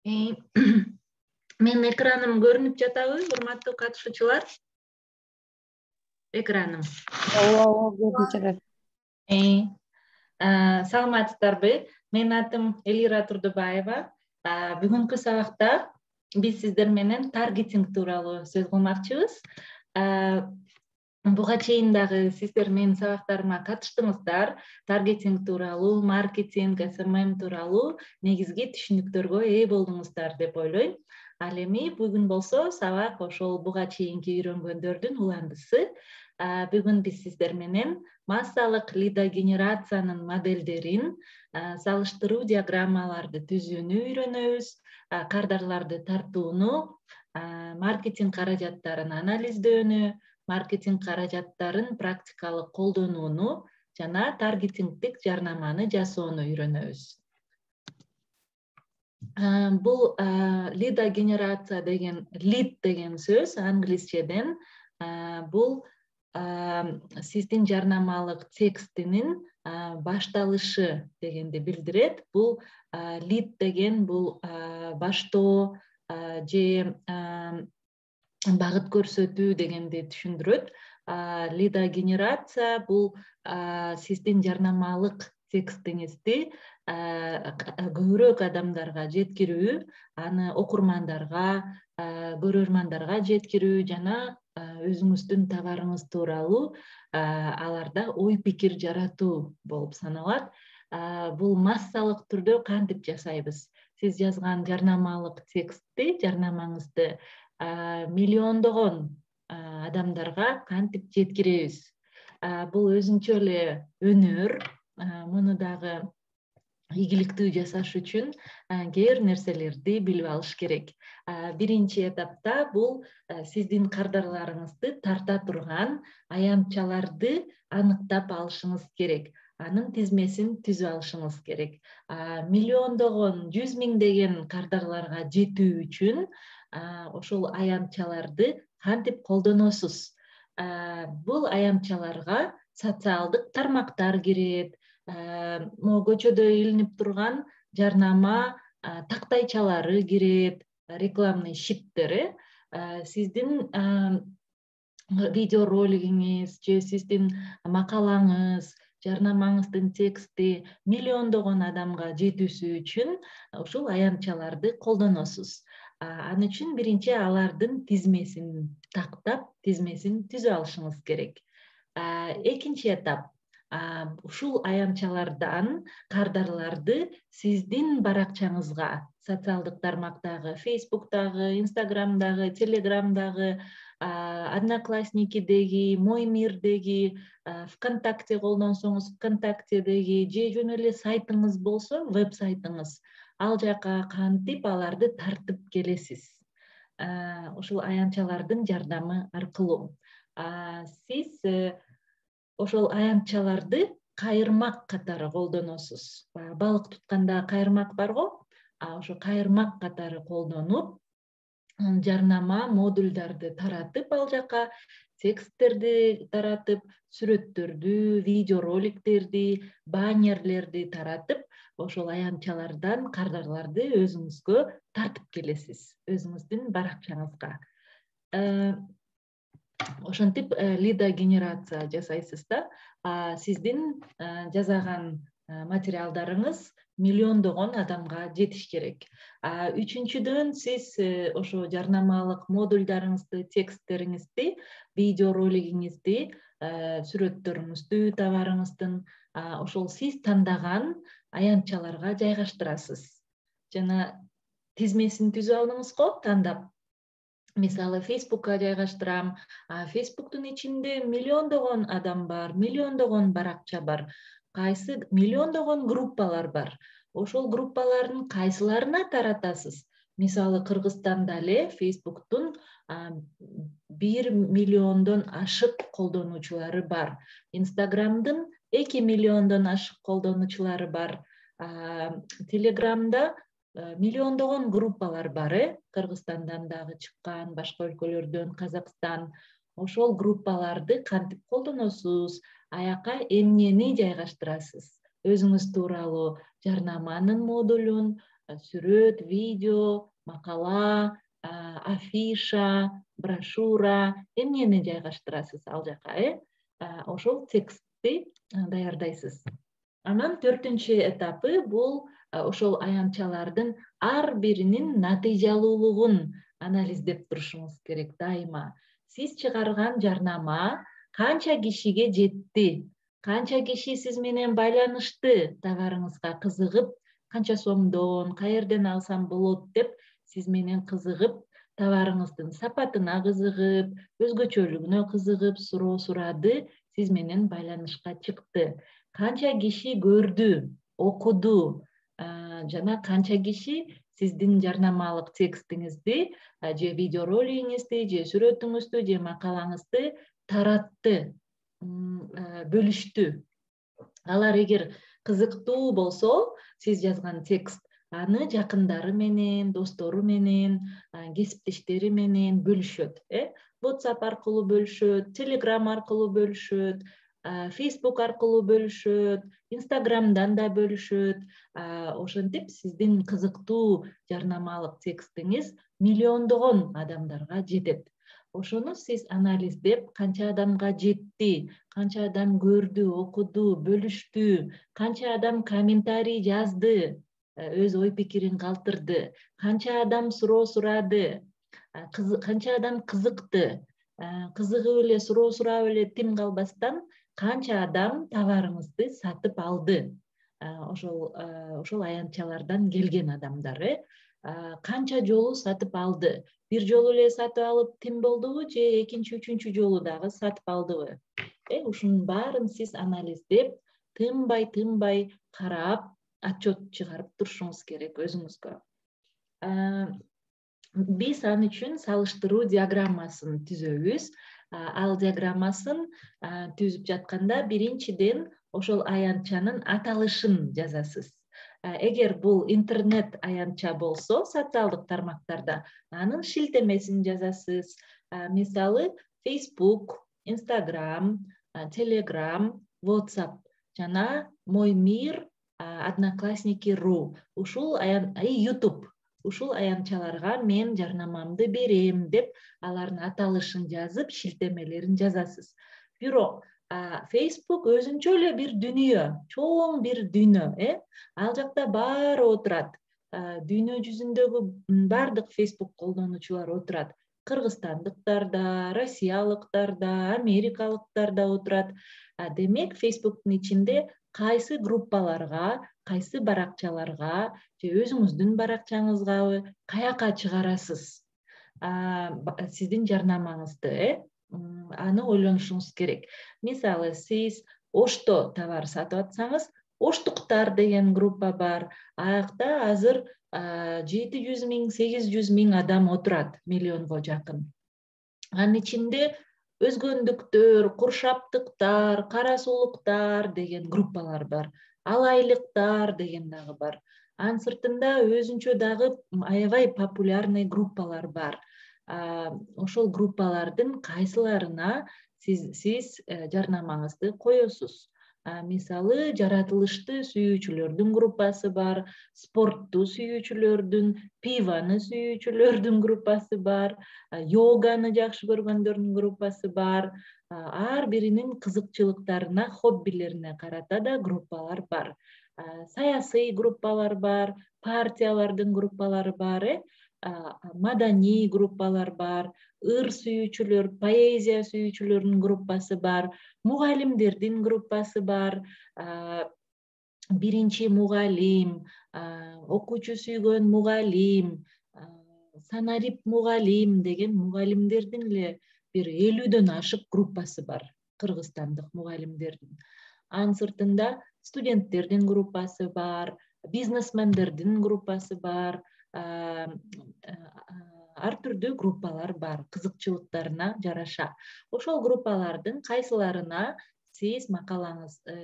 Э, Менин экраным көрүнүп жатабы, урматтуу катышуучулар? Экраным. Ооба, көрүнүп жатат. Саламатсыздарбы? Менин атым Элира Турдубаева. Бүгүнкү сабакта биз сиздер менен таргетинг тууралуу сөз кылмакчыбыз. Буга чейин дагы сиздер менин сабактарыма катыштыңыздар. Таргетинг тууралуу, маркетинг, SMM тууралуу негизги түшүнүктөргө ээ болдуңуздар деп ойлойм. Ал эми бүгүн болсо сабак ошол буга чейинки үйрөнгөндөрдүн уландысы. Бүгүн биз сиздер менен массалык лидогенерациянын модельдерин, салыштыруу диаграммаларды түзүүнү үйрөнөбүз, кардарларды тартууну, маркетинг каражаттарын анализдөөнү, маркетинг каражаттарын практикалык колдонууну жана таргетингдик жарнаманы жасоону үйрөнөбүз. Бул лидогенерация деген lead деген сөз англисчеден бул сиздин жарнамалык текстинин башталышы дегенди билдирет. Бул lead деген бул баштоо же багыт көрсөтүү дегенди түшүндүрөт. Лидогенерация бул сиздин жарнамалык текстиңизди көбүрөөк адамдарга жеткирүү, аны окурмандарга, көрөрмандарга жеткирүү жана өзүңүздүн товарыңыз тууралуу аларда ой пикир жаратуу болуп саналат. Бул массалык түрдө кантип жасайбыз? Сиз жазган жарнамалык текстти, жарнамаңызды миллиондогон адамдарга кантип жеткиребиз? Бул өзүнчө эле өнөр. Муну дагы ийгиликтүү жасаш үчүн кээ бир нерселерди билип алыш керек. Биринчи этапта бул сиздин кардарларыңызды тарта турган аянтчаларды аныктап алышыңыз керек. Анын тизмесин түзүп алышыңыз керек. Миллиондогон, 100 миңдеген кардарларга жетүү үчүн ошол аянтчаларды кантип колдоносуз? Бул аянтчаларга социалдык тармактар кирет, көчөдө илинип турган жарнама тактайчалары кирет, рекламный щиттери, сиздин видеоролигиңиз же сиздин макалаңыз, жарнамаңыздын тексти миллиондогон адамга жетүүсү үчүн ушул аянтчаларды колдоносуз. Ал үчүн биринчи алардын тизмесин тактап, тизмесин түзүп алышыңыз керек. Экинчи этап, ушул аянтчалардан кардарларды сиздин баракчаңызга, социалдык тармактагы, Facebook'тагы, Instagram'дагы, Telegram'дагы, Одноклассникидеги, Мой мирдеги, ВКонтакте колдонсоңуз ВКонтактедеги же жөн эле сайтыңыз болсо, веб-сайтыңыз, ал жака кантип аларды тартып келесиз? Ушул аянтчалардын жардамы аркылуу. Сиз ошол аянтчаларды кайырмак катары колдоносуз. Балык тутканда кайырмак бар го? Ошо кайырмак катары колдонуп, жарнама модулдарды таратып, ал жака тексттерди таратып, сүрөттөрдү, видеороликтерди, баннерлерди таратып, ошол аянтчалардан кардарларды өзүңүзгө тартып келесиз, өзүңүздүн баракчаңызга. Ошентип лидогенерация жасайсыз да. Сиздин жасаган материалдарыңыз миллиондогон адамга жетиш керек. Үчүнчүдөн сиз ошо жарнамалык модулдарыңызды, тексттериңизди, видеоролигиңизди, сүрөттөрүңүздү, товарыңыздын ошол сиз тандаган аянтчаларга жайгаштырасыз. Жана тизмесин түзүп алдыңыз го, тандап. Мисалы, Facebook'ка жайгаштырам. Facebook'тун ичинде миллиондогон адам бар, миллиондогон баракча бар. Кайсы миллиондогон группалар бар. Ошол группалардын кайсыларына таратасыз? Мисалы, Кыргызстанда эле Facebook'тун 1 миллиондон ашык колдонуучулары бар. Instagram'дын 2 миллиондон ашык колдонуучулары бар. Telegram'да миллиондогон группалар бар, Кыргызстандан дагы чыккан, башка өлкөлөрдөн, Казакстан. Ошол группаларды кантип колдоносуз? Аяка эмнени жайгаштырасыз? Өзүңүз тууралуу жарнаманын модулун, сүрөт, видео, макала, афиша, брошюра эмнени жайгаштырасыз ал жака, ошол текстти даярдайсыз. Анан 4-чү этапы бул ошол аянтчалардын ар биринин натыйжалуулугун анализдеп турушуңуз керек дайыма. Сиз чыгарган жарнама канча кишиге жетти, канча киши сиз менен байланышты, товарыңызга кызыгып, канча сомдон, каерден алсам болот деп сиз менен кызыгып, товарыңыздын сапатына кызыгып, өзгөчөлүгүнө кызыгып, суроо сурады, сиз менен байланышка чыкты. Канча киши көрдү, окуду, жана канча киши сиздин жарнамалык текстиңизди, же видеоролигиңизди, же сүрөтүңүздү, же макалаңызды таратты, бөлүштү. Алар эгер кызыктуу болсо, сиз жазган текст, аны жакындары менен, достору менен, кесиптештери менен бөлүшөт. WhatsApp аркылуу бөлүшөт, Telegram аркылуу бөлүшөт, Facebook аркылуу бөлүшөт, Instagramдан да бөлүшөт. Ошентип сиздин кызыктуу жарнамалык текстиңиз миллиондогон адамдарга жетет. Ошону сиз анализдеп, канча адамга жетти, канча адам көрдү, окуду, бөлүштү, канча адам комментарий жазды, өз ой пикирин калтырды, канча адам суроо сурады, канча адам кызыкты, кызыгып эле суроо сурап эле тим калбастан канча адам товарыңызды сатып алды. Ошол аянтчалардан келген адамдар, канча жолу сатып алды, бир жолу эле сатып алып тим болдубу, же экинчи, үчүнчү жолу дагы сатып алдыбы? Ушунун баарын сиз анализдеп, тынбай карап, отчет чыгарып турушуңуз керек өзүңүзгө. Биз ал үчүн салыштыруу диаграммасын түзөбүз. Ал диаграммасын түзүп жатканда биринчиден ошол аянтчанын аталышын жазасыз. Эгер бул интернет аянтча болсо, социалдык тармактарда, анын шилтемесин жазасыз. Мисалы, Facebook, Instagram, Telegram, WhatsApp жана Мой мир, Одноклассники.ру, ушул YouTube. Ушул аянтчаларга мен жарнамамды берем деп, алардын аталышын жазып, шилтемелерин жазасыз. Бирок Facebook өзүнчө эле бир дүйнө, чоң бир дүйнө, ал жакта баары отурат. Дүйнө жүзүндөгү бардык Facebook колдонуучулар отурат. Кыргызстандыктар да, россиялыктар да, америкалыктар да отурат. Демек, Facebooктун ичинде кайсы группаларга, кайсы баракчаларга, же өзүңүздүн баракчаңызгабы каяка чыгарасыз сиздин жарнамаңызды, аны ойлонушуңуз керек. Мисалы, сиз ошто товар сатып атсаңыз, оштуктар деген группа бар. Аякта азыр 700 миң, 800 миң адам отурат, миллионго жакын. Анын ичинде өзгөндүктөр, куршаптыктар, кара суулуктар деген группалар бар. Алайлыктар деген дагы бар. Анын сыртында өзүнчө дагы аябай популярный группалар бар. Ошол группалардын кайсыларына сиз жарнамаңызды коесуз. Мисалы, жаратылышты сүйүүчүлөрдүн группасы бар, спортту сүйүүчүлөрдүн, пиваны сүйүүчүлөрдүн группасы бар, йоганы жакшы көргөндөрдүн группасы бар. Ар биринин кызыкчылыктарына, хоббилерине карата да группалар бар. Саясий группалар бар, партиялардын группалары бар, маданий группалар бар, ыр сүйүүчүлөр, поэзия сүйүүчүлөрдүн группасы бар, мугалимдердин группасы бар, биринчи мугалим, окуучу сүйгөн мугалим, санарип мугалим деген мугалимдердин эле бир 50дөн ашык группасы бар, кыргызстандык мугалимдердин. Анын сыртында студенттердин группасы бар, бизнесмендердин группасы бар, ар түрдүү группалар бар, кызыкчылыктарына жараша. Ошол группалардын кайсыларына сиз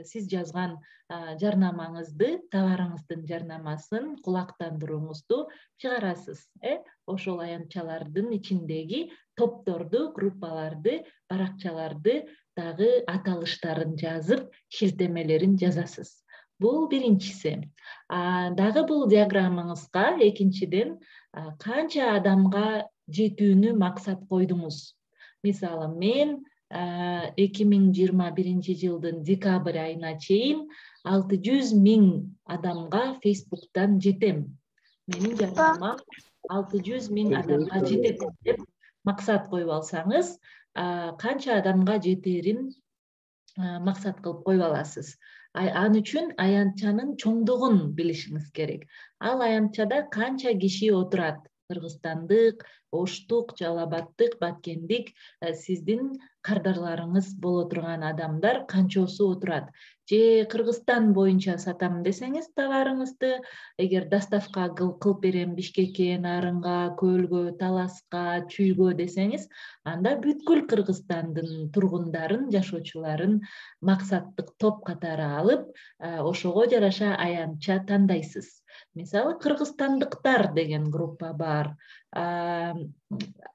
сиз жазган жарнамаңызды, товарыңыздын жарнамасын, кулактандырууңузду чыгарасыз. Ошол аянтчалардын ичиндеги топторду, группаларды, баракчаларды дагы аталыштарын жазып, шилтемелерин жазасыз. Бул биринчиси. Дагы бул диаграммаңызга экинчиден канча адамга жетүүнү максат койдуңуз. Мисалы, мен 2021 жылдын декабрь айына чейин 600 000 адамга Facebooktан жетем. Менин жарнамам 600 000 адамга жетет деп максат коюп алсаңыз, канча адамга жетерин максат кылып коюп аласыз. Ал үчүн аянтчанын чоңдугун билишиңиз керек. Ал аянтчада канча киши отурат? Кыргызстандык, Оштук, Жалал Абадтык, Баткендик, сиздин кардарларыңыз боло турган адамдар канчосу отурат? Же Кыргызстан боюнча сатам десеңиз товарыңызды, эгер доставка кылып берем Бишкекке, Нарынга, Көлгө, Таласка, Чүйгө десеңиз, анда бүткүл Кыргызстандын тургундарын, жашоочуларын максаттык топ катары алып, ошого жараша аянтча тандайсыз. Мисалы, кыргызстандыктар деген группа бар.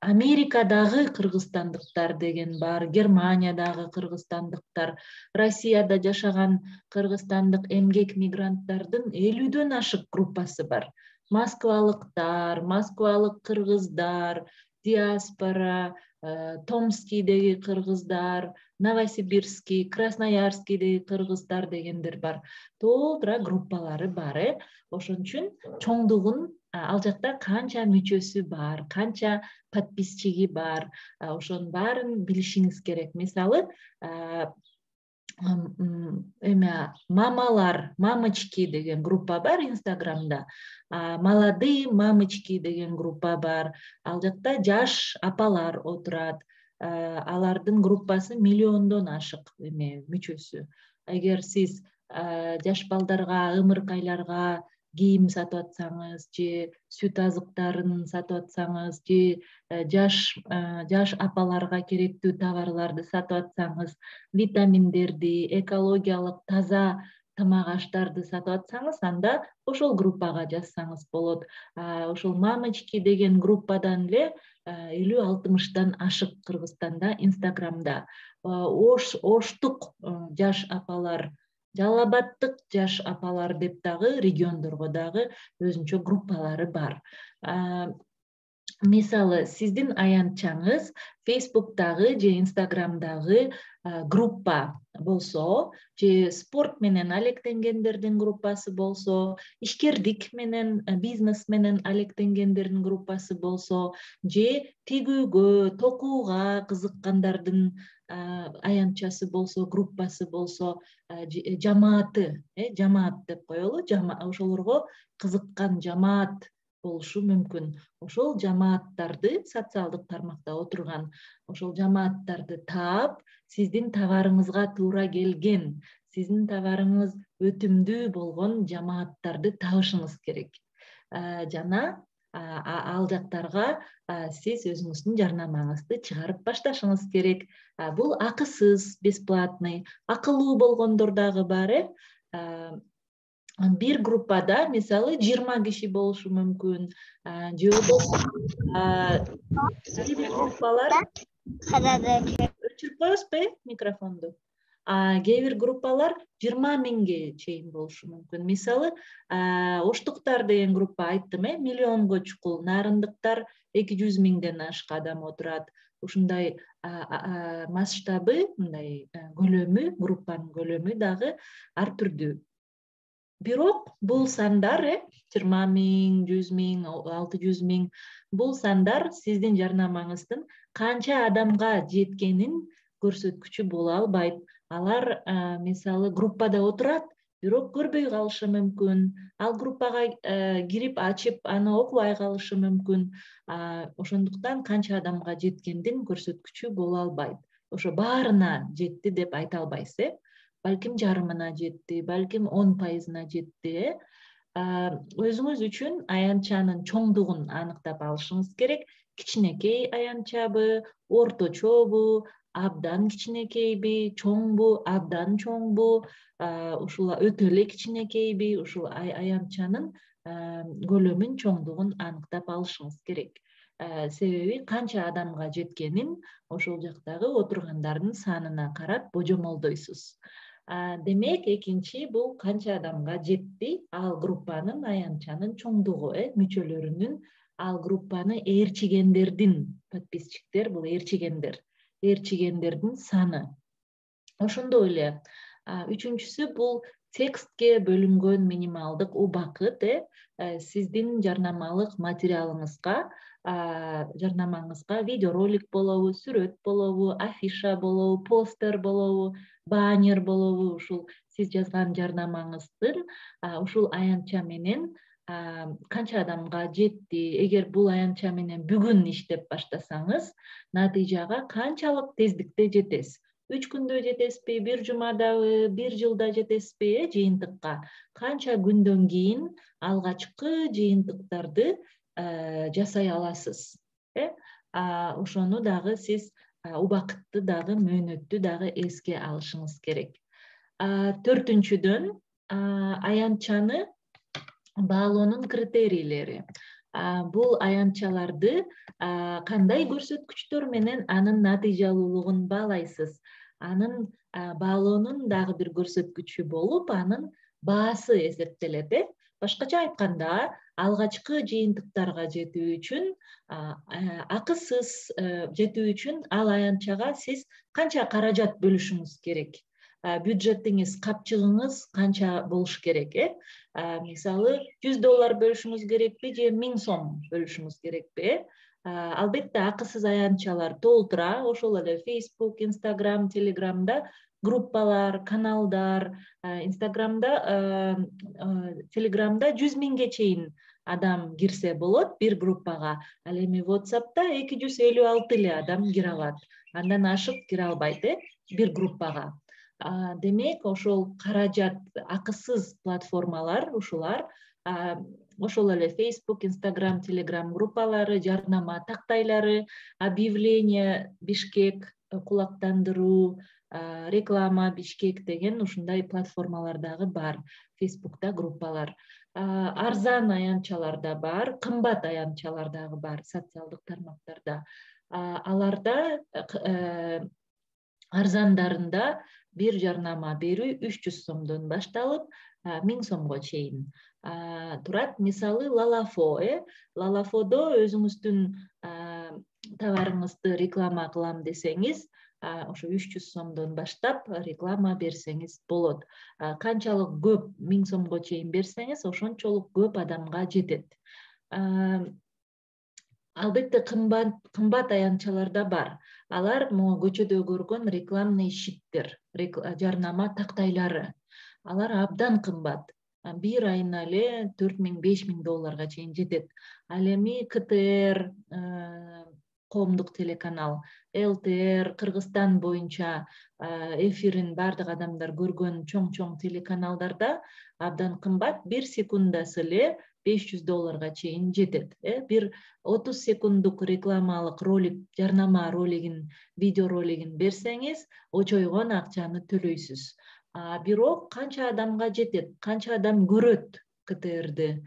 Америкадагы кыргызстандыктар деген бар, Германиядагы кыргызстандыктар, Россияда жашаган кыргызстандык эмгек мигранттардын 50дөн ашык группасы бар. Москвалыктар, москвалык кыргыздар, диаспора, Томскийдеги кыргыздар, Новосибирский, Красноярскийдеги кыргыздар дегендер бар. Толтура группалары бар. Ошон үчүн чоңдугун, ал жакта канча мүчөсү бар, канча подписчиги бар, ошонун баарын билишиңиз керек. Мисалы, мамалар, мамочки деген группа бар Инстаграмда. Молодые мамочки деген группа бар. Ал жакта жаш апалар отурат. Алардын группасы миллиондон ашык мүчөсү. Эгер сиз жаш балдарга, ымыркайларга кийим сатып атсаңыз, же сүт азыктарын сатып атсаңыз, же жаш апаларга керектүү товарларды сатып атсаңыз, витаминдерди, экологиялык таза тамак аштарды сатып атсаңыз, анда ошол группага жазсаңыз болот. Ошол мамочки деген группадан эле 50-60 ашык Кыргызстанда, Инстаграмда. Оштук жаш апалар, Жалал Абадтык жаш апалар деп дагы региондорго дагы өзүнчө группалары бар. Мисалы, сиздин аянтчаңыз Facebooktагы же Инстаграмдагы группа болсо, же спорт менен алектенгендердин группасы болсо, ишкердик менен, бизнес менен алектенгендердин группасы болсо, же тигүүгө, токууга кызыккандардын аянтчасы болсо, группасы болсо, жамааты, жамаат деп коелу, ошолорго кызыккан жамаат болушу мүмкүн. Ошол жамааттарды, социалдык тармакта отурган ошол жамааттарды таап, сиздин товарыңызга туура келген, сиздин товарыңыз өтүмдүү болгон жамааттарды табышыңыз керек. Жана ал жактарга сиз өзүңүздүн жарнамаңызды чыгарып башташыңыз керек. Бул акысыз, бесплатный, акылуу болгондор дагы бар. Бир группада, мисалы, 20 киши болушу мүмкүн. Же болбосо бир группалар өчүрүп коесузбу микрофонду? Кээ бир группалар 20 000ге чейин болушу мүмкүн. Мисалы, Оштуктар деген группа айттым, миллионго чукул, Нарындыктар 200 000ден ашык адам отурат. Ушундай масштабы, мындай көлөмү, группанын көлөмү дагы ар түрдүү. Бирок бул сандар 20 000, 100 000, 600 000 бул сандар сиздин жарнамаңыздын канча адамга жеткенин көрсөткүчү боло албайт. Алар мисалы группада отурат, бирок көрбөй калышы мүмкүн. Ал группага кирип ачып, аны окубай калышы мүмкүн. Ошондуктан канча адамга жеткендин көрсөткүчү боло албайт. Ошо баарына жетти деп айта албайсыз. Балким жарымына жетти, балким 10%-на жетти. Өзүңүз үчүн аянтчанын чоңдугун аныктап алышыңыз керек. Кичинекей аянтчабы, орточобу, абдан кичинекейби, чоңбу, абдан чоңбу, ушул өтө эле кичинекейби, ушул аянтчанын көлөмүн, чоңдугун аныктап алышыңыз керек. Себеби канча адамга жеткенин ошол жактагы отургандардын санына карап божомолдойсуз. Демек экинчи бул канча адамга жетти ал группанын аянтчанын чоңдугу, мүчөлөрүнүн, ал группаны ээрчигендердин, подписчиктер бул ээрчигендердин саны. Ошондой эле үчүнчүсү бул текстке бөлүнгөн минималдык убакыт, сиздин жарнамалык материалыңызга видеоролик болобу, сүрөт болобу, афиша болобу, постер болобу, баннер болобу, ушул сиз жазган жарнамаңыздын ушул аянтча менен канча адамга жетти, эгер бул аянтча менен бүгүн иштеп баштасаңыз, натыйжага канчалык тездикте жетесиз. 3 күндө жетесизби, 1 жумадабы, 1 жылда жетесизби, жыйынтыкка. Канча күндөн кийин алгачкы жыйынтыктарды жасай аласыз. Ошону дагы сиз убакытты дагы, мөөнөттү дагы эске алышыңыз керек. Төртүнчүдөн, аянтчаны баалоонун критерийлери. Бул аянтчаларды кандай көрсөткүчтөр менен анын натыйжалуулугун баалайсыз. Анын баалоонун дагы бир көрсөткүчү болуп, анын баасы эсептелет. Башкача айтканда, алгачкы жыйынтыктарга жетүү үчүн, акысыз жетүү үчүн ал аянтчага сиз канча каражат бөлүшүңүз керек? Бюджетиңиз, капчыгыңыз канча болуш керек? Мисалы, $100 бөлүшүңүз керекпи же 1000 сом бөлүшүңүз керекпи? Албетте акысыз аянтчалар толтура, ошол эле Facebook, Instagram, Telegramда группалар, каналдар, Telegramда 100 миңге чейин адам кирсе болот бир группага. Ал эми WhatsApp'та 256 эле адам кире алат. Андан ашык кире албайт, бир группага. Демек, ошол каражат, акысыз платформалар ушулар, ошол эле Facebook, Instagram, Telegram группалары, жарнама тактайлары, объявление Бишкек, кулактандыруу, реклама Бишкек деген ушундай платформалар дагы бар. Facebook'та группалар. Арзан аянтчалар да бар, кымбат аянтчалар дагы бар социалдык тармактарда. Аларда арзандарында бир жарнама берүү 300 сомдон башталып, 1000 сомго чейин турат. Мисалы, Lalafo өзүңүздүн товарыңызды реклама кылам десеңиз, ошо 300 сомдон баштап реклама берсеңиз болот. Канчалык көп 1000 сомго чейин берсеңиз, ошончолук көп адамга жетет. Албетте кымбат аянтчалар да бар. Алар көчөдө көргөн рекламный щиттер, жарнама тактайлары. Алар абдан кымбат. Бир айына эле $4000–5000 чейин жетет. Ал эми КТР, коомдук телеканал, ЛТР, Кыргызстан боюнча эфирин бардык адамдар көргөн чоң телеканалдарда абдан кымбат, 1 секундасы эле $500 чейин жетет. Бир 30 секунддук рекламалык ролик, жарнама ролигин, видео ролигин берсеңиз, очойгон акчаны төлөйсүз. Бирок канча адамга жетет, канча адам көрөт КТРди,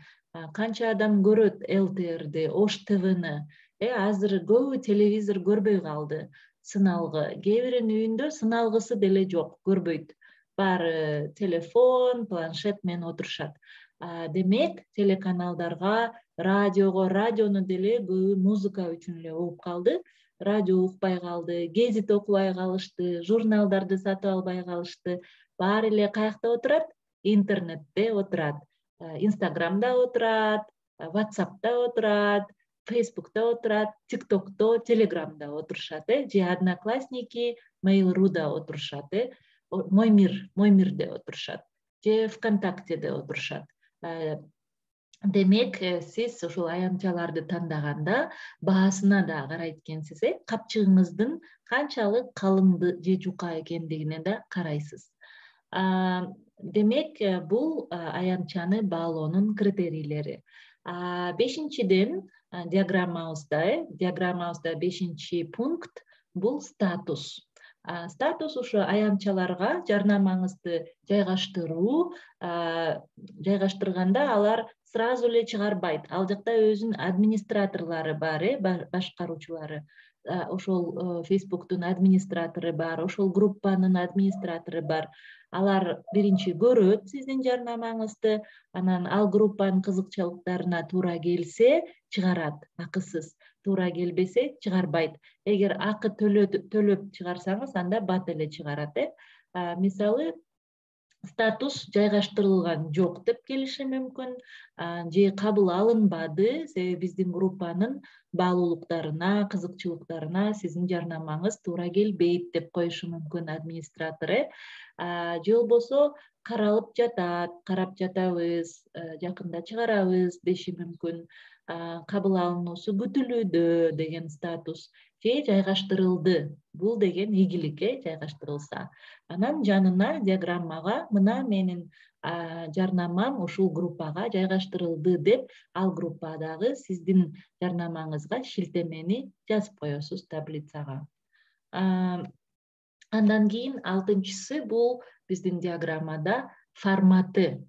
канча адам көрөт ЛТРди, Ош ТВны. Азыр көбү телевизор көрбөй калды, сыналгы. Кээ биринин үйүндө сыналгысы деле жок, көрбөйт. Баары телефон, планшет менен отурушат. Демек, телеканалдарга, радиону деле көбү музыка үчүн эле угуп калды. Радио укпай калды, гезит окубай калышты, журналдарды сатып албай калышты. Баары эле каякта отурат? Интернетте отурат. Инстаграмда отурат, WhatsApp'та отурат, Facebook'та отурат, TikTok'то, Telegram'да отурушат, же Одноклассники, Mail.ru-да отурушат, Моймирде отурушат, же ВКонтактеде отурушат. Демек, сиз ушул аянтчаларды тандаганда баасына да карайт экенсиз, капчыгыңыздын канчалык калың же жука экендигине да карайсыз. Демек, бул аянтчаны баалоонун критерийлери. Бешинчиден, диаграммабызда 5-чи пункт бул статус. Статус ушу аянтчаларга жарнамаңызды жайгаштырганда алар сразу эле чыгарбайт. Ал жакта өзүнүн администраторлору бар, башкаруучулары. Ошол Facebook'тун администратору бар, ошол группанын администратору бар. Алар биринчи көрөт сиздин жарнамаңызды, анан ал группанын кызыкчылыктарына туура келсе чыгарат, акысыз. Туура келбесе чыгарбайт. Эгер акы төлөп чыгарсаңыз, анда бат эле чыгарат. Мисалы, статус жайгаштырылган жок деп келиши мүмкүн, же кабыл алынбады, себеби биздин группанын баалуулуктарына, кызыкчылыктарына сиздин жарнамаңыз туура келбейт деп коюшу мүмкүн администратор. Же болбосо каралып жатат, карап жатабыз, жакында чыгарабыз деши мүмкүн. Кабыл алынуусу күтүлүүдө деген статус, же жайгаштырылды. Бул деген ийгилик, жайгаштырылса. Анан жанына диаграммага мына менин жарнамам ушул группага жайгаштырылды деп, ал группадагы сиздин жарнамаңызга шилтемени жазып коесуз таблицага. Андан кийин 6-чысы бул биздин диаграммада форматы.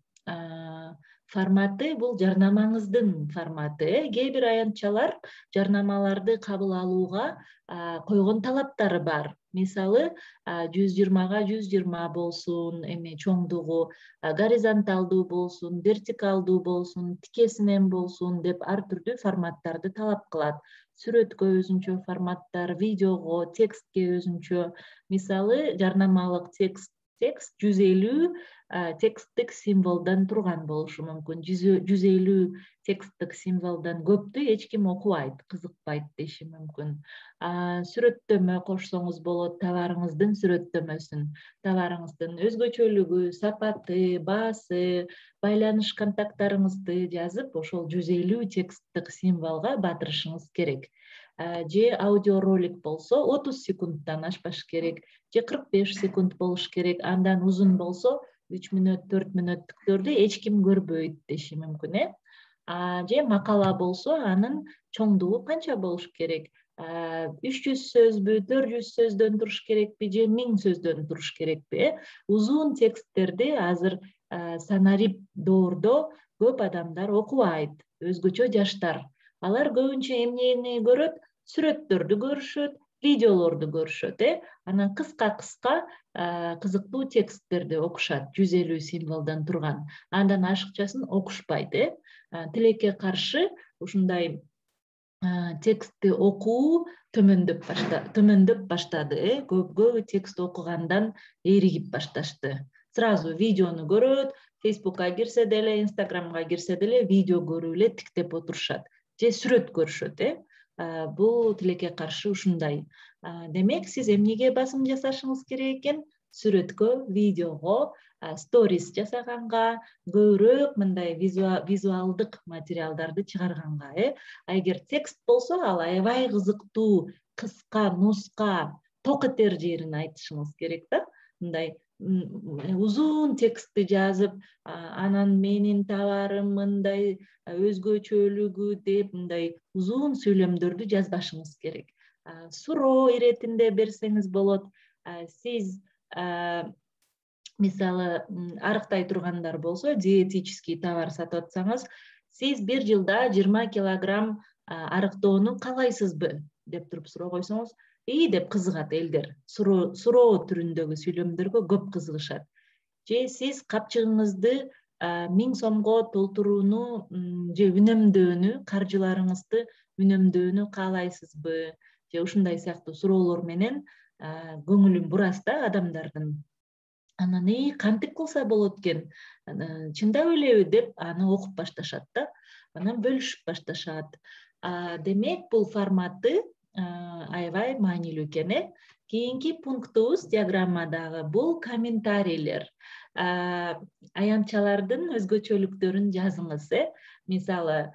Форматы бул жарнамаңыздын форматы. Кээ бир аянтчалар жарнамаларды кабыл алууга койгон талаптары бар. Мисалы, 120га 120 болсун, чоңдугу, горизонталдуу болсун, вертикалдуу болсун, тикесинен болсун деп ар түрдүү форматтарды талап кылат. Сүрөткө өзүнчө форматтар, видеого, текстке өзүнчө. Мисалы, жарнамалык текст 150 тексттик символдон турган болушу мүмкүн. 150 тексттик символдон көптү эч ким окубайт, кызыкпайт деши мүмкүн. Сүрөттөмө кошсоңуз болот, товарыңыздын сүрөттөмөсүн. Товарыңыздын өзгөчөлүгү, сапаты, баасы, байланыш контакттарыңызды жазып, ошол 150 тексттик символго батырышыңыз керек. Же аудиоролик болсо 30 секундтан ашпаш керек, же 45 секунд болуш керек. Андан узун болсо 3 мүнөт, 4 мүнөттүктөрдү эч ким көрбөйт деши мүмкүн. Же макала болсо анын чоңдугу канча болуш керек? 300 сөзбү, 400 сөздөн туруш керекпи, же 1000 сөздөн туруш керекпи? Узун тексттерди азыр санарип доордо көп адамдар окубайт, өзгөчө жаштар. Алар көбүнчө эмнени көрөт? Сүрөттөрдү көрүшөт, видеолорду көрүшөт. Анан кыска кызыктуу тексттерди окушат, 150 символдон турган. Андан ашыкчасын окушпайт. Тилекке каршы ушундай текстти окуу төмөндөп баштады. Көбү текст окугандан эригип башташты. Сразу видеону көрөт, Facebook'ка кирсе деле, Instagram'га кирсе деле видео көрүп эле тиктеп отурушат, же сүрөт көрүшөт. Бул тилекке каршы ушундай. Демек, сиз эмнеге басым жасашыңыз керек экен? Сүрөткө, видеого, сторис жасаганга, көбүрөөк мындай визуалдык материалдарды чыгарганга. Эгер текст болсо, ал аябай кызыктуу, кыска, нуска, ток этер жерин айтышыңыз керек да. Мындай узун текстти жазып, анан менин товарым мындай өзгөчөлүгү деп мындай узун сүйлөмдөрдү жазбашыңыз керек. Суроо иретинде берсеңиз болот. Сиз мисалы арыктай тургандар болсо, диетический товар сатып атсаңыз, сиз бир жылда 20 килограмм арыктоону каалайсызбы деп туруп суроо койсоңуз, деп кызыгат элдер. Суроо түрүндөгү сүйлөмдөргө көп кызыгышат. Же сиз капчыгыңызды 1000 сомго толтурууну же үнөмдөөнү, каржыларыңызды үнөмдөөнү каалайсызбы? Же ушундай сыяктуу суроолор менен көңүлүн бурасыз да адамдардын. Анан кантип кылса болот экен? Чындап элеби деп аны окуп башташат да. Анан бөлүшүп башташат. Демек, бул форматы аябай маанилүү экен. Кийинки пунктубуз диаграммадагы бул комментарийлер. Аянтчалардын өзгөчөлүктөрүн жазыңыз. Мисалы,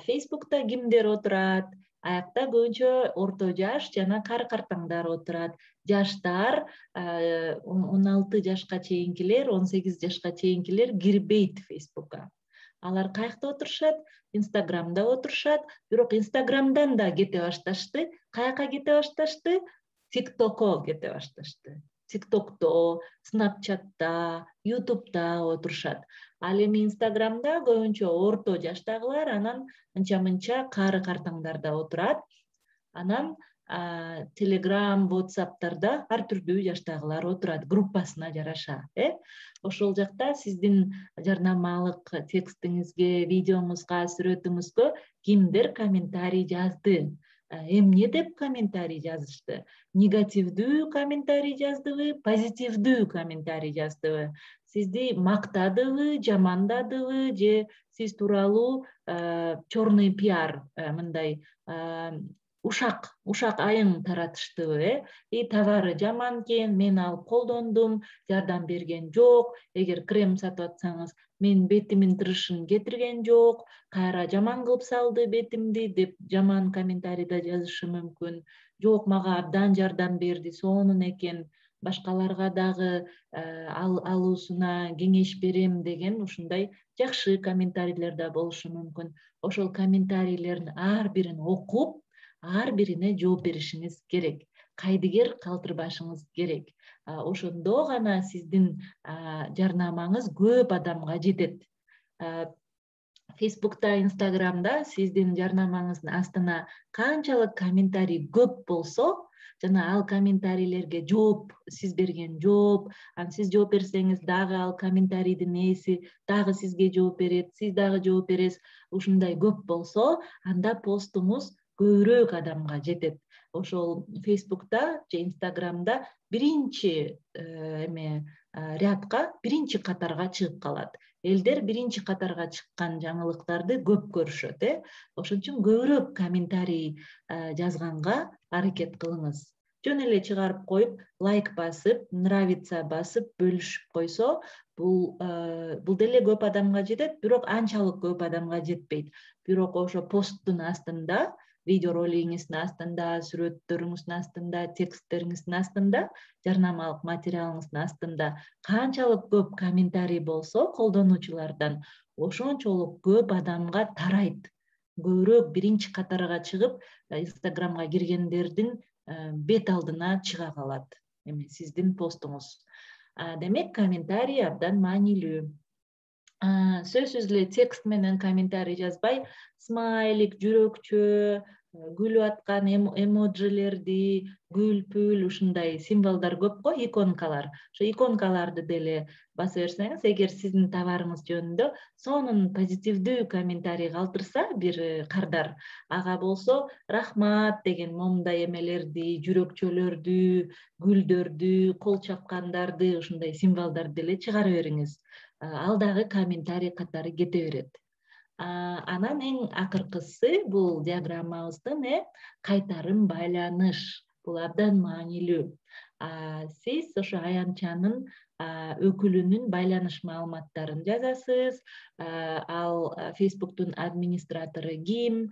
Facebook'та кимдер отурат? Аякта көбүнчө орто жаш жана кары-картаңдар отурат. Жаштар 16 жашка чейинкилер, 18 жашка чейинкилер кирбейт Facebook'ка. Алар каякта отурушат? Instagram'да отурушат. Бирок Instagram'дан да кете башташты. Каяка кете башташты? TikTok'ко кете башташты. TikTok'то, Snapchat'та, YouTube'да отурушат. Ал эми Instagram'да көбүнчө орто жаштагылар, анан анча-мынча кары-картаңдар да отурат. Анан Telegram, WhatsApp'тарда ар түрдүү жаштагылар отурат, группасына жараша. Ошол жакта сиздин жарнамалык текстиңизге, видеоңузга, сүрөтүңүзгө кимдер комментарий жазды? Эмне деп комментарий жазышты? Негативдүү комментарий жаздыбы, позитивдүү комментарий жаздыбы? Сизди мактадыбы, жамандадыбы, же сиз тууралуу черный пиар, мындай ушак айың таратыштыбы? Товары жаман экен, мен алып колдондум, жардам берген жок. Эгер крем сатып атсаңыз, мен бетимин тырышын кетирген жок, кайра жаман кылып салды бетимди деп жаман комментарийда жазышы мүмкүн. Жок, мага абдан жардам берди, сонун экен, башкаларга дагы алуусуна кеңеш берем деген ушундай жакшы комментарийлер да болушу мүмкүн. Ошол комментарийлердин ар бирин окуп, ар бирине жооп беришиңиз керек. Кайдыгер калтырбашыңыз керек. Ошондо гана сиздин жарнамаңыз көп адамга жетет. Фейсбукта, Инстаграмда сиздин жарнамаңыздын астына канчалык комментарий көп болсо, жана ал комментарийлерге жооп, сиз берген жооп, сиз жооп берсеңиз дагы ал комментарийдин ээси дагы сизге жооп берет, сиз дагы жооп бересиз, ушундай көп болсо, анда постуңуз көбүрөөк адамга жетет. Ошол Фейсбукта же Инстаграмда биринчи рядка, биринчи катарга чыгып калат. Элдер биринчи катарга чыккан жаңылыктарды көп көрүшөт. Ошон үчүн көбүрөөк комментарий жазганга аракет кылыңыз. Жөн эле чыгарып коюп, лайк басып, нравится басып, бөлүшүп койсо, бул деле көп адамга жетет, бирок анчалык көп адамга жетпейт. Бирок ошо посттун астында, видеоролигиңиздин астында, сүрөттөрүңүздүн астында, тексттериңиздин астында, жарнамалык материалыңыздын астында канчалык көп комментарий болсо колдонуучулардан, ошончолук көп адамга тарайт. Көбүрөөк биринчи катарга чыгып, Инстаграмга киргендердин бет алдына чыга калат сиздин постуңуз. Демек, комментарий абдан маанилүү. Сөзсүз эле текст менен комментарий жазбай, смайлик, жүрөкчө, күлүп аткан эмоджилерди, гүл-пүл, ушундай символдор көп го, иконкалар. Ошо иконкаларды деле баса берсеңиз, эгер сиздин товарыңыз жөнүндө сонун позитивдүү комментарий калтырса бир кардар, ага болсо рахмат деген момундай эмелерди, жүрөкчөлөрдү, гүлдөрдү, кол чапкандарды, ушундай символдорду деле чыгара бериңиз. Ал дагы комментарий катары кете берет. Анан эң акыркысы бул диаграммабыздын кайтарым байланыш. Бул абдан маанилүү. Сиз ошо аянтчанын өкүлүнүн байланыш маалыматтарын жазасыз. Ал Фейсбуктун администратору ким,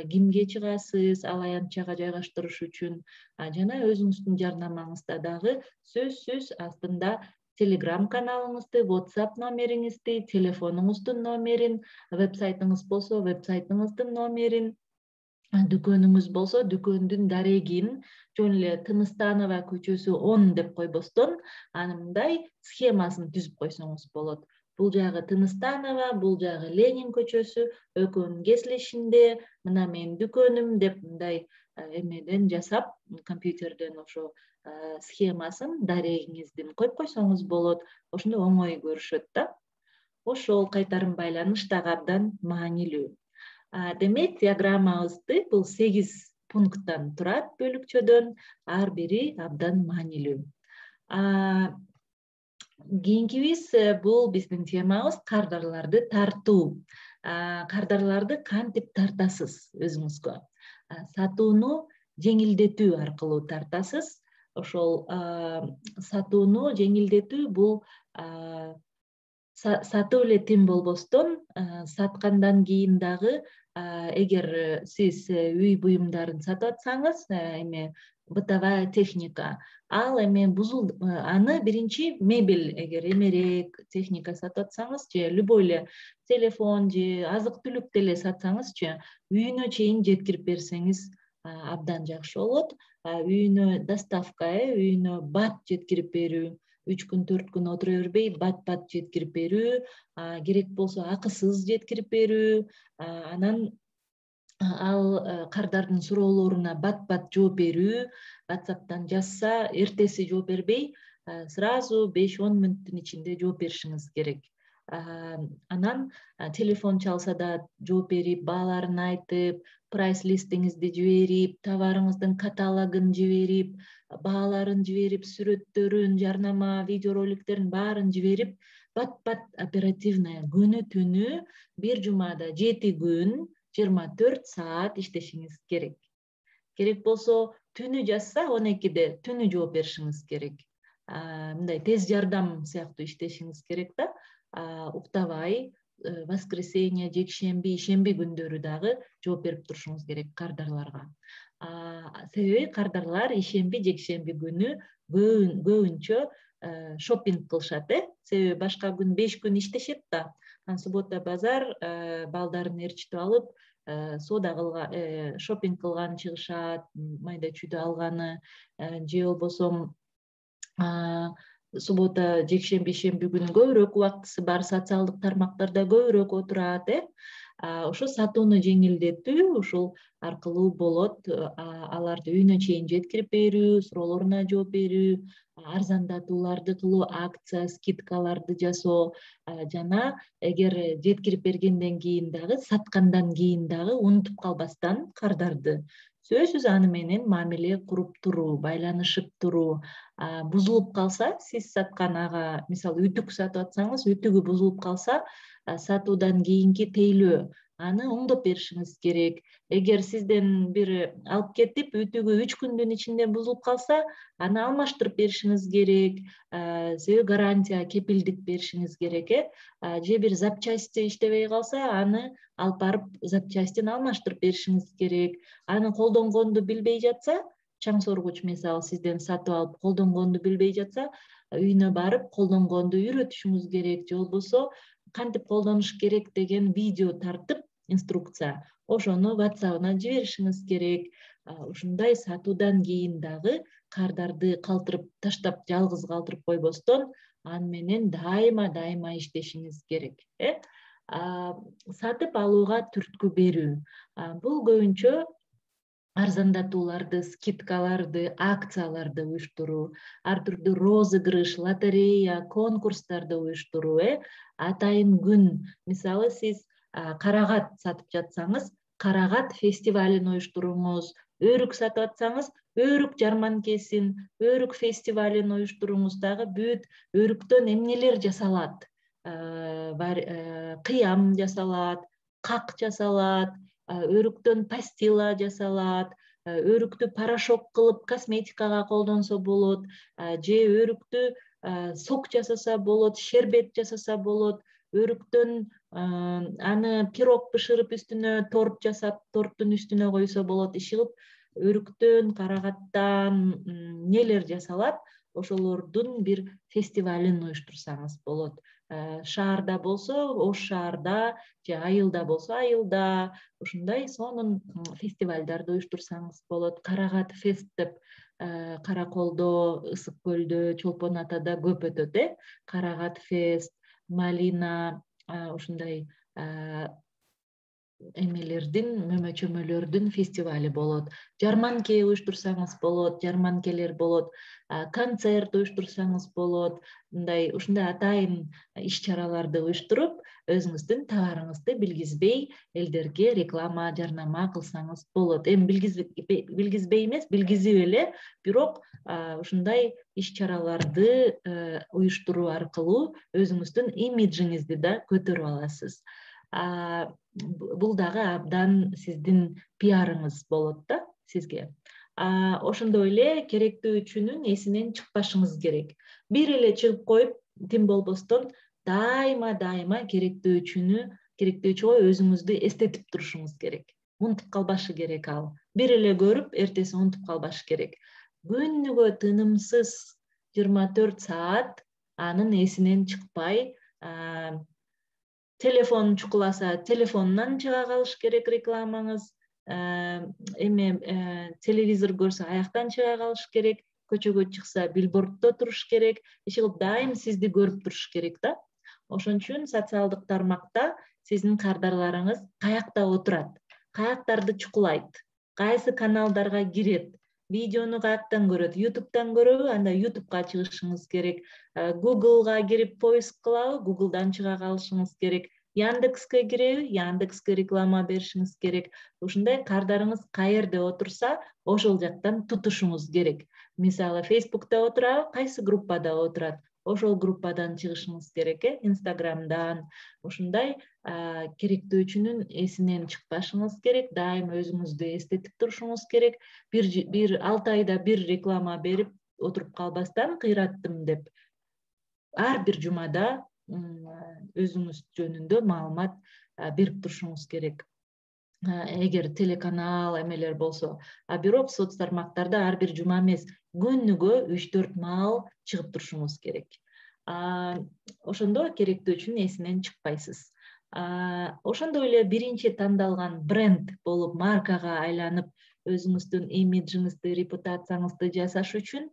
кимге чыгасыз, ал аянтчага жайгаштырыш үчүн, жана өзүңүздүн жарнамаңызда дагы сөзсүз астында Telegram каналыңызды, WhatsApp номериңизди, телефонуңуздун номерин, вебсайтыңыз болсо, вебсайтыңыздын номерин, дүкөнүңүз болсо, дүкөндүн дарегин, жөн эле Тыныстанова көчөсү 10 деп койбостон, анымдай схемасын түзүп койсоңуз болот. Бул жагы Тыныстанова, бул жагы Ленин көчөсү, экөөнүн кесилишинде, мына менин дүкөнүм деп мындай эмеден жасап, компьютерден ошо схемасын дарегиңиздин коюп койсоңуз болот. Ошондо оңой көрүшөт да. Ошол кайтарым байланыш дагы абдан маанилүү. Демек, диаграммабызды бул 8 пункттан турат, бөлүкчөдөн, ар бири абдан маанилүү. Кийинкибиз бул биздин темабыз кардарларды тартуу. Кардарларды кантип тартасыз өзүңүзгө? Сатууну жеңилдетүү аркылуу тартасыз. Ошол сатууну жеңилдетүү бул сатып эле тим болбостон, саткандан кийин дагы, эгер сиз үй буюмдарын сатып атсаңыз, бытовая техника, ал аны биринчи мебель, эгер эмерек техника сатып атсаңыз, же любой эле телефон же азык-түлүк деле сатсаңызчы, үйүнө чейин жеткирип берсеңиз абдан жакшы болот. Үйүнө доставка, үйүнө бат жеткирип берүү, 3 күн 4 күн отура бербей бат жеткирип берүү, керек болсо акысыз жеткирип берүү, анан ал кардардын суроолоруна бат жооп берүү, WhatsApp'тан жазса, эртеси жооп бербей, сразу 5-10 мүнөттүн ичинде жооп беришиңиз керек. Анан телефон чалса да жооп берип, бааларын айтып, прайс листиңизди жиберип, товарыңыздын каталогун жиберип, бааларын жиберип, сүрөттөрүн, жарнама, видеороликтерин баарын жиберип, бат оперативно күнү түнү бир жумада 7 күн 24 саат иштешиңиз керек. Керек болсо түнү жазса 12-де түнү жооп беришиңиз керек. Мындай тез жардам сыяктуу иштешиңиз керек да. Уктабай, воскресенье, жекшемби, ишемби күндөрү дагы жооп берип турушуңуз керек кардарларга. Себеби кардарлар ишемби, жекшемби күнү көбүнчө шопинг кылышат, себеби башка күн 5 күн иштешет да. Суббота базар балдарын ээрчитип алып, соода кылган, шопинг кылганы чыгышат, майда чүйдө алганы, же болбосо суббота, жекшемби, ишемби күнү көбүрөөк убактысы бар, социалдык тармактарда көбүрөөк отурат, ошо сатууну жеңилдетүү ушул аркылуу болот. Аларды үйүнө чейин жеткирип берүү, суроолоруна жооп берүү, арзандатууларды кылуу, акция, скидкаларды жасоо, жана эгер жеткирип бергенден кийин дагы, саткандан кийин дагы унутуп калбастан кардарды сөзсүз аны менен мамиле куруп туруу, байланышып туруу. Бузулуп калса, сиз саткан ага, мисалы үтүк сатып атсаңыз, үтүгү бузулуп калса, сатуудан кийинки тейлөө, аны оңдоп беришиңиз керек. Эгер сизден бир алып кетип, үтүгү 3 күндүн ичинде бузулуп калса, аны алмаштырып беришиңиз керек. Себеби гарантия, кепилдик беришиңиз керек, же бир запчасти иштебей калса, аны алып барып запчастин алмаштырып беришиңиз керек. Аны колдонгонду билбей жатса, чаң соргуч мисалы сизден сатып алып колдонгонду билбей жатса, үйүнө барып колдонгонду үйрөтүшүңүз керек, же болбосо кантип колдонуш керек деген видео тартып, инструкция, ошону WhatsApp'ына жиберишиңиз керек. Ушундай сатуудан кийин дагы кардарды калтырып таштап, жалгыз калтырып койбостон, аны менен дайыма иштешиңиз керек. Сатып алууга түрткү берүү. Бул көбүнчө арзандатууларды, скидкаларды, акцияларды уюштуруу, ар түрдүү розыгрыш, лотерея, конкурстарды уюштуруу, атайын күн. Мисалы сиз карагат сатып жатсаңыз, карагат фестивалин уюштуруңуз, өрүк сатып атсаңыз, өрүк жарманкесин, өрүк фестивалин уюштуруңуз. Дагы бүт өрүктөн эмнелер жасалат? Кыям жасалат, как жасалат, өрүктөн пастила жасалат, өрүктү порошок кылып косметикага колдонсо болот, же өрүктү сок жасаса болот, шербет жасаса болот, өрүктөн аны пирог бышырып үстүнө торт жасап, торттун үстүнө койсо болот. Иши кылып, өрүктөн, карагаттан нелер жасалат, ошолордун бир фестивалин уюштурсаңыз болот. Шаарда болсо, ош шаарда, же айылда болсо, айылда, ушундай сонун фестивалдарды уюштурсаңыз болот. Карагат фест деп Караколдо, Ысык көлдө, Чолпон Атада көп өтөт, Карагат фест, малина, ушундай эмелердин, мөмө-чөмөлөрдүн фестивали болот. Жарманке уюштурсаңыз болот, жарманкелер болот. Концерт уюштурсаңыз болот. Ушундай атайын иш-чараларды уюштуруп, өзүңүздүн товарыңызды билгизбей элдерге реклама, жарнама кылсаңыз болот. Эми билгизбей эмес, билгизип эле, бирок ушундай иш-чараларды уюштуруу аркылуу өзүңүздүн имиджиңизди да көтөрүп аласыз. Бул дагы абдан сиздин пиарыңыз болот да сизге. Ошондой эле керектүү үчүнүн эсинен чыкпашыңыз керек. Бир эле чыгып коюп, тим болбостон дайыма керектүү үчүгө өзүңүздү эстетип турушуңуз керек. Унутуп калбашы керек ал. Бир эле көрүп, эртеси унутуп калбашы керек. Күнүгө тынымсыз 24 саат анын эсинен чыкпай, телефон чукуласа, телефонунан чыга калыш керек рекламаңыз. Телевизор көрсө, аяктан чыга калыш керек. Көчөгө чыкса, билборддо туруш керек. Иши кылып дайым сизди көрүп туруш керек да. Ошон үчүн социалдык тармакта сиздин кардарларыңыз каякта отурат, каяктарды чукулайт, кайсы каналдарга кирет, видеону каяктан көрөт, YouTube'дан көрөбү, анда YouTube'га чыгышыңыз керек. Google'га кирип поиск кылабы, Google'дан чыга калышыңыз керек. Яндекске киреби, Яндекске реклама беришиңиз керек. Ушундай кардарыңыз каерде отурса, ошол жактан тутушуңуз керек. Мисалы, Facebook'та отурабы, кайсы группада отурат, ошол группадан чыгышыңыз керек, Instagram'дан. Ушундай керектөөчүнүн эсинен чыкпашыңыз керек, дайым өзүңүздү эстетип турушуңуз керек. Бир 6 айда бир реклама берип отуруп калбастан, кыйраттым деп, ар бир жумада өзүңүз жөнүндө маалымат берип турушуңуз керек. Эгер телеканал эмелер болсо, бирок соц тармактарда ар бир жума эмес, күнүгө 3-4 маал чыгып турушуңуз керек. Ошондо керектөөчүнүн эсинен чыкпайсыз. Ошондой эле биринчи тандалган бренд болуп маркага айланып, өзүңүздүн имиджиңизди, репутацияңызды жасаш үчүн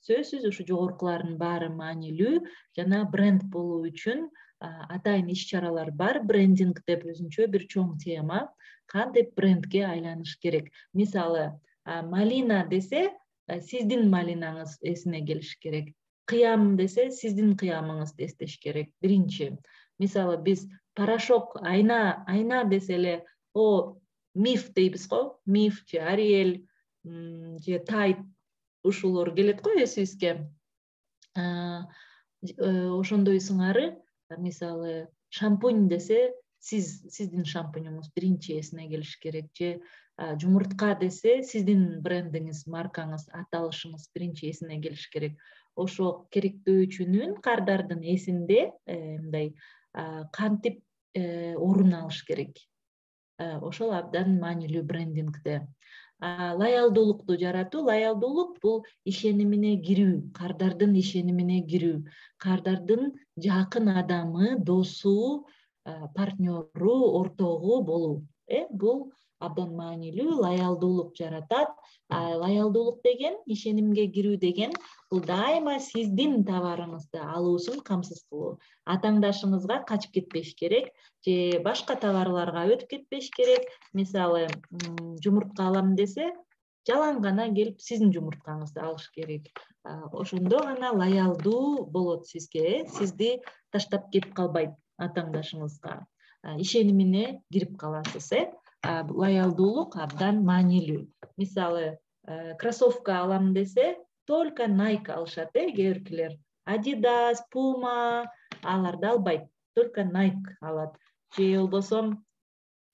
сөзсүз ушу жогорукулардын баары маанилүү. Жана бренд болуу үчүн атайын иш-чаралар бар. Брендинг деп өзүнчө бир чоң тема. Кантип брендке айланыш керек? Мисалы, малина десе, сиздин малинаңыз эсине келиш керек. Кыям десе, сиздин кыямыңызды эстеш керек. Биринчи. Мисалы, биз порошок, айна десе эле, Миф дейбиз го, Миф же Ариэль же Тайд ушулор келет го эсибизге. Ошондой сыңары, мисалы, шампунь десе, сиздин шампуньуңуз биринчи эсине келиш керек. Же жумуртка десе, сиздин брендиңиз, маркаңыз, аталышыңыз биринчи эсине келиш керек. Ошо керектөөчүнүн кардардын эсинде мындай кантип орун алыш керек. Ошол абдан маанилүү брендингде. Лоялдуулукту жаратуу. Лоялдуулук бул ишенимине кирүү, кардардын ишенимине кирүү, кардардын жакын адамы, досу, партнеру, ортогу болуу. Бул абдан маанилүү, лоялдуулук жаратат. Лоялдуулук деген, ишенимге кирүү деген, бул дайыма сиздин товарыңызды алуусун камсыз кылуу. Атаңдашыңызга качып кетпеш керек, же башка товарларга өтүп кетпеш керек. Мисалы, жумуртка алам десе, жалаң гана келип сиздин жумурткаңызды алыш керек. Ошондо гана лоялдуу болот сизге, сизди таштап кетип калбайт атаңдашыңызга. Ишенимине кирип каласыз, Лоялдуулук абдан маанилүү. Мисалы, кроссовка алам десе, только Nike алышат, кээ биркилер. Adidas, Puma аларды албайт, только Nike алат. Же болбосо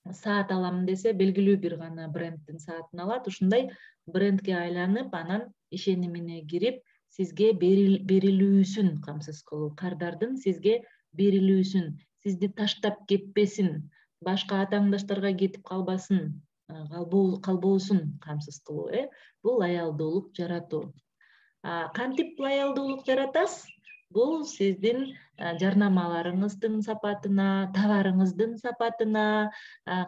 саат алам десе, белгилүү бир гана бренддин саатын алат. Ушундай брендке айланып, анан ишенимине кирип, сизге берилүүсүн камсыз кылуу, кардардын сизге берилүүсүн, сизди таштап кетпесин, башка атаңдаштарга кетип калбасын, калбоосун камсыз кылуу. Бул лоялдуулук жаратуу. Кантип лоялдуулук жаратасыз? Бул сиздин жарнамаларыңыздын сапатына, товарыңыздын сапатына,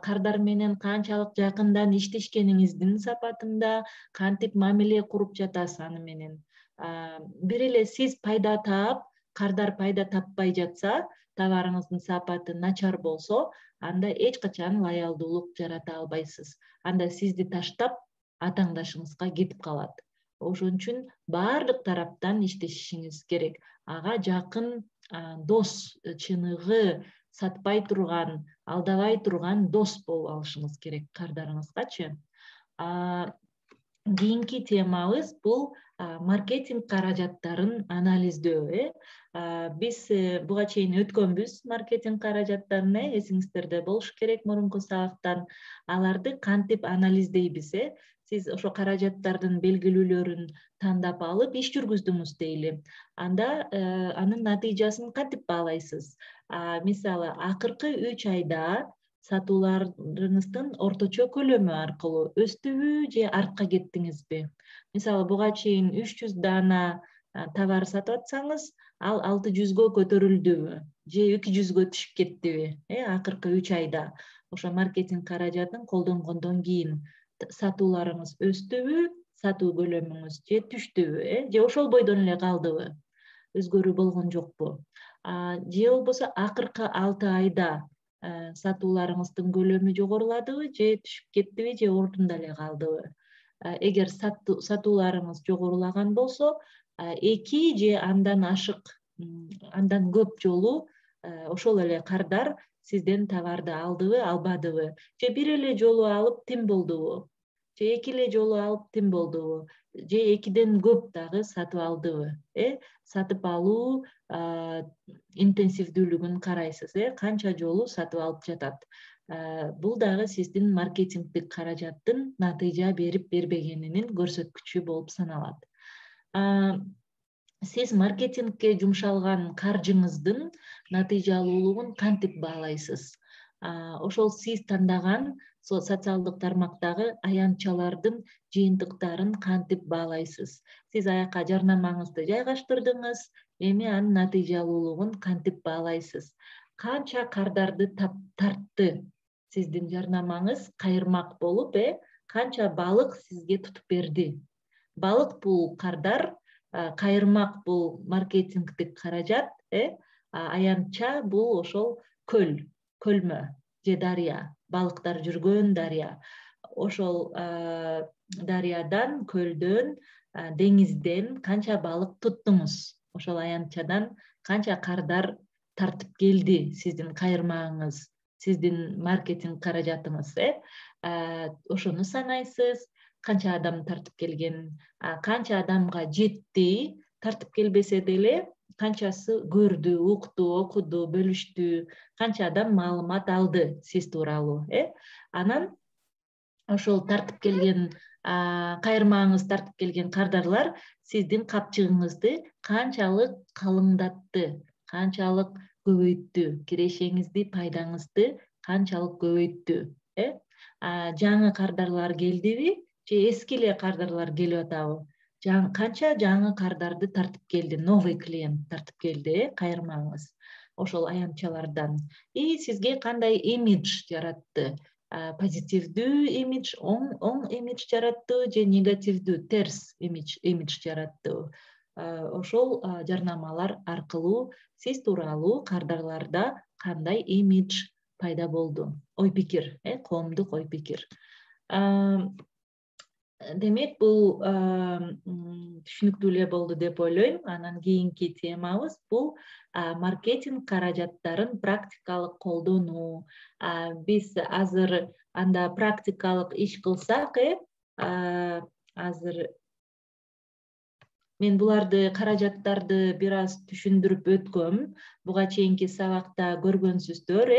кардар менен канчалык жакындан иштешкениңиздин сапатында, кантип мамиле куруп жатасыз аны менен. Бир эле сиз пайда таап, кардар пайда таппай жатса, товарыңыздын сапаты начар болсо, анда эч качан лоялдуулук жарата албайсыз. Анда сизди таштап, атаңдашыңызга кетип калат. Ошон үчүн баардык тараптан иштешиңиз керек. Ага жакын дос, чыныгы, сатпай турган, алдабай турган дос болуп алышыңыз керек кардарыңызгачы. Кийинки темабыз бул маркетинг каражаттарын анализдөө. Биз буга чейин өткөнбүз маркетинг каражаттарын, эсиңиздерде болуш керек мурунку сабактан. Аларды кантип анализдейбиз? Сиз ошо каражаттардын белгилүүлөрүн тандап алып иш жүргүздүңүз дейли. Анда анын натыйжасын кантип баалайсыз? Мисалы, акыркы 3 айда сатууларыңыздын орточо көлөмү аркылуу өстүбү же артка кеттиңизби? Мисалы, буга чейин 300 дана товар сатып атсаңыз, ал 600гө көтөрүлдүбү же 200гө түшүп кеттиби? Акыркы 3 айда ошо маркетинг каражатын колдонгондон кийин сатууларыңыз өстүбү, сатуу көлөмүңүз же түштүбү, же ошол бойдон эле калдыбы? Өзгөрүү болгон жокпу? Же болбосо акыркы 6 айда сатууларыңыздын көлөмү жогоруладыбы же түшүп кеттиби же ордунда эле калдыбы. Эгер сатууларыңыз жогорулаган болсо, 2 же андан ашык, андан көп жолу ошол эле кардар сизден товарды алдыбы, албадыбы, же бир эле жолу алып тим болдубу, же 2 эле жолу алып тим болдубу, же 2ден көп дагы сатып алдыбы. Сатып алуу интенсивдүүлүгүн карайсыз, канча жолу сатып алып жатат. Бул дагы сиздин маркетингдик каражаттын натыйжа берип бербегенинин көрсөткүчү болуп саналат. Сиз маркетингке жумшалган каржыңыздын натыйжалуулугун кантип баалайсыз? Ошол сиз тандаган социалдык тармактагы аянтчалардын жыйынтыктарын кантип баалайсыз? Сиз аяка жарнамаңызды жайгаштырдыңыз, эми анын натыйжалуулугун кантип баалайсыз? Канча кардарды тартты сиздин жарнамаңыз кайырмак болуп, канча балык сизге тутуп берди? Балык бул кардар, кайырмак бул маркетингдик каражат, аянтча бул ошол көлмө же дарыя, балыктар жүргөн дарыя. Ошол дарыядан, көлдөн, деңизден канча балык туттуңуз? Ошол аянтчадан канча кардар тартып келди сиздин кайырмагыңыз, сиздин маркетинг каражатыңыз? Ошону санайсыз. Канча адам тартып келген, канча адамга жетти, тартып келбесе деле канчасы көрдү, укту, окуду, бөлүштү, канча адам маалымат алды сиз тууралуу. Анан ошол тартып келген, кайырмагыңыз тартып келген кардарлар сиздин капчыгыңызды канчалык калыңдатты, канчалык көбөйттү, кирешеңизди, пайдаңызды канчалык көбөйттү? Жаңы кардарлар келдиби же эски эле кардарлар келип атабы? Канча жаңы кардарды тартып келди, новый клиент тартып келди, кайырмаңыз ошол аянтчалардан. Сизге кандай имидж жаратты? Позитивдүү имидж, оң имидж жараттыбы же негативдүү, терс имидж жараттыбы? Ошол жарнамалар аркылуу сиз тууралуу кардарларда кандай имидж пайда болду? Ой пикир, коомдук ой пикир. Демек, бул түшүнүктүү эле болду деп ойлойм. Анан кийинки темабыз бул маркетинг каражаттарын практикалык колдонуу. Биз азыр анда практикалык иш кылсак, азыр мен буларды каражаттарды бир аз түшүндүрүп өткөм. Буга чейинки сабакта көргөнсүздөр,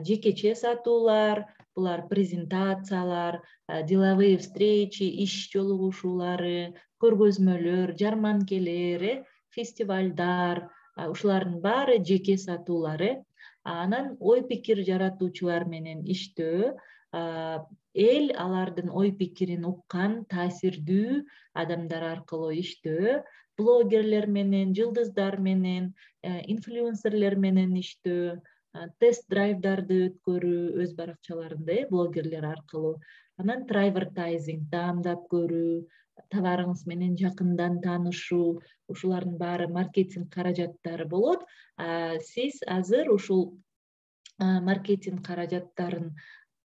жекече сатуулар, булар презентациялар, деловые встречи, иш жолугушуулары, көргөзмөлөр, жарманкелер, фестивалдар, ушулардын баары жеке сатуулар. Анан ой пикир жаратуучулар менен иштөө, эл алардын ой пикирин уккан таасирдүү адамдар аркылуу иштөө, блогерлер менен, жылдыздар менен, инфлюенсерлер менен иштөө, тест драйвдарды өткөрүү өз баракчаларында, блогерлер аркылуу. Анан трайвертайзинг, даамдап көрүү, товарыңыз менен жакындан таанышуу, ушулардын баары маркетинг каражаттары болот. Сиз азыр ушул маркетинг каражаттарын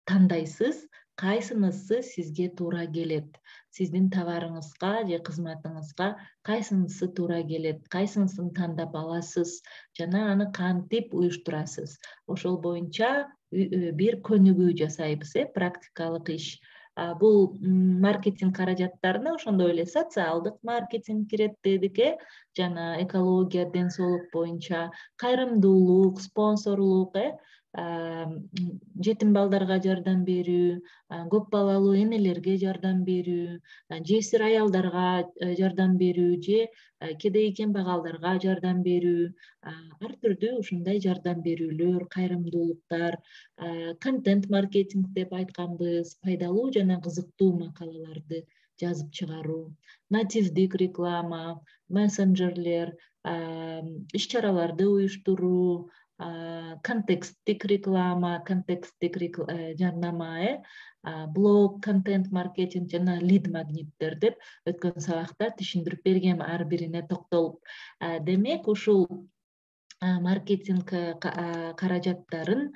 тандайсыз, кайсынысы сизге туура келет? Сиздин товарыңызга же кызматыңызга кайсынысы туура келет? Кайсынысын тандап аласыз жана аны кантип уюштурасыз? Ошол боюнча бир көнүгүү жасайбыз, практикалык иш. Бул маркетинг каражаттарына ошондой эле социалдык маркетинг кирет дедик, жана экология, ден соолук боюнча кайрымдуулук, спонсорлук, жетим балдарга жардам берүү, көп балалуу энелерге жардам берүү, жесир аялдарга жардам берүү же кедей кембагалдарга жардам берүү, ар түрдүү ушундай жардам берүүлөр, кайрымдуулуктар, контент маркетинг деп айтканбыз, пайдалуу жана кызыктуу макалаларды жазып чыгаруу, нативдик реклама, мессенджерлер, иш-чараларды уюштуруу, контексттик реклама, контексттик жарнама, блог, контент маркетинг жана лид магниттер деп өткөн сабакта түшүндүрүп бергем ар бирине токтолуп. Демек, ушул маркетинг каражаттарын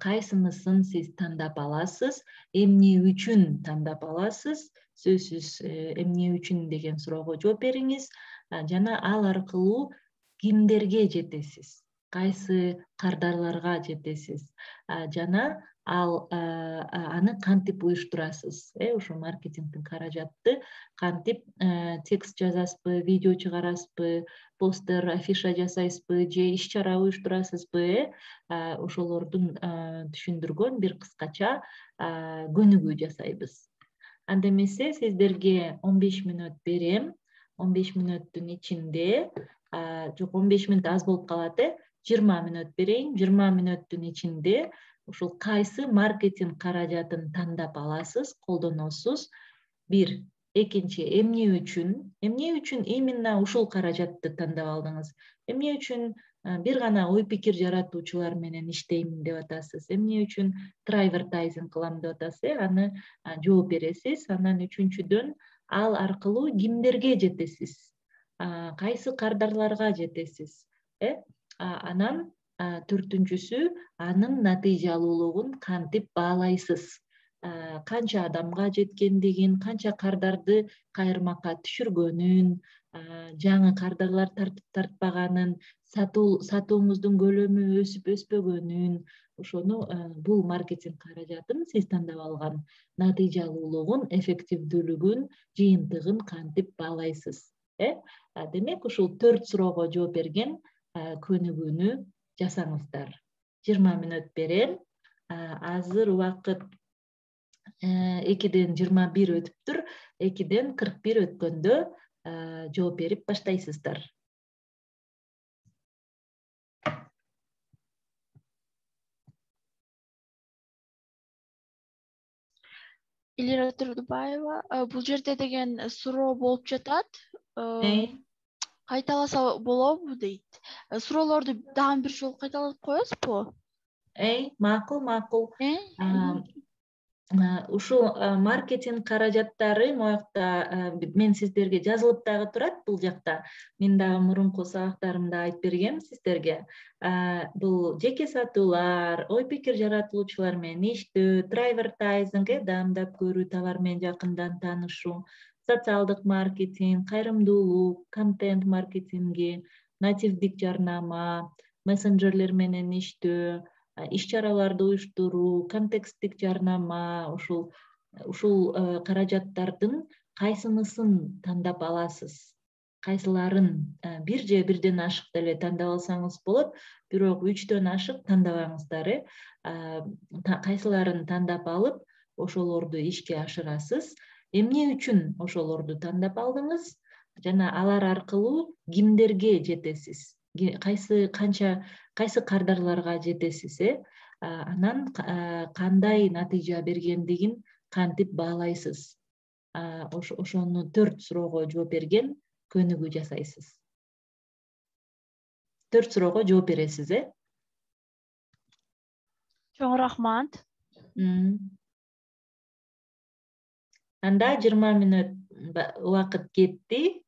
кайсынысын сиз тандап аласыз, эмне үчүн тандап аласыз? Сөзсүз эмне үчүн деген суроого жооп бериңиз. Жана ал аркылуу кимдерге жетесиз? Кайсы кардарларга жетесиз? Жана ал аны кантип уюштурасыз? Ошо маркетингдин каражатты кантип текст жазасызбы, видео чыгарасызбы, постер, афиша жасайсызбы же иш чара уюштурасызбы? Ошолордун түшүндүргөн бир кыскача көнүгүү жасайбыз. Анда эмесе сиздерге 15 мүнөт берем. 15 мүнөттүн ичинде, жок 15 мүнөт аз болуп калат, 20 мүнөт берейин. 20 мүнөттүн ичинде ушул кайсы маркетинг каражатын тандап аласыз, колдоносуз? Бир. Экинчи, эмне үчүн именно ушул каражатты тандап алдыңыз? Эмне үчүн бир гана ой пикир жаратуучулар менен иштейм деп атасыз? Эмне үчүн трайвертайзинг кылам деп атасыз? Аны жооп бересиз. Анан үчүнчүдөн ал аркылуу кимдерге жетесиз? Кайсы кардарларга жетесиз? Анан төртүнчүсү, анын натыйжалуулугун кантип баалайсыз? Канча адамга жеткендигин, канча кардарды кайырмакка түшүргөнүн, жаңы кардарлар тартпаганын, сатууңуздун көлөмү өсүп өспөгөнүн, ошону бул маркетинг каражатын сиз тандап алган натыйжалуулугун, эффективдүүлүгүн, жыйынтыгын кантип баалайсыз? Демек ушул 4 суроого жооп берген көнүгүүнү жасаңыздар. 20 мүнөт берем. Азыр убакыт 2ден 21 өтүптүр. 2ден 41 өткөндө жооп берип баштайсыздар. Элира Турдубаева, бул жерде деген суроо болуп жатат. Кайталаса болобу дейт. Суроолорду дагы бир жолу кайталап коесузбу? Макул. Ушул маркетинг каражаттары моякта мен сиздерге жазылып дагы турат бул жакта. Мен дагы мурунку сабактарымда айтып бергем сиздерге. Бул жеке сатуулар, ой пикир жаратуучулар менен иштөө, трайвертайзинг, даамдап көрүү, товар менен жакындан таанышуу, социалдык маркетинг, кайрымдуулук, контент маркетинги, нативдик жарнама, мессенджерлер менен иштөө, иш чараларды уюштуруу, контексттик жарнама, ушул каражаттардын кайсынысын тандап аласыз? Кайсыларын бир же бирден ашык деле тандап алсаңыз болот, бирок 3дөн ашык тандабаңыздар. Кайсыларын тандап алып, ошолорду ишке ашырасыз? Эмне үчүн ошолорду тандап алдыңыз? Жана алар аркылуу кимдерге жетесиз? Кайсы кардарларга жетесиз? Анан кандай натыйжа бергендигин кантип баалайсыз? Ошону 4 суроого жооп берген көнүгүү жасайсыз. 4 суроого жооп бересиз, Чоң рахмат. Анда 20 мүнөт убакыт кетти.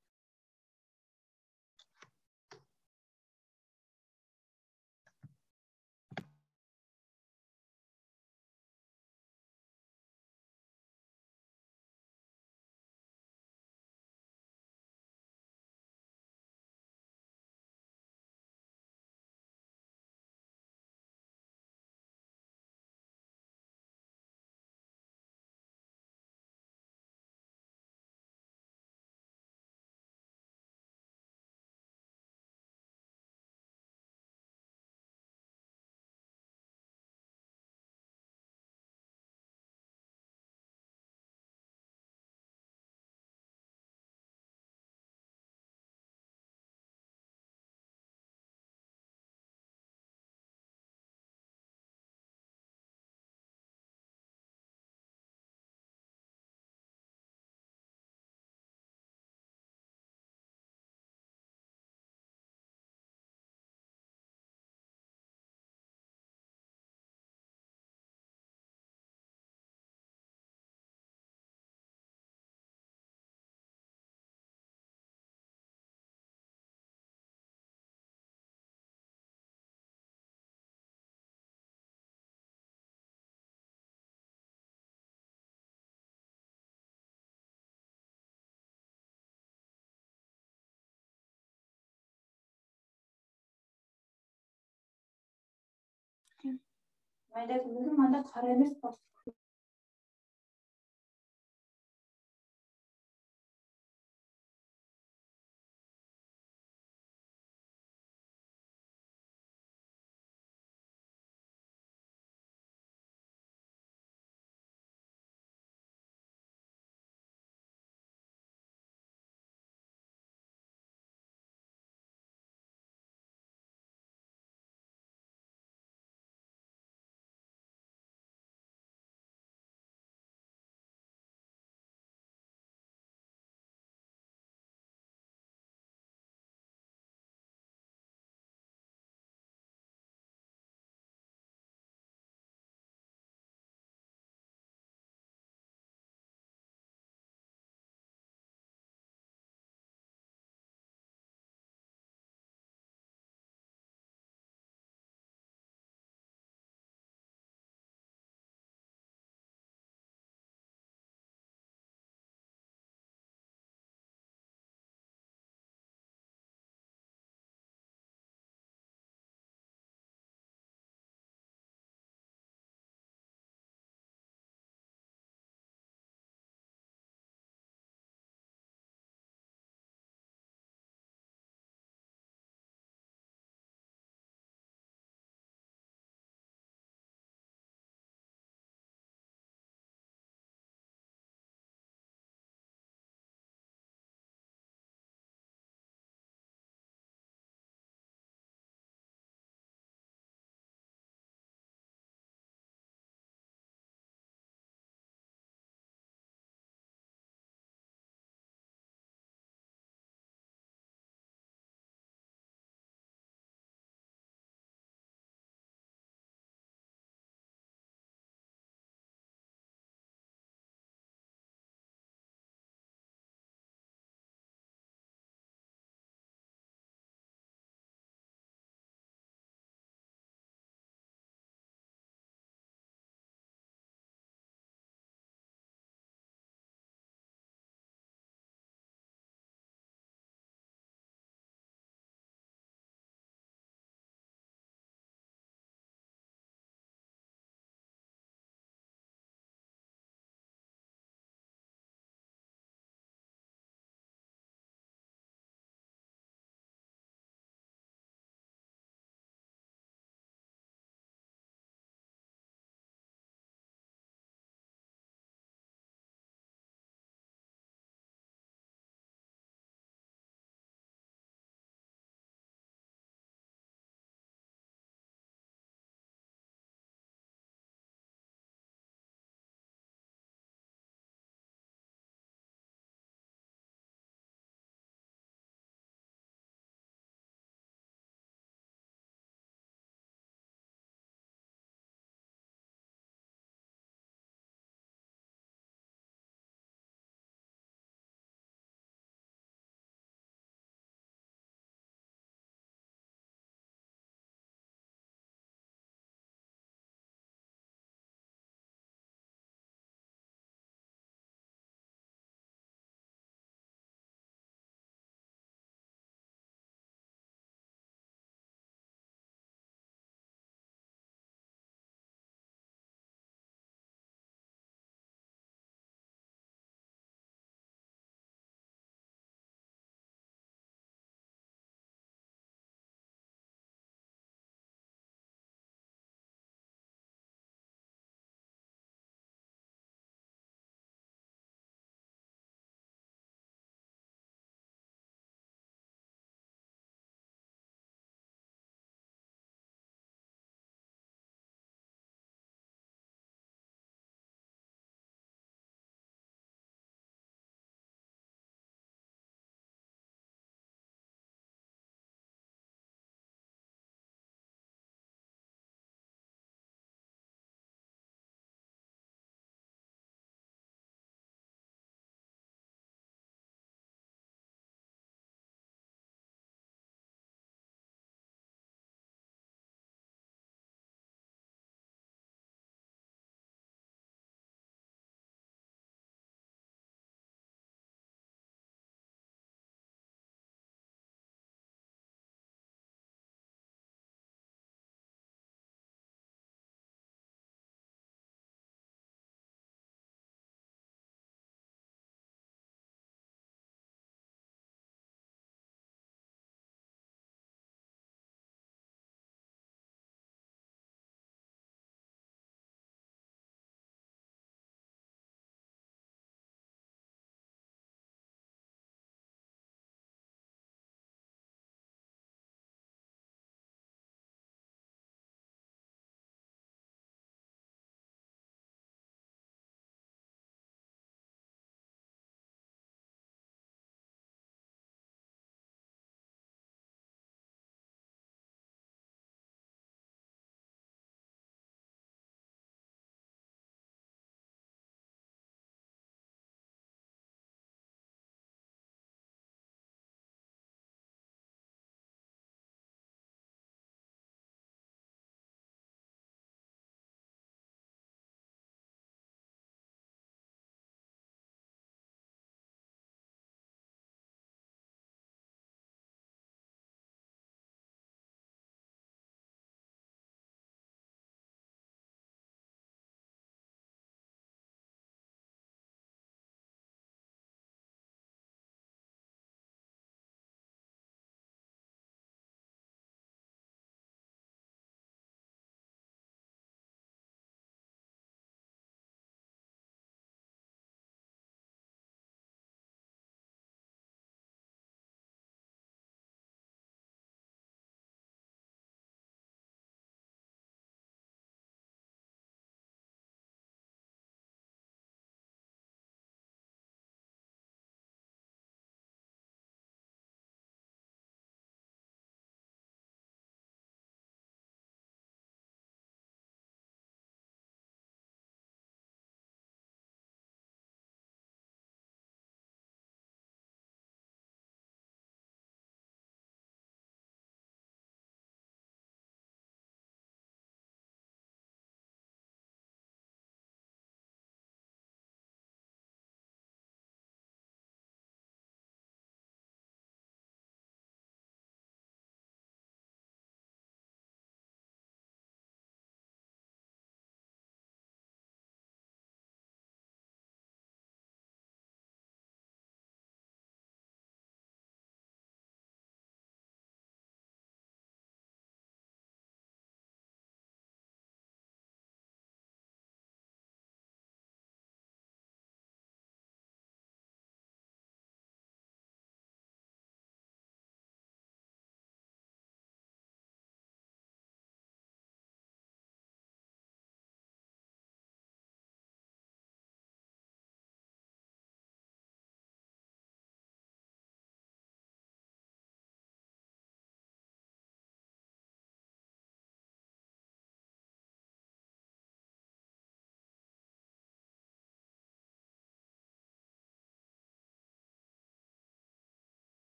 Майда түбөгү мында кара эмес.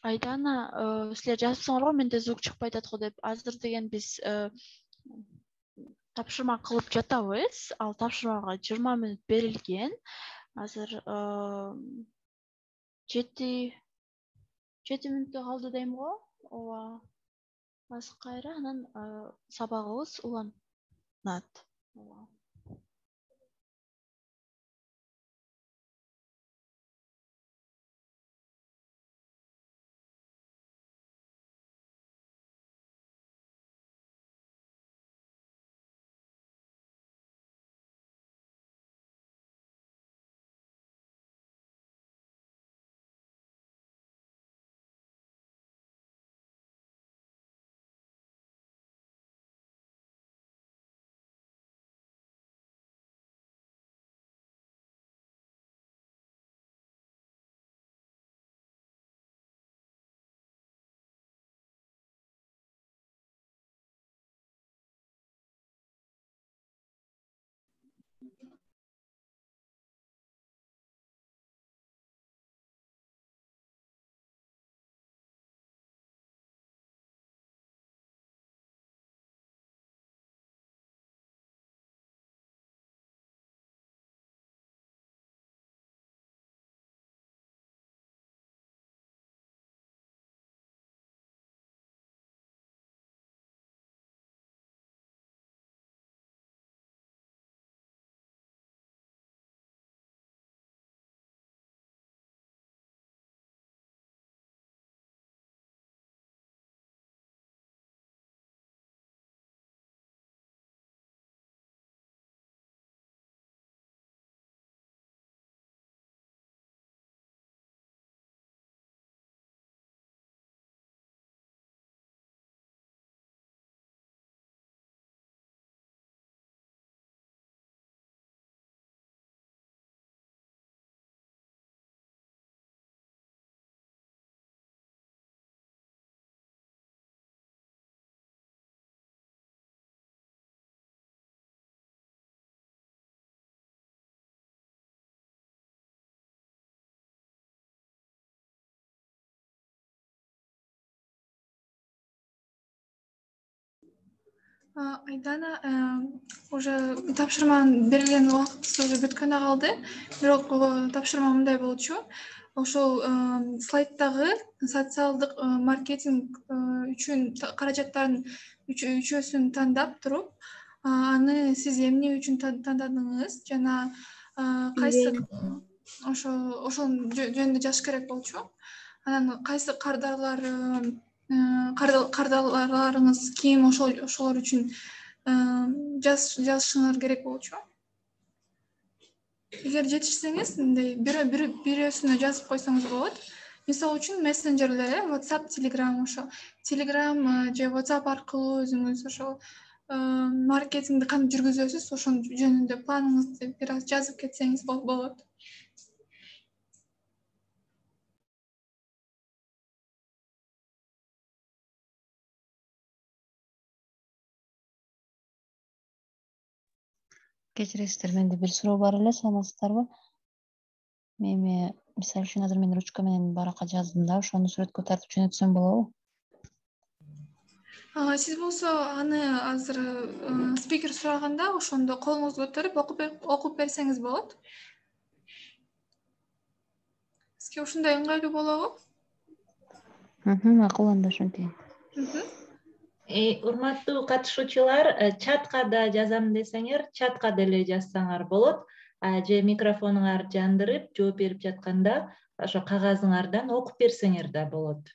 Айдана, силер жазыпсыңар го, менде звук чыкпай атат го деп. Азыр деген биз тапшырма кылып жатабыз. Ал тапшырмага 20 мүнөт берилген. Азыр 7 мүнөттө калды дейм го. Ооба. Азыр кайра анан сабагыбыз уланат. Ооба. Айдана уже тапшырманын берилген убактысы уже бүткөнү калды. Бирок тапшырма мындай болчу. Ошол слайддагы социалдык маркетинг үчүн каражаттардын үчөөсүн тандап туруп, аны сиз эмне үчүн тандадыңыз жана кайсы ошол жөнүндө жазыш керек болчу. Анан кайсы кардарларыңыз ким, ошолор үчүн жазышыңар керек болчу. Эгер жетишсеңиз, мындай бирөөсүнө жазып койсоңуз болот. Мисалы үчүн мессенджерлер, WhatsApp, Telegram, ошо Telegram же WhatsApp аркылуу өзүңүз ошо маркетингди кантип жүргүзөсүз, ошонун жөнүндө планыңызды бир аз жазып кетсеңиз болот. Кечиресиздер, менде бир суроо бар эле, саламатсыздарбы? Эми мисалы үчүн азыр мен ручка менен баракка жаздым да, ошону сүрөткө тартып жөнөтсөм болобу? Сиз болсо аны азыр спикер сураганда ошондо колуңузду көтөрүп окуп берсеңиз болот. Сизге ушундай ыңгайлуу болобу? Макул, анда ошентейин. Урматтуу катышуучулар, чатка да жазам десеңер, чатка деле жазсаңар болот. Же микрофонуңар жандырып, жооп берип жатканда ошо кагазыңардан окуп берсеңер да болот.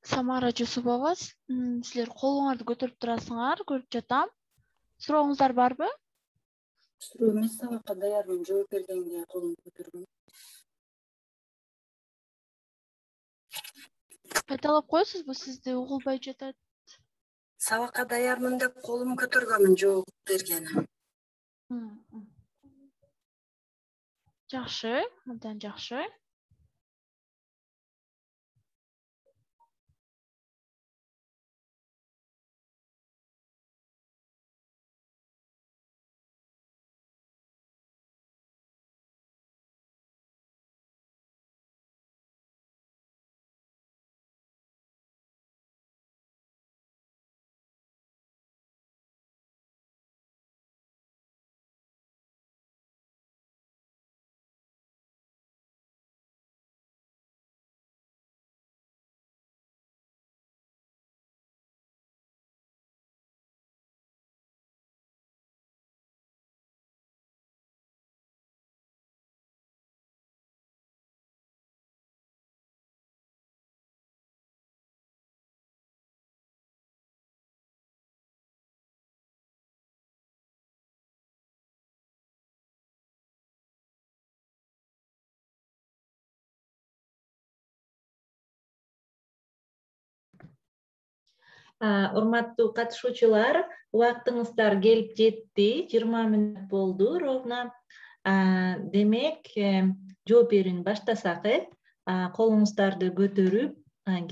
Самара Жусупова, силер колуңарды көтөрүп турасыңар, көрүп жатам. Сурооңуздар барбы? Суроо эмес, сабакка даярмын, жооп бергенге колумду көтөргөм. Кайталап коесузбу, сизди угулбай жатат. Сабакка даярмын деп колумду көтөргөмүн, жооп бергени. Жакшы, абдан жакшы. Урматтуу катышуучулар, убактыңыздар келип жетти. 20 мүнөт болду ровно. Демек, жооп берүүнү баштасак, колуңуздарды көтөрүп,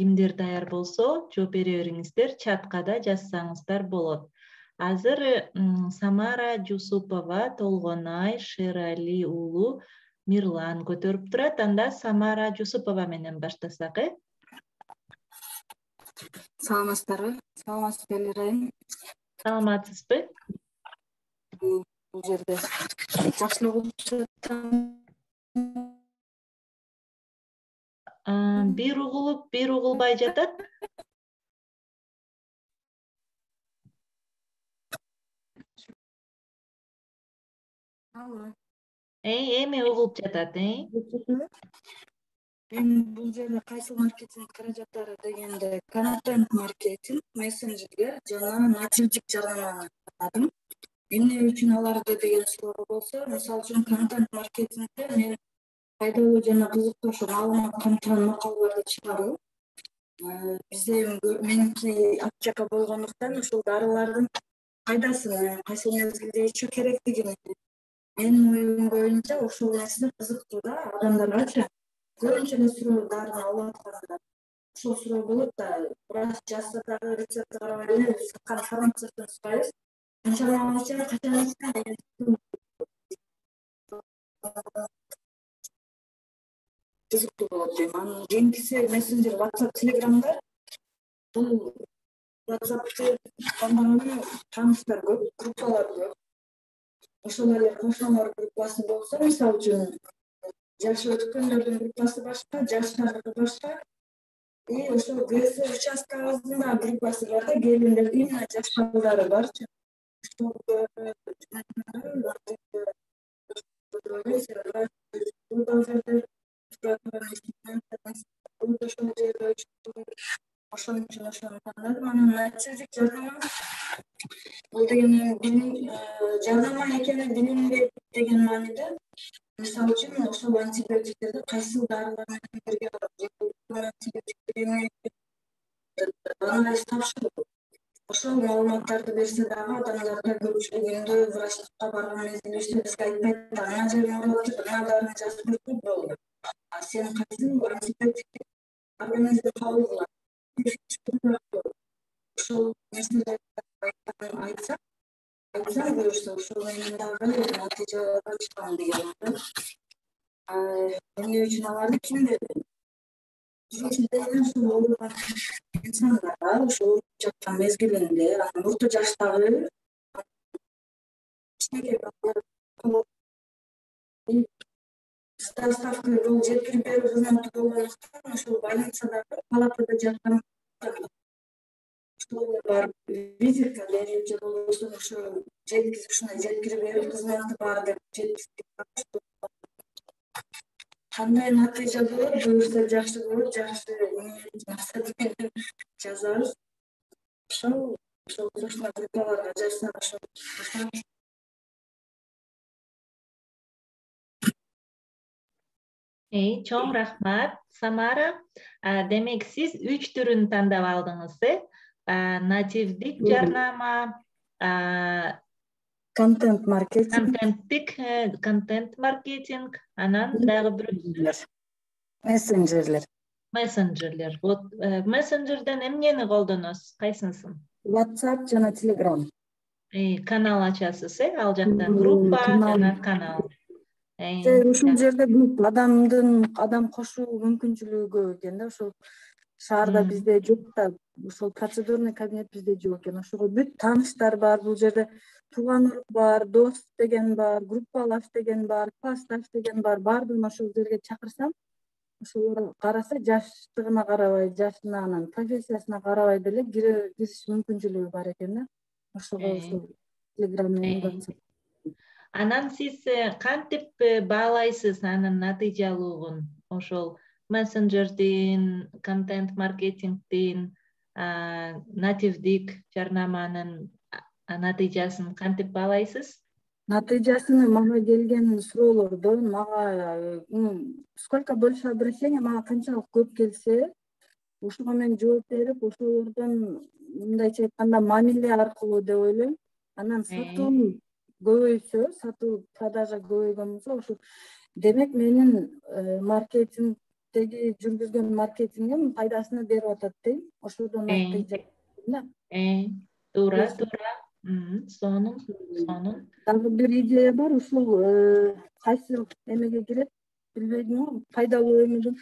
кимдер даяр болсо, жооп бере бериңиздер, чатка да жазсаңыздар болот. Азыр Самара Жусупова, Толгонай Шерали уулу Мирлан көтөрүп турат. Анда Самара Жусупова менен баштасак. Саламатсыздарбы? Саламатсыз беле Райым? Саламатсызбы? Бул жерде жакшы эле угулуп жатам. Бир угулуп, бир угулбай жатат. Эми угулуп жатат, Мен бул жерде кайсы маркетинг каражаттары дегенде контент маркетинг, мессенджерге жана нативдик жарнаманы атадым. Эмне үчүн аларды деген суроо болсо, мисалы үчүн контент маркетингде мен пайдалуу жана кызыктуу маалымат камтыган макалаларды чыгарып, бизде меники аптека болгондуктан ушул дарылардын пайдасын кайсы мезгилде ичүү керектигин менин оюм боюнча ушул нерсе кызыктуу да адамдаргачы. Көбүнчө эле суроо дарыны алып атканда ушул суроо болот да, врач жазса дагы рецептти карабай эле саткан фармацевттен сурайбыз. Канчалыгынча качан деген кызыктуу болот дейм. Анын кийинкиси мессенджер, WhatsApp, Telegram'да бул WhatsApp'ты колдонуну тааныштар көп, группалар көп. Ошол эле кошуналар группасы болсо, мисалы үчүн жашы өткөндөрдүн группасы башка, жаштардыкы башка. И ошол ГС участкабыздын да группасы бар да, келиндердин именно жаш балдары барчы. Ошон үчүн ошону тандадым. Анан нативдик жарнама бул деген жарнама экени билинбейт деген мааниде. Мисалы үчүн ошол антибиотиктерди кайсы дарылар менен бирге анализ тапшырып, ошол маалыматтарды берсе дагы адамдарда көпчүлүгүндө врачтыкка барган мезгилибизде бизге айтпайт, ана жерин оорутуп, мына дарыны жазып берип болду. Сен кайсың антибиотик организмди кабыл кылат. Ошол нерселерди айтсам буюрса, ошол менен дагы натыйжаларга чыгам деген. Эмне үчүн аларды ким берди? İnsanlar ошол жаткан мезгилинде, орто жаштагы ставка бул жеткирип берүү кызматы болгондуктан ошол больницадагы палатада жаткан бар визитка берип же болбосо ошо жеткирип берүү кызматы бар деп жеткирип кандай натыйжа болот, буюрса жакшы болот, жакшы максат менен жазабыз. Ошол ошондой группаларга жазсак ошол баштайбыз. Чоң рахмат, Самара. Демек сиз 3 түрүн тандап алдыңыз, нативдик жарнама, Контент маркетинг, контент маркетинг, анан дагы бирөөсү мессенджерлер. Вот мессенджерден эмнени колдоносуз? Кайсынысын? WhatsApp жана Telegram. Канал ачасыз, ал жактан группа жана канал. Ушул жерде адам кошуу мүмкүнчүлүгү көп экен да. Ошол шаарда бизде жок да, ошол процедурный кабинет бизде жок экен. Ошого бүт тааныштар бар. Бул жерде тууган урук бар, дос деген бар, группалаш деген бар, классташ деген бар. Баардыгын ошол жерге чакырсам, ошолор караса жаштыгына карабай, жашына, анан профессиясына карабай деле кириш мүмкүнчүлүгү бар экен да. Ошого ошол Telegram менен WhatsApp. Анан сиз кантип баалайсыз анын натыйжалуулугун? Ошол мессенджердин, контент маркетингдин, нативдик жарнаманын натыйжасын кантип баалайсыз? Натыйжасыны мага келген суроолордон сколько больше обращений, мага канчалык көп келсе, ошого мен жооп берип, ошолордон мындайча айтканда мамиле аркылуу деп ойлойм. Анан сатуу көбөйсө, сатуу продажа көбөйгөн болсо, ошо демек менин маркетингдеги жүргүзгөн маркетингим пайдасын берип атат дейм. Ошодон натыйжа. Туура. Сонун. Дагы бир идея бар, ушул кайсы эмеге кирет билбейм, пайдалуу эмеден.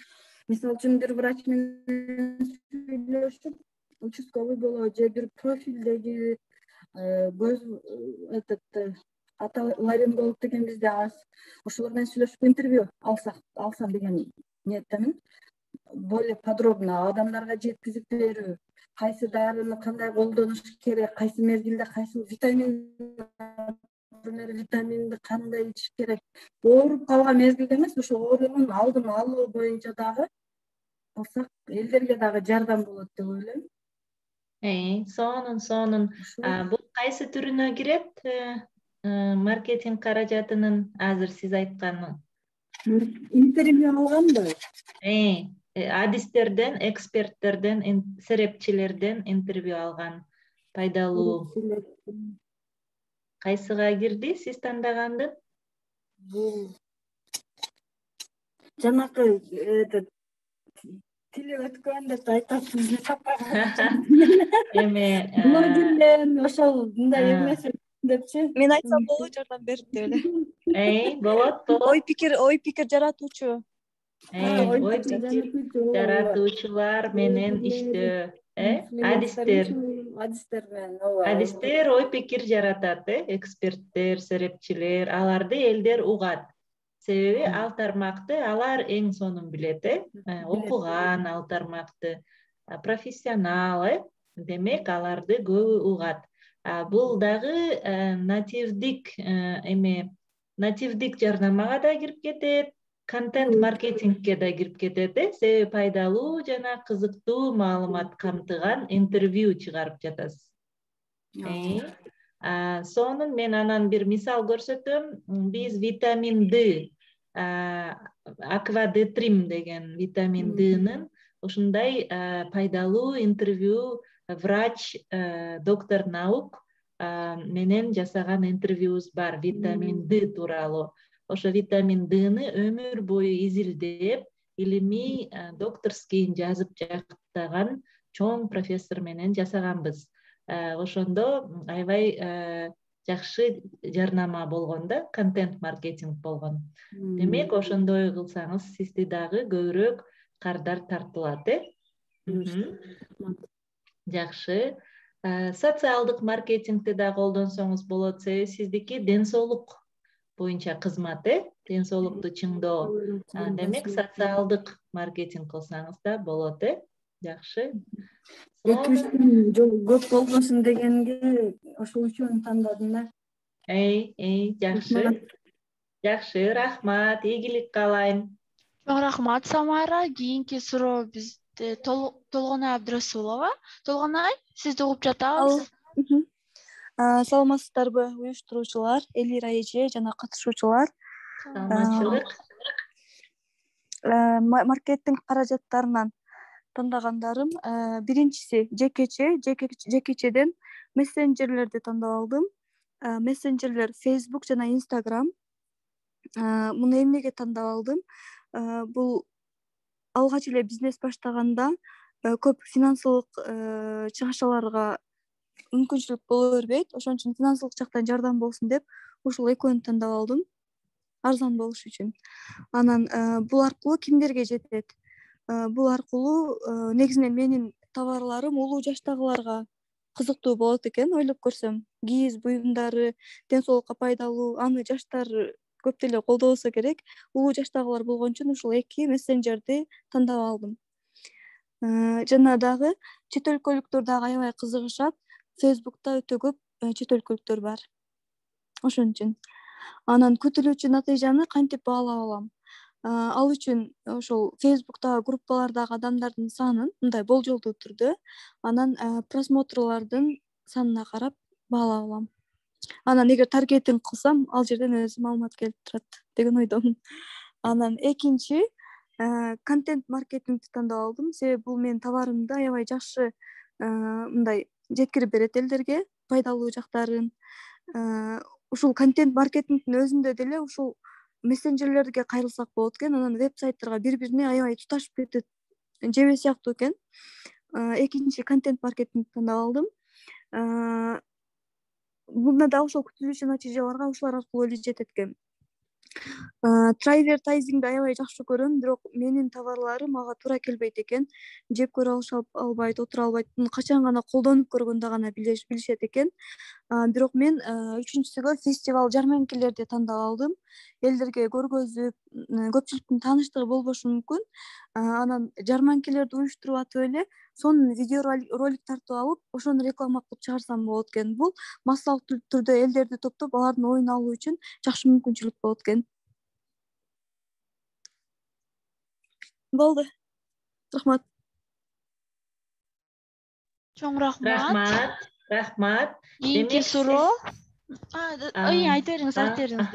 Мисалы үчүн бир врач менен сүйлөшүп, участковый болобу же бир профилдеги көз ларинголог деген бизде аз. Ошолор менен сүйлөшүп интервью алсам деген ниеттемин. Более подробно адамдарга жеткизип берүү, кайсы дарыны кандай колдонуш керек, кайсы мезгилде кайсы витаминди кандай ичиш керек. Ооруп калган мезгилде эмес, ошо оорунун алдын алуу боюнча дагы алсак, элдерге дагы жардам болот деп ойлойм. Сонун. Бул кайсы түрүнө кирет? Маркетинг каражатынын азыр сиз айтканы. Интервью алганбы? Адистерден, эксперттерден, серепчилерден интервью алган. Пайдалуу. Кайсыга кирди сиз тандагандын? Бул жанакы тили өткөн деп айтасыз. Блогерлер ошол мындай эмес депчи. Мен айтсам болобу, жардам берип деп эле. Болот. Ой пикир жаратуучу. Ой пикир жаратуучулар менен иштөө. Адистер менен. Адистер ой пикир жаратат, эксперттер, серепчилер, аларды элдер угат. Себеби ал тармакты алар эң сонун билет, окуган ал тармакты, профессионал, демек аларды көбү угат. Бул дагы нативдик жарнамага да кирип кетет, контент маркетингке да кирип кетет, себеби пайдалуу жана кызыктуу маалымат камтыган интервью чыгарып жатасыз. Сонун, мен анан бир мисал көрсөтөм. Биз витамин D, аквадетрим деген витамин D'нын ушундай пайдалуу интервью врач, доктор наук менен жасаган интервьюбуз бар витамин D тууралуу. Ошо витамин D'ны өмүр бою изилдеп, илимий докторский жазып жактаган чоң профессор менен жасаганбыз. Ошондо аябай жакшы жарнама болгон да, контент маркетинг болгон. Демек, ошондой кылсаңыз, сизди дагы көбүрөөк кардар тартылат, Жакшы. Социалдык маркетингди да колдонсоңуз болот, себеби сиздики ден соолук боюнча кызмат, ден соолукту чыңдоо. Демек, социалдык маркетинг кылсаңыз да болот, Жакшы. Көп болбосун дегенге ошол үчүн тандадым да. Жакшы. Жакшы, рахмат, ийгилик каалайм. Чоң рахмат, Самара. Кийинки суроо бизде Толгонай Абдрасулова. Толгонай, сизди угуп жатабыз. Саламатсыздарбы уюштуруучулар, Элира эже жана катышуучулар. Саламатчылык. Маркеттинг каражаттарынан тандагандарым биринчиси жекечеден мессенджерлерди тандап алдым. Мессенджерлер Facebook жана Instagram. Муну эмнеге тандап алдым? Бул алгач эле бизнес баштаганда көп финансылык чыгашаларга мүмкүнчүлүк боло бербейт. Ошон үчүн финансылык жактан жардам болсун деп ушул экөөнү тандап алдым. Арзан болуш үчүн. Анан бул аркылуу кимдерге жетет? Бул аркылуу негизинен менин товарларым улуу жаштагыларга кызыктуу болот экен, ойлоп көрсөм. Кийиз буюмдары ден соолукка пайдалуу, аны жаштар көп деле колдобосо керек. Улуу жаштагылар болгон үчүн ушул эки мессенджерди тандап алдым. Жана дагы чет өлкөлүктөр дагы аябай кызыгышат. Facebook'та өтө көп чет өлкөлүктөр бар. Ошон үчүн. Анан күтүлүүчү натыйжаны кантип баалап алам? Ал үчүн ошол Facebook'тагы группалардагы адамдардын санын мындай болжолдуу түрдө, анан просмотрлордун санына карап баалап алам. Анан эгер таргетинг кылсам, ал жерден өзү маалымат келип турат деген ойдомун. Анан экинчи контент маркетингди тандап алдым. Себеби бул менин товарымды аябай жакшы мындай жеткирип берет элдерге, пайдалуу жактарын. Ушул контент маркетингдин өзүндө деле ушул мессенджерлерге кайрылсак болот экен. Анан веб-сайттарга бири-бирине аябай туташып кетет. Жебе сыяктуу экен. Экинчи контент маркетингди тандап алдым. Мында да ошол күтүлүүчү натыйжаларга ушулар аркылуу эле жетет экен. Трайвертайзингди аябай жакшы көрөм, бирок менин товарларым ага туура келбейт экен. Жеп көрө албайт, отура албайт. Муну качан гана колдонуп көргөндө гана билишет экен. Бирок мен үчүнчүсүгө фестиваль, жарманкелерди тандап алдым. Элдерге көргөзүп, көпчүлүктүн тааныштыгы болбошу мүмкүн. Анан жарманкелерди уюштуруп атып эле, сонун видео ролик тартып алып, ошону реклама кылып чыгарсам болот экен. Бул массалык түрдө элдерди топтоп, алардын оюн алуу үчүн жакшы мүмкүнчүлүк болот экен. Болду. Рахмат. Чоң рахмат. Рахмат. Кийинки суроо. Айта бериңиз.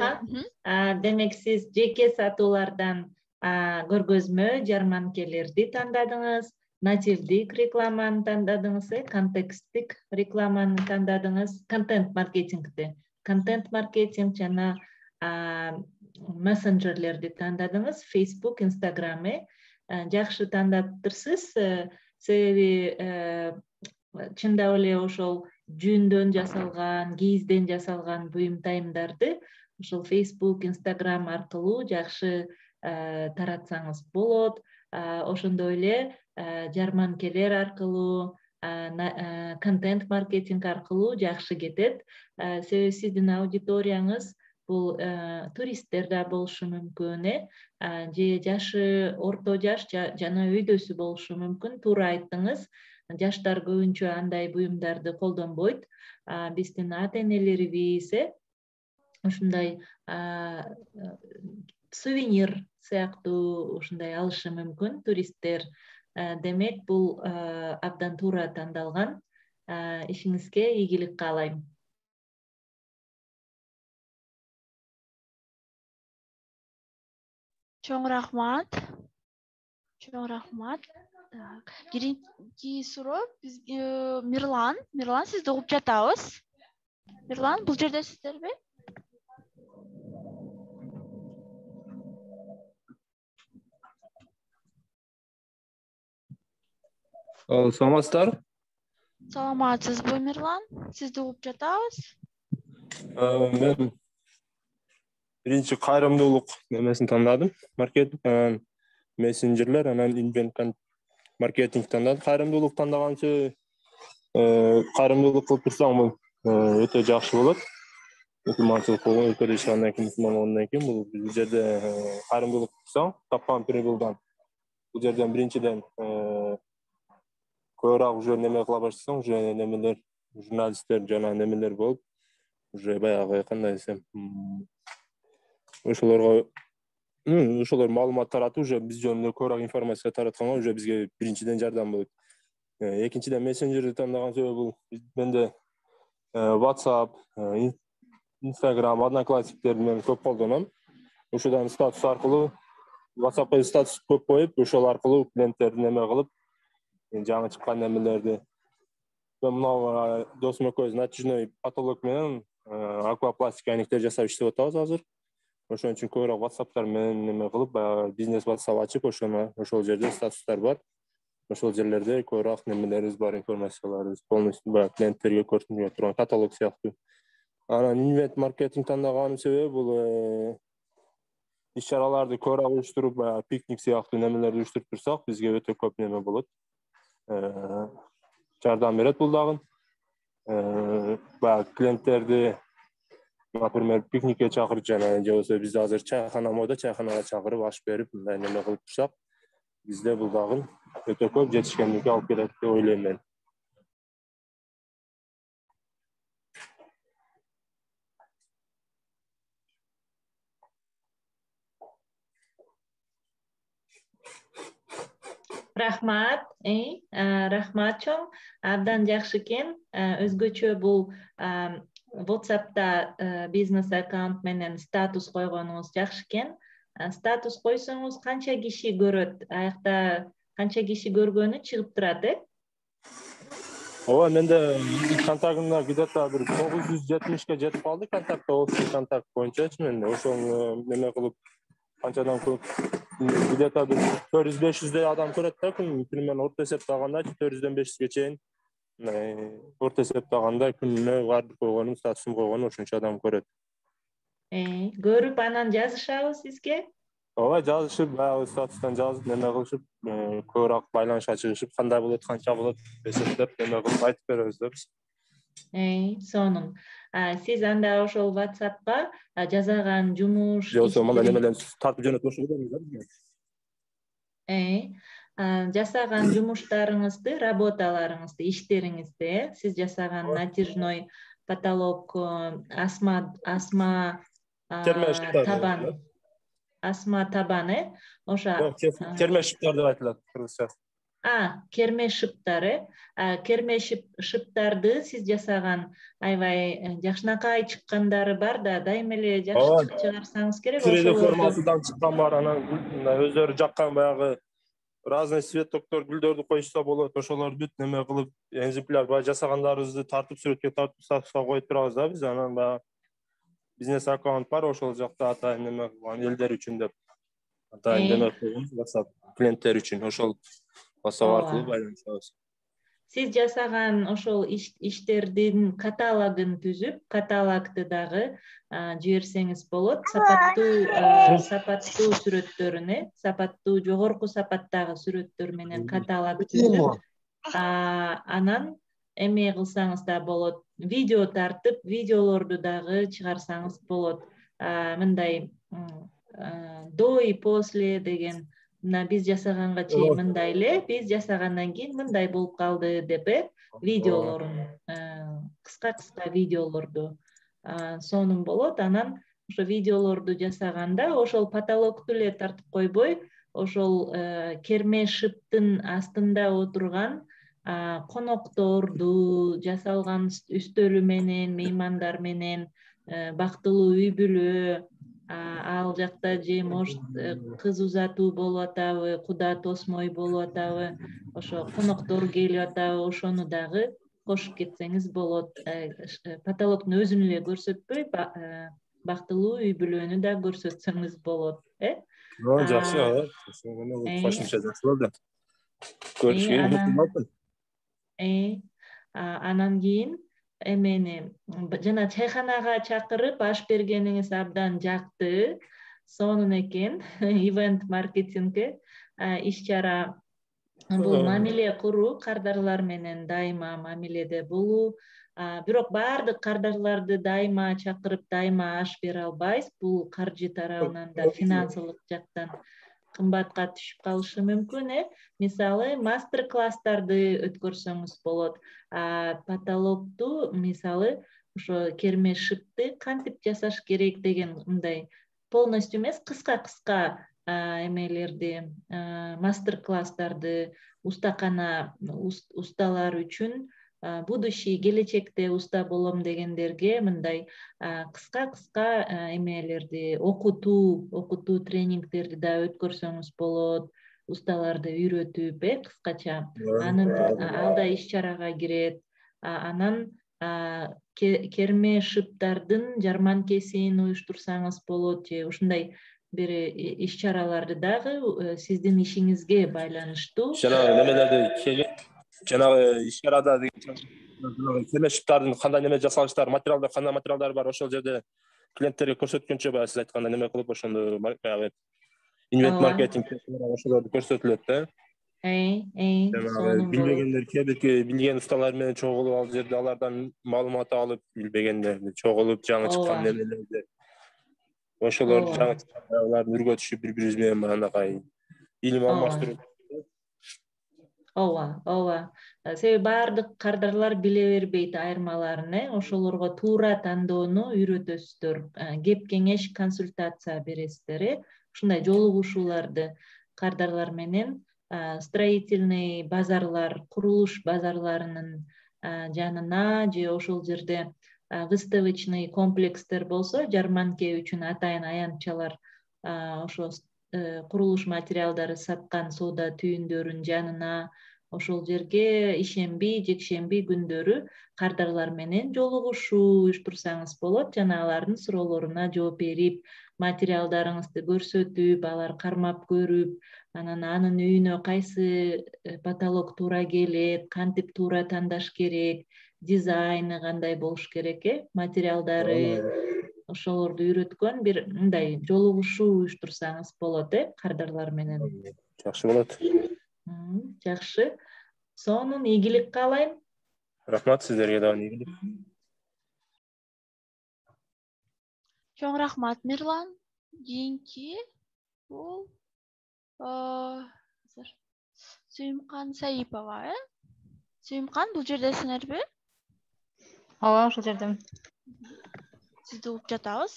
Демек сиз жеке сатуулардан көргөзмө, жарманкелерди тандадыңыз, нативдик рекламаны тандадыңыз, контексттик рекламаны тандадыңыз, контент маркетинг жана мессенджерлерди тандадыңыз, Facebook, Instagram. Жакшы тандаптырсыз. Себеби чындап эле ошол жүндөн жасалган, кийизден жасалган буюм тайымдарды ошол Facebook, Instagram аркылуу жакшы таратсаңыз болот. Ошондой эле жарманкелер аркылуу, контент маркетинг аркылуу жакшы кетет. Себеби сиздин аудиторияңыз бул туристтер да болушу мүмкүн, же жашы орто жаш жана өйдөсү болушу мүмкүн. Туура айттыңыз. Жаштар көбүнчө андай буюмдарды колдонбойт. Биздин ата-энелерибиз ушундай сувенир сыяктуу ушундай алышы мүмкүн туристтер. Демек бул абдан туура тандалган. Ишиңизге ийгилик каалайм. Чоң рахмат. Кийинки суроо Мирлан. Мирлан, сизди угуп жатабыз. Мирлан, бул жердесиздерби? Саламатсыздар. Саламатсызбы, Мирлан? Сизди угуп жатабыз. Мен биринчи кайрымдуулук немесин тандадым. Маркетинг, мессенджерлер, анан инбенд маркетинг тандадым. Кайрымдуулук тандаганчы кайрымдуулук кылып турсаң бул өтө жакшы болот. Мусулманчылык өлкөдө жашагандан кийин, мусулман болгондон кийин бул жерде кайрымдуулук кылсаң, тапкан прибылдан бул жерден биринчиден көбүрөөк уже неме кыла баштасаң, уже немелер, журналисттер жана немелер болуп, уже баягы кандай десем, ошолорго ошолор маалымат таратып уже биз жөнүндө көбүрөөк информация таратканга уже бизге биринчиден жардам болот. Экинчиден мессенджерди тандаган себеби бул менде WhatsApp, Instagram, Одноклассниктер менен көп колдоном. Ошодан статус аркылуу WhatsAppка статус көп коюп, ошол аркылуу клиенттерди неме кылып, жаңы чыккан немелерди. Мен мына досум экөөбүз натяжной потолок менен аквапластик айнектер жасап иштеп атабыз азыр. Ошон үчүн көбүрөөк WhatsApp'тар менен неме кылып, баягы бизнес WhatsApp ачып, ошол жерде статустар бар. Ошол жерлерде көбүрөөк немелерибиз бар, информацияларыбыз полностью баягы клиенттерге көрсөтүлө турган каталог сыяктуу. Анан инвент маркетинг тандаганымдын себеби бул иш-чараларды көбүрөөк уюштуруп, баягы пикник сыяктуу немелерди уюштуруп турсак, бизге өтө көп неме болот. Жардам берет бул дагы. Баягы клиенттерди, например, пикникке чакырып жана же болбосо биз азыр чайхана мода, чайханага чакырып аш берип, мындай неме кылып турсак, бизде бул дагы өтө көп жетишкендикке алып келет деп ойлойм мен. Рахмат, рахмат чоң. Абдан жакшы экен. Өзгөчө бул WhatsApp'та бизнес аккаунт менен статус койгонуңуз жакшы экен. Статус койсоңуз канча киши көрөт? Аякта канча киши көргөнү чыгып турат, Ооба, менде контактымда где-то бир 970ке жетип калды контакт, общий контакт боюнчачы менде. Ошол неме кылып канчадан көп где-то бир 400-500 адам көрөт да күн. Примерно орто эсептаганда 400дөн 500ге чейин орто эсептаганда күнүнө бардык койгонум, статусум койгонум ошончо адам көрөт. Көрүп анан жазышабы сизге? Ооба, жазышып, баягы статустан жазып, неме кылышып, көбүрөөк байланышка чыгышып, кандай болот, канча болот эсептеп, неме кылып айтып беребиз да биз. Сонун. Сиз анда ошол WhatsApp'ка жасаган жумуш, Же болбосо мына немеден тартып жөнөтүп ошо беребиз да. Жасаган жумуштарыңызды, работаларыңызды, иштериңизди, сиз жасаган натяжной потолок, асма табан, ошо керме шыптар деп айтылат кыргызча. Керме шыптары. Керме шыптарды сиз жасаган аябай жакшынакай чыккандары бар да, дайыма эле жакшы чыгарсаңыз керек. 3D формасынан чыккан бар, анан өздөрү жаккан баягы разный цветоктор гүлдөрдү коюшса болот. Ошолорду бүт неме кылып, экземпляр баягы жасагандарыбызды тартып, сүрөткө тартып, статуска коюп турабыз да биз. Анан баягы бизнес аккаунт бар, ошол жакта атайын неме кылган элдер үчүн деп атайын неме койгонбуз, WhatsApp клиенттер үчүн. Ошол WhatsApp аркылуу байланышабыз. Сиз жасаган ошол иштердин каталогун түзүп, каталогду дагы жиберсеңиз болот. Сапаттуу сүрөттөрүн, сапаттуу, жогорку сапаттагы сүрөттөр менен каталог түзүп, анан эме кылсаңыз да болот. Видео тартып, видеолорду дагы чыгарсаңыз болот. Мындай до и после деген, мына биз жасаганга чейин мындай эле, биз жасагандан кийин мындай болуп калды деп, видеолорун, кыска видеолорду сонун болот. Анан ошо видеолорду жасаганда ошол потолокту эле тартып койбой, ошол керме шыптын астында отурган конокторду, жасалган үстөлү менен, меймандар менен, бактылуу үй бүлө, ал жакта же может кыз узатуу болуп атабы, куда тосмой болуп атабы, ошо коноктор келип атабы, ошону дагы кошуп кетсеңиз болот. Потолоктун өзүн эле көрсөтпөй, бактылуу үй бүлөнү да көрсөтсөңүз болот. Жакшы, кошумча жакшы болду. Көрүшкө мүмкүн болду. Анан кийин эмени жана чайханага чакырып аш бергениңиз абдан жакты, сонун экен. Ивент маркетингге иш-чара бул мамиле куруу, кардарлар менен дайыма мамиледе болуу. Бирок баардык кардарларды дайыма чакырып, дайыма аш бере албайбыз. Бул каржы тарабынан да, финансылык жактан кымбатка түшүп калышы мүмкүн. Мисалы, мастер-класстарды өткөрсөңүз болот. Потолокту, мисалы, ошо керме шыпты кантип жасаш керек деген мындай полностью эмес, кыска эмелерди, мастер класстарды усталар үчүн, будущий келечекте уста болом дегендерге мындай кыска эмелерди, окутуу тренингтерди да өткөрсөңүз болот, усталарды үйрөтүп, кыскача. Анын ал да иш чарага кирет. Анан керме шыптардын жарманкесин уюштурсаңыз болот, же ушундай бир иш чараларды дагы сиздин ишиңизге байланыштуу. Жанагы иш чарада керме шыптардын кандай неме жасалыштары, материалдар, кандай материалдар бар, ошол жерде клиенттерге көрсөткөнчө баягы сиз айткандай неме кылып, ошондо баягы инвент маркетинг ошолорду көрсөтүлөт да. Билбегендер, кээ билген усталар менен чогулуп, ал жерде алардан маалымат алып, билбегендерди чогулуп, жаңы чыккан немелерди, ошолорду аларды үргөтүшүп, бири-бирибиз менен баягы илим алмаштырып. Ооба. Себеби баардык кардарлар биле бербейт айырмаларын, ошолорго туура тандоону үйрөтөсүздөр. Кеп кеңеш, консультация бересиздер, ушундай жолугушууларды кардарлар менен строительный базарлар, курулуш базарларынын жанына же ошол жерде выставочный комплекстер болсо, жарманке үчүн атайын аянтчалар ошо курулуш материалдары саткан соода түйүндөрүнүн жанына, ошол жерге ишемби, жекшемби күндөрү кардарлар менен жолугушуу уюштурсаңыз болот. Жана алардын суроолоруна жооп берип, материалдарыңызды көрсөтүп, алар кармап көрүп, анан анын үйүнө кайсы потолок туура келет, кантип туура тандаш керек, дизайны кандай болуш керек, материалдары, ошолорду үйрөткөн бир мындай жолугушуу уюштурсаңыз болот, кардарлар менен. Жакшы болот. Жакшы. Сонун ийгилик каалайм. Рахмат, сиздерге дагы ийгилик. Чоң рахмат, Мирлан. Кийинки бул Сүйүмкан Саипова, Сүйүмкан, бул жердесиңерби? Ооба, ошол жердемин. Сизди угуп жатабыз.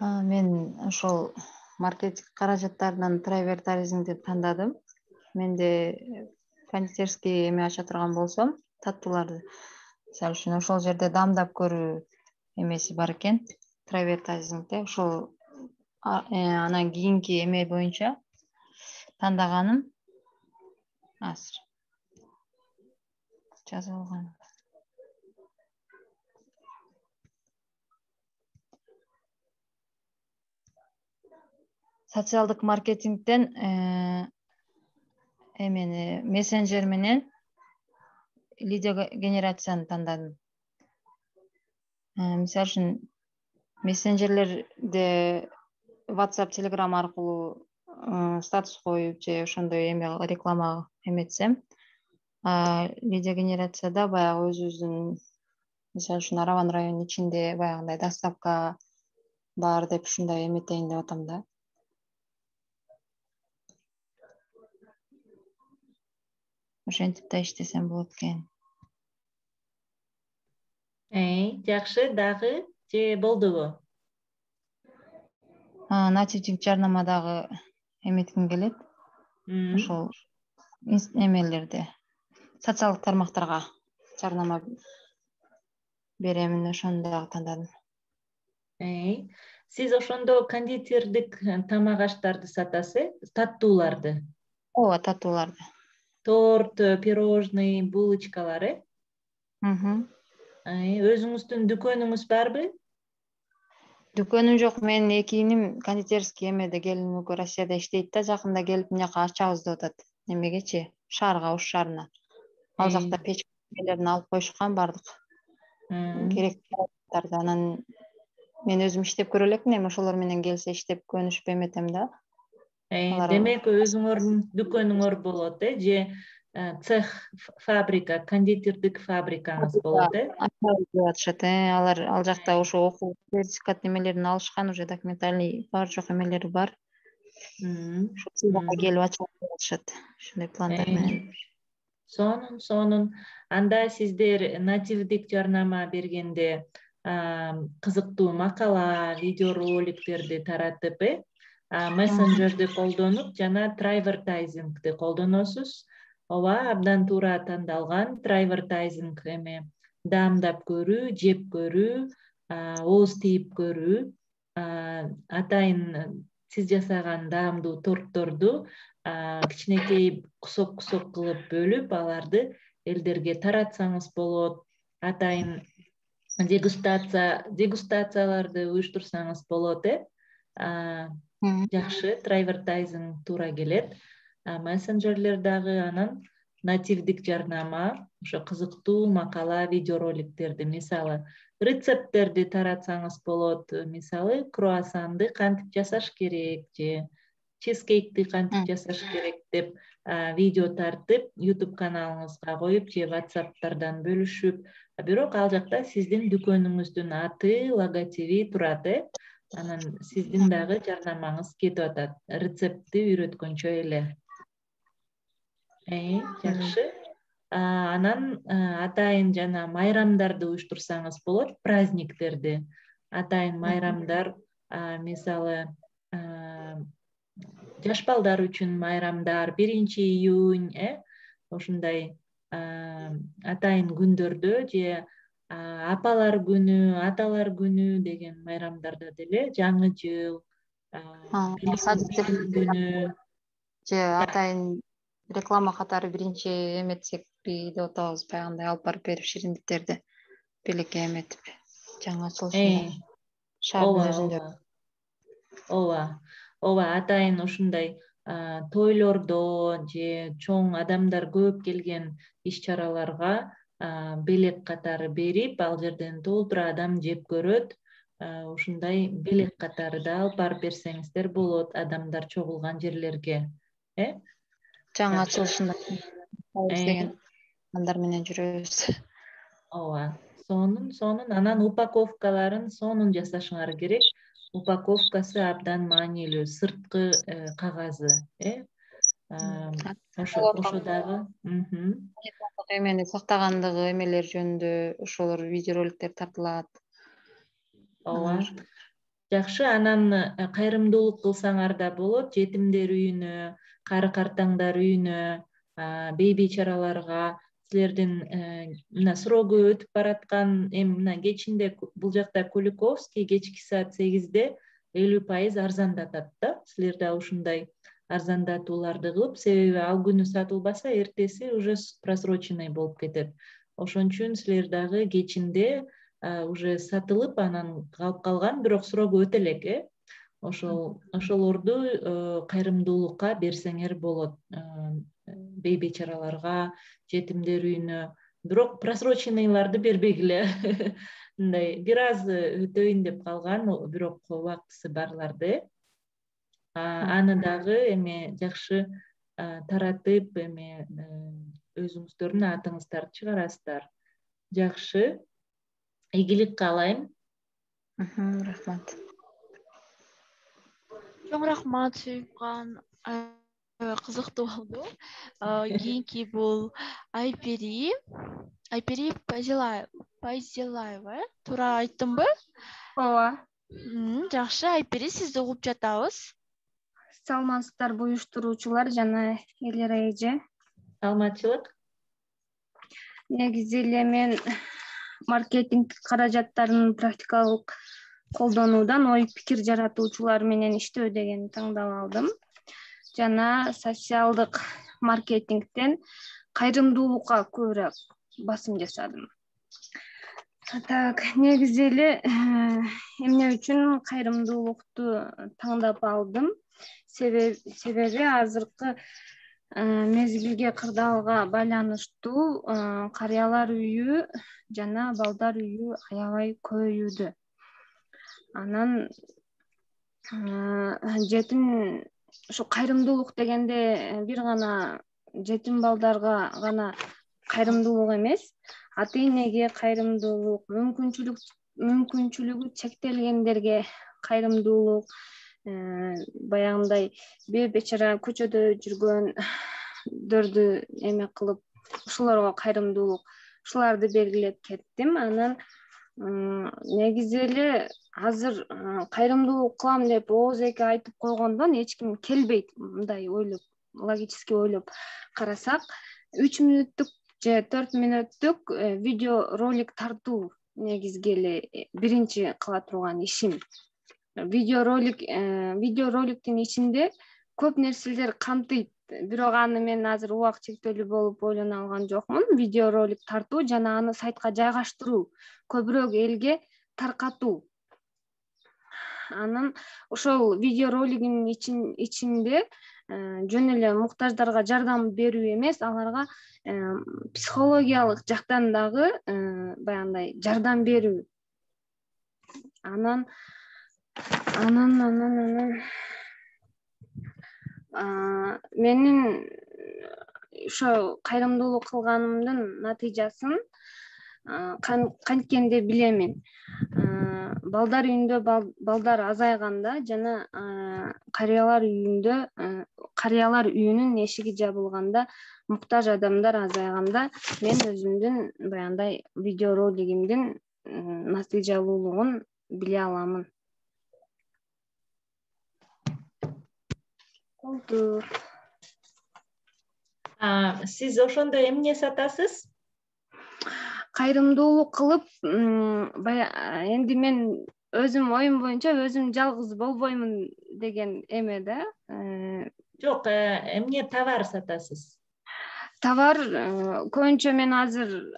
Мен ошол маркетинг каражаттарынан трайвертаризмди тандадым. Менде кондитерский эме ача турган болсом, таттууларды, мисалы үчүн ошол жерде дамдап көрүү эмеси бар экен, трайвертаризмде. Ошол анан кийинки эме боюнча тандаганым азыр жазып алгам. Социалдык маркетингден эмени мессенджер менен лидия генерацияны тандадым. Мисалы үчүн мессенджерлерде WhatsApp, Telegram аркылуу статус коюп же ошондой эме реклама эметсем, лидия генерацияда баягы өзүбүздүн, мисалы үчүн Араван районунун ичинде баягындай доставка бар деп ушундай эметейин деп атам да. Ошентип да иштесем болот экен. Жакшы, дагы же болдубу? Нативдик жарнамадагы эметким келет. Ошол эмелерде, социалдык тармактарга жарнама беремин, ошону дагы тандадым. Сиз ошондо кондитердик тамак аштарды сатасыз, таттууларды? Ооба, таттууларды. Торт, пирожный, булочкалар, Өзүңүздүн дүкөнүңүз барбы? Дүкөнүм жок, менин эки иним кондитерский эмеде, келин экөө Россияда иштейт да, жакында келип мынжака ачабыз деп атат. Немегечи, шаарга, Ош шаарына. Ал жакта печкалерин алып коюшкан бардык. Керектүү заттарды. Анан мен өзүм иштеп көрө элекмин, эми ошолор менен келсе иштеп көнүшүп эметем да. Демек өзүңөрдүн дүкөнүңөр болот, же цех, фабрика, кондитердик фабрикаңыз болот, Ачабыз деп атышат, ал жакта ошо окуу сертификат немелерин алышкан, уже документальный бар жок эмелери бар. Ошол жака келип ачабыз деп атышат, ушундай пландар менен. Сонун. Анда сиздер нативдик жарнама бергенде кызыктуу макала, видеороликтерди таратып, мессенджерди колдонуп жана трайвертайзингди колдоносуз. Ооба, абдан туура тандалган. Трайвертайзинг эме даамдап көрүү, жеп көрүү, ооз тийип көрүү. Атайын сиз жасаган даамдуу тортторду кичинекей кусок кылып бөлүп, аларды элдерге таратсаңыз болот. Атайын дегустацияларды уюштурсаңыз болот, Жакшы, трайвертайзинг туура келет. Мессенджерлер дагы анан нативдик жарнама, ошо кызыктуу макала, видеороликтерди, мисалы, рецепттерди таратсаңыз болот. Мисалы, круассанды кантип жасаш керек же чизкейкти кантип жасаш керек деп видео тартып, YouTube каналыңызга коюп же WhatsApp'тардан бөлүшүп, бирок ал жакта сиздин дүкөнүңүздүн аты, логотиби турат, анан сиздин дагы жарнамаңыз кетип атат, рецептти үйрөткөнчө эле. Жакшы. Анан атайын жана майрамдарды уюштурсаңыз болот, праздниктерди. Атайын майрамдар, мисалы, жаш балдар үчүн майрамдар, 1-июнь, ошундай атайын күндөрдө же апалар күнү, аталар күнү деген майрамдарда деле, жаңы жыл, күнү же атайын реклама катары биринчи эметсекпи деп атабыз, баягындай алып барып берип шириндиктерди белекке эметип жаңы ачылышында шаардын өзүндө. Ооба, атайын ушундай тойлордо же чоң адамдар көп келген иш-чараларга белек катары берип, ал жерден толтура адам жеп көрөт. Ушундай белек катары да алып барып берсеңиздер болот адамдар чогулган жерлерге. Жаңы ачылышында деген адамдар менен жүрөбүз. Ооба, сонун анан упаковкаларын сонун жасашыңар керек. Упаковкасы абдан маанилүү, сырткы кагазы, ошо дагы эмени сактагандыгы эмелер жөнүндө ошолор видеороликтер тартылат. Ооба. Жакшы, анан кайрымдуулук кылсаңар да болот, жетимдер үйүнө, кары-картаңдар үйүнө, бейбичараларга, силердин мына срогу өтүп бараткан, мына кечинде бул жакта Куликовский кечки саат 8-де 50% арзандатат да. Силер да ушундай арзандатууларды кылып, себеби ал күнү сатылбаса, эртеси уже просроченный болуп кетет. Ошон үчүн силер дагы кечинде уже сатылып, анан калып калган, бирок срогу өтө элек, ошолорду кайрымдуулукка берсеңер болот. Бейбичараларга, жетимдер үйүнө, бирок просроченныйларды бербегиле. Мындай бир аз өтөйүн деп калган, бирок убактысы барларды. Аны дагы эме жакшы таратып, эме өзүңүздөрдүн атыңыздарды чыгарасыздар. Жакшы. Ийгилик каалайм. Рахмат. Чоң рахмат, Сүйүпкан. Кызыктуу болду. Кийинки бул Айпери Байзелаева, туура айттымбы? Ооба. Жакшы, Айпери, сизди угуп жатабыз. Саламатсыздарбы уюштуруучулар жана элер эже? Саламатчылык. Негизи эле мен маркетинг каражаттарын практикалык колдонуудан ой пикир жаратуучулар менен иштөө дегенди тандап алдым. Жана социалдык маркетингден кайрымдуулукка көбүрөөк басым жасадым. Так, негизи эле эмне үчүн кайрымдуулукту тандап алдым? Себеби азыркы мезгилге, кырдаалга байланыштуу карыялар үйү жана балдар үйү аябай көбөйүүдө. Анан жетим ушу кайрымдуулук дегенде бир гана жетим балдарга гана кайрымдуулук эмес, ата-энеге кайрымдуулук, мүмкүнчүлүгү чектелгендерге кайрымдуулук, баягындай бейбечара көчөдө жүргөндөрдү эме кылып, ушуларга кайрымдуулук, ушуларды белгилеп кеттим. Анан негизи эле азыр кайрымдуулук кылам деп ооз эки айтып койгондон эч ким келбейт. Мындай ойлоп, логически ойлоп карасак, 3 мүнөттүк же 4 мүнөттүк видео ролик тартуу негизги эле биринчи кыла турган ишим. Видеороликтин ичинде көп нерселер камтыйт. Бирок аны мен азыр убак чектелүү болуп ойлоно алган жокмун. Видеоролик тартуу жана аны сайтка жайгаштыруу, көбүрөөк элге таркатуу. Анан ошол видеоролигин ичинде жөн эле муктаждарга жардам берүү эмес, аларга психологиялык жактан дагы баягындай жардам берүү. Анан менин ошо кайрымдуулук кылганымдын натыйжасын канткенде билемин. Балдар үйүндө балдар азайганда жана карыялар үйүнүн эшиги жабылганда, муктаж адамдар азайганда мен өзүмдүн баягындай видеоролигимдин натыйжалуулугун биле аламын. Сиз ошондо эмне сатасыз? Кайрымдуулук кылып, энди мен өзүм оюм боюнча өзүм жалгыз болбоймун деген эме да. Жок, эмне товар сатасыз? Товар көбүнчө мен азыр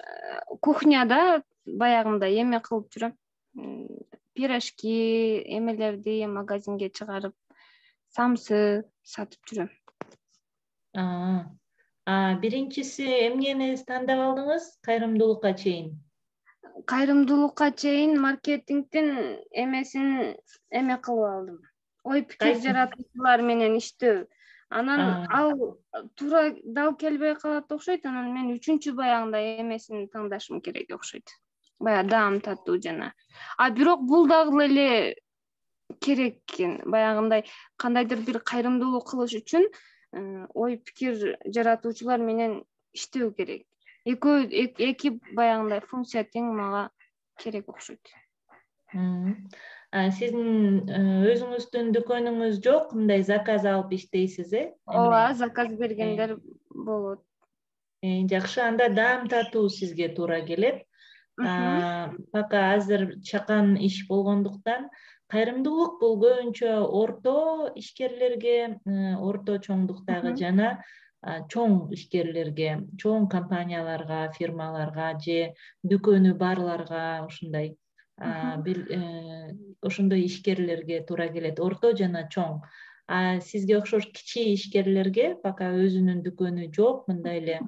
кухняда баягындай эме кылып жүрөм. Пирожки, эмелерди магазинге чыгарып, самсы сатып жүрөм. Биринчиси эмнени тандап алдыңыз кайрымдуулукка чейин? Кайрымдуулукка чейин маркетингдин эмесин эме кылып алдым. Ой пикир жаратуучулар менен иштөө. Анан ал туура дал келбей калат окшойт. Анан мен үчүнчү баягындай эмесин тандашым керек окшойт. Баягы даам татуу жана. Бирок бул дагы эле керек экен. Баягындай кандайдыр бир кайрымдуулук кылыш үчүн ой пикир жаратуучулар менен иштөө керек. Эки баягындай функция тең мага керек окшойт. Сиздин өзүңүздүн дүкөнүңүз жок, мындай заказ алып иштейсиз, Ооба, заказ бергендер болот. Жакшы, анда даам татуу сизге туура келет. Пока азыр чакан иш болгондуктан кайрымдуулук бул көбүнчө орто ишкерлерге, орто чоңдуктагы жана чоң ишкерлерге, чоң компанияларга, фирмаларга же дүкөнү барларга ушундай ошондой ишкерлерге туура келет, орто жана чоң. Сизге окшош кичи ишкерлерге, пока өзүнүн дүкөнү жок, мындай эле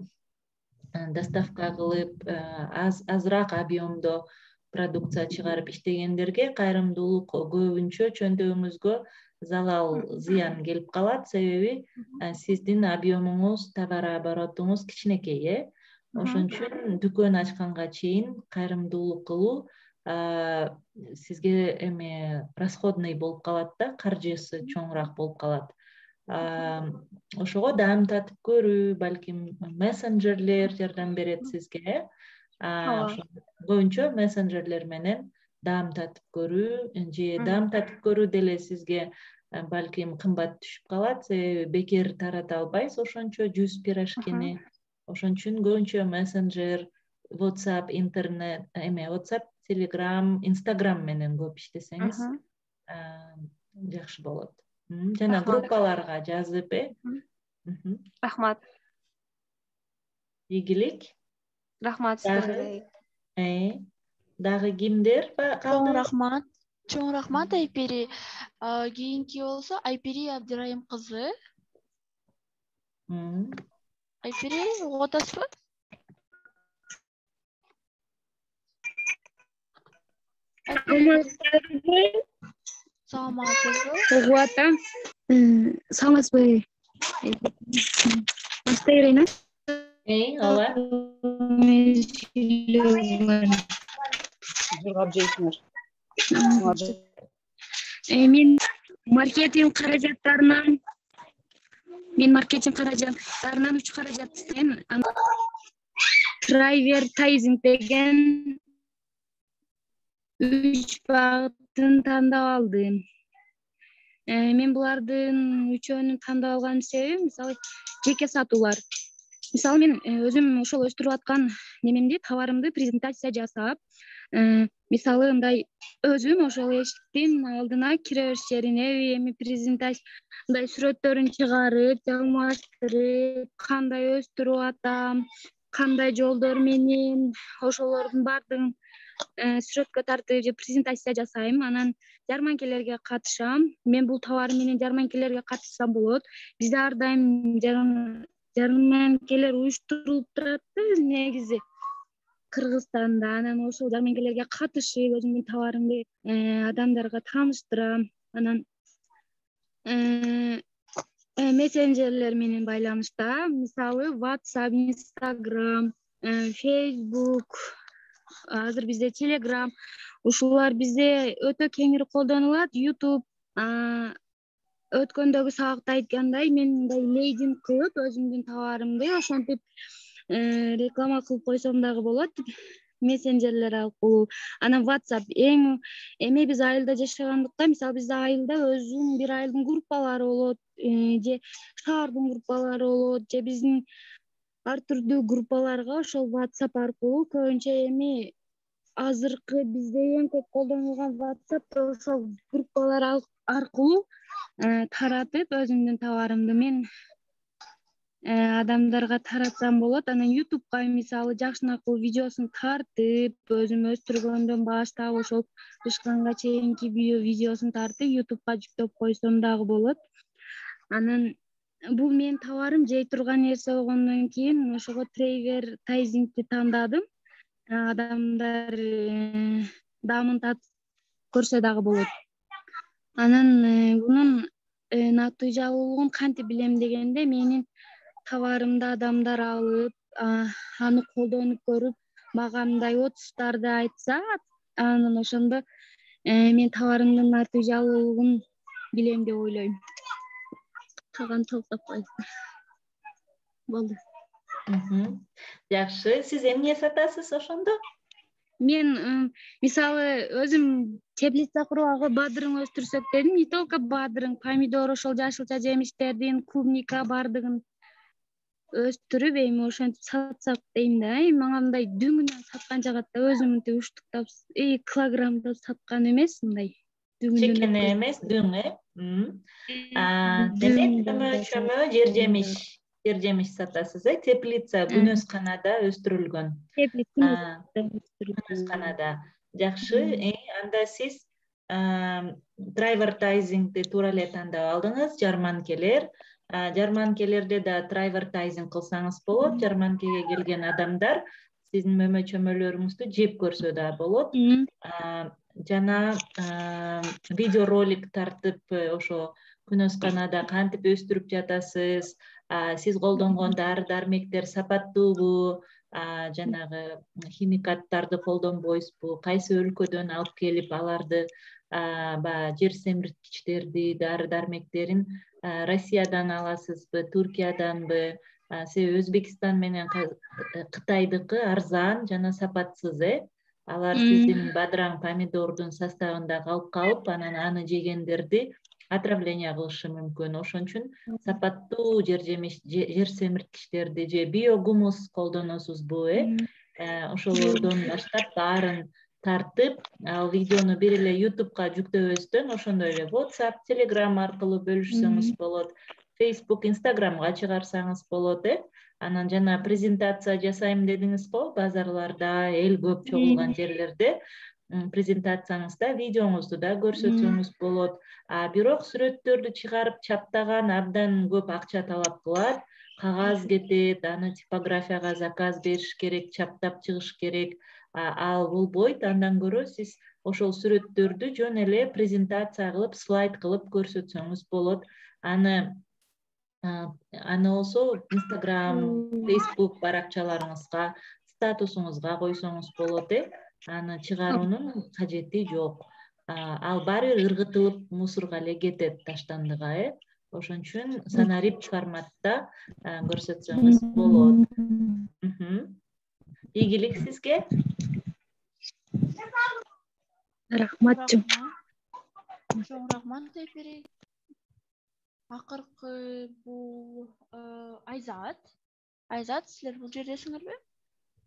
доставка кылып, азыраак объемдо продукция чыгарып иштегендерге кайрымдуулук көбүнчө чөнтөгүңүзгө залал, зыян келип калат. Себеби сиздин объемуңуз, товар оборотуңуз кичинекей, ошон үчүн дүкөн ачканга чейин кайрымдуулук кылуу сизге эме расходный болуп калат да, каржысы чоңураак болуп калат. Ошого даам татып көрүү, балким мессенджерлер жардам берет сизге. Көбүнчө мессенджерлер менен даам татып көрүү, же даам татып көрүү деле сизге балким кымбат түшүп калат, себеби бекер тарата албайсыз ошончо 100 пирожкини. Ошон үчүн көбүнчө мессенджер, WhatsApp, интернет, WhatsApp, Telegram, Instagram менен көп иштесеңиз жакшы болот. Жана группаларга жазып, Рахмат. Ийгилик. Рахмат сизге. Дагы кимдер калды? Чоң рахмат Айпери. Кийинки болсо Айпери Абдырайым кызы. Айпери, угуп атасызбы? Саламатсызбы? Угуп атам. Саламатсызбы? Бастай берейин, ооба. Мен маркетинг каражаттарынан 3 каражат иштейм. Трайвертайзинг деген 3 багытын тандап алдым. Мен булардын үчөөнү тандап алган себебим мисалы жеке сатуулар. Мисалы мен өзүм ошол өстүрүп аткан немемди, товарымды презентация жасап, мисалы мындай өзүм ошол эшиктин алдына кире бериш жерине эми презентация мындай сүрөттөрүн чыгарып, алмаштырып, кандай өстүрүп атам, кандай жолдор менен ошолордун баардыгын сүрөткө тартып же презентация жасайм. Анан жарманкелерге катышам. Мен бул товарым менен жарманкелерге катышсам болот. Бизде ар дайым жарманкелер уюштурулуп турат негизи Кыргызстанда. Анан ошол жарманкелерге катышып, өзүмдүн товарымды адамдарга тааныштырам. Анан мессенджерлер менен байланышта, мисалы WhatsApp, Instagram, Facebook, азыр бизде Telegram, ушулар бизде өтө кеңири колдонулат. YouTube, өткөндөгү сабакта айткандай, мен мындай лейдинг кылып өзүмдүн товарымды ошентип реклама кылып койсом дагы болот, мессенджерлер аркылуу. Анан WhatsApp эми биз айылда жашагандыктан, мисалы бизде айылда өзүнүн бир айылдын группалары болот, же шаардын группалары болот, же биздин ар түрдүү группаларга ошол WhatsApp аркылуу көбүнчө эми азыркы бизде эң көп колдонулган WhatsApp ошол группалар аркылуу таратып өзүмдүн товарымды мен адамдарга таратсам болот. Анан YouTube'га мисалы жакшынакыл видеосун тартып, өзүм өстүргөндөн баштап ошол ышканга чейинки видеосун тартып YouTube'га жүктөп койсом дагы болот. Анан бул менин товарым жей турган нерсе болгондон кийин ошого трейвертайзингти тандадым. Адамдар даамын татып көрсө дагы болот. Анан мунун натыйжалуулугун кантип билем дегенде, менин товарымды адамдар алып, аны колдонуп көрүп, мага мындай отуштарды айтса, анан ошондо мен товарымдын натыйжалуулугун билем деп ойлойм. Калган токтоп койсун. Болду. Жакшы. Сиз эмне сатасыз ошондо? Мен мисалы өзүм теплица курууга бадырың өстүрсөк дедим. Не только бадырың, помидор, ошол жашылча жемиштердин, клубника бардыгын өстүрүп, эми ошентип сатсак дейм да. Мага мындай дүңүнөн саткан жагат да, өзүм мынтип уштуктап, килограммдап саткан эмес, мындай дүңүнөн. Чекене эмес, дүң, Демек, чөмө жер жемиш сатасыз, теплица күнөзканада өстүрүлгөн. Күнөзканада. Жакшы. Анда сиз трайвертайзингди туура эле тандап алдыңыз, жарманкелерде да трайвертайзинг кылсаңыз болот. Жарманкеге келген адамдар сиздин мөмө чөмөлөрүңүздү жеп көрсө да болот. Жана видеоролик тартып, ошо күнөзканада кантип өстүрүп жатасыз, сиз колдонгон дары дармектер сапаттуубу, жанагы химикаттарды колдонбойсузбу, кайсы өлкөдөн алып келип аларды, баягы жер семирткичтерди, дары дармектерин Россиядан аласызбы, Туркияданбы? Себеби Өзбекстан менен Кытайдыкы арзан жана сапатсыз, Алар сиздин бадыраң помидордун составында калып, анан аны жегендерди отравление кылышы мүмкүн. Ошон үчүн сапаттуу жер семирткичтерди же биогумус колдоносузбу, ошолордон баштап баарын тартып, ал видеону бир эле YouTube'га жүктөбөстөн, ошондой эле WhatsApp, Telegram аркылуу бөлүшсөңүз болот, Facebook, Instagramга чыгарсаңыз болот, Анан жана презентация жасайм дедиңиз го, базарларда, эл көп чогулган жерлерде презентацияңызда видеоңузду да көрсөтсөңүз болот. Бирок сүрөттөрдү чыгарып чаптаган абдан көп акча талап кылат, кагаз кетет, аны типографияга заказ бериш керек, чаптап чыгыш керек. Ал болбойт. Андан көрө сиз ошол сүрөттөрдү жөн эле презентация кылып, слайд кылып көрсөтсөңүз болот. Аны болсо Instagram, Facebook баракчаларыңызга, статусуңузга койсоңуз болот, Аны чыгаруунун кажети жок. Ал баары бир ыргытылып мусорго эле кетет таштандыга, Ошон үчүн санарип форматта көрсөтсөңүз болот. Ийгилик сизге. Рахматчы. Чоң рахмат эпири. Акыркы бул Айзат. Айзат, силер бул жердесиңерби?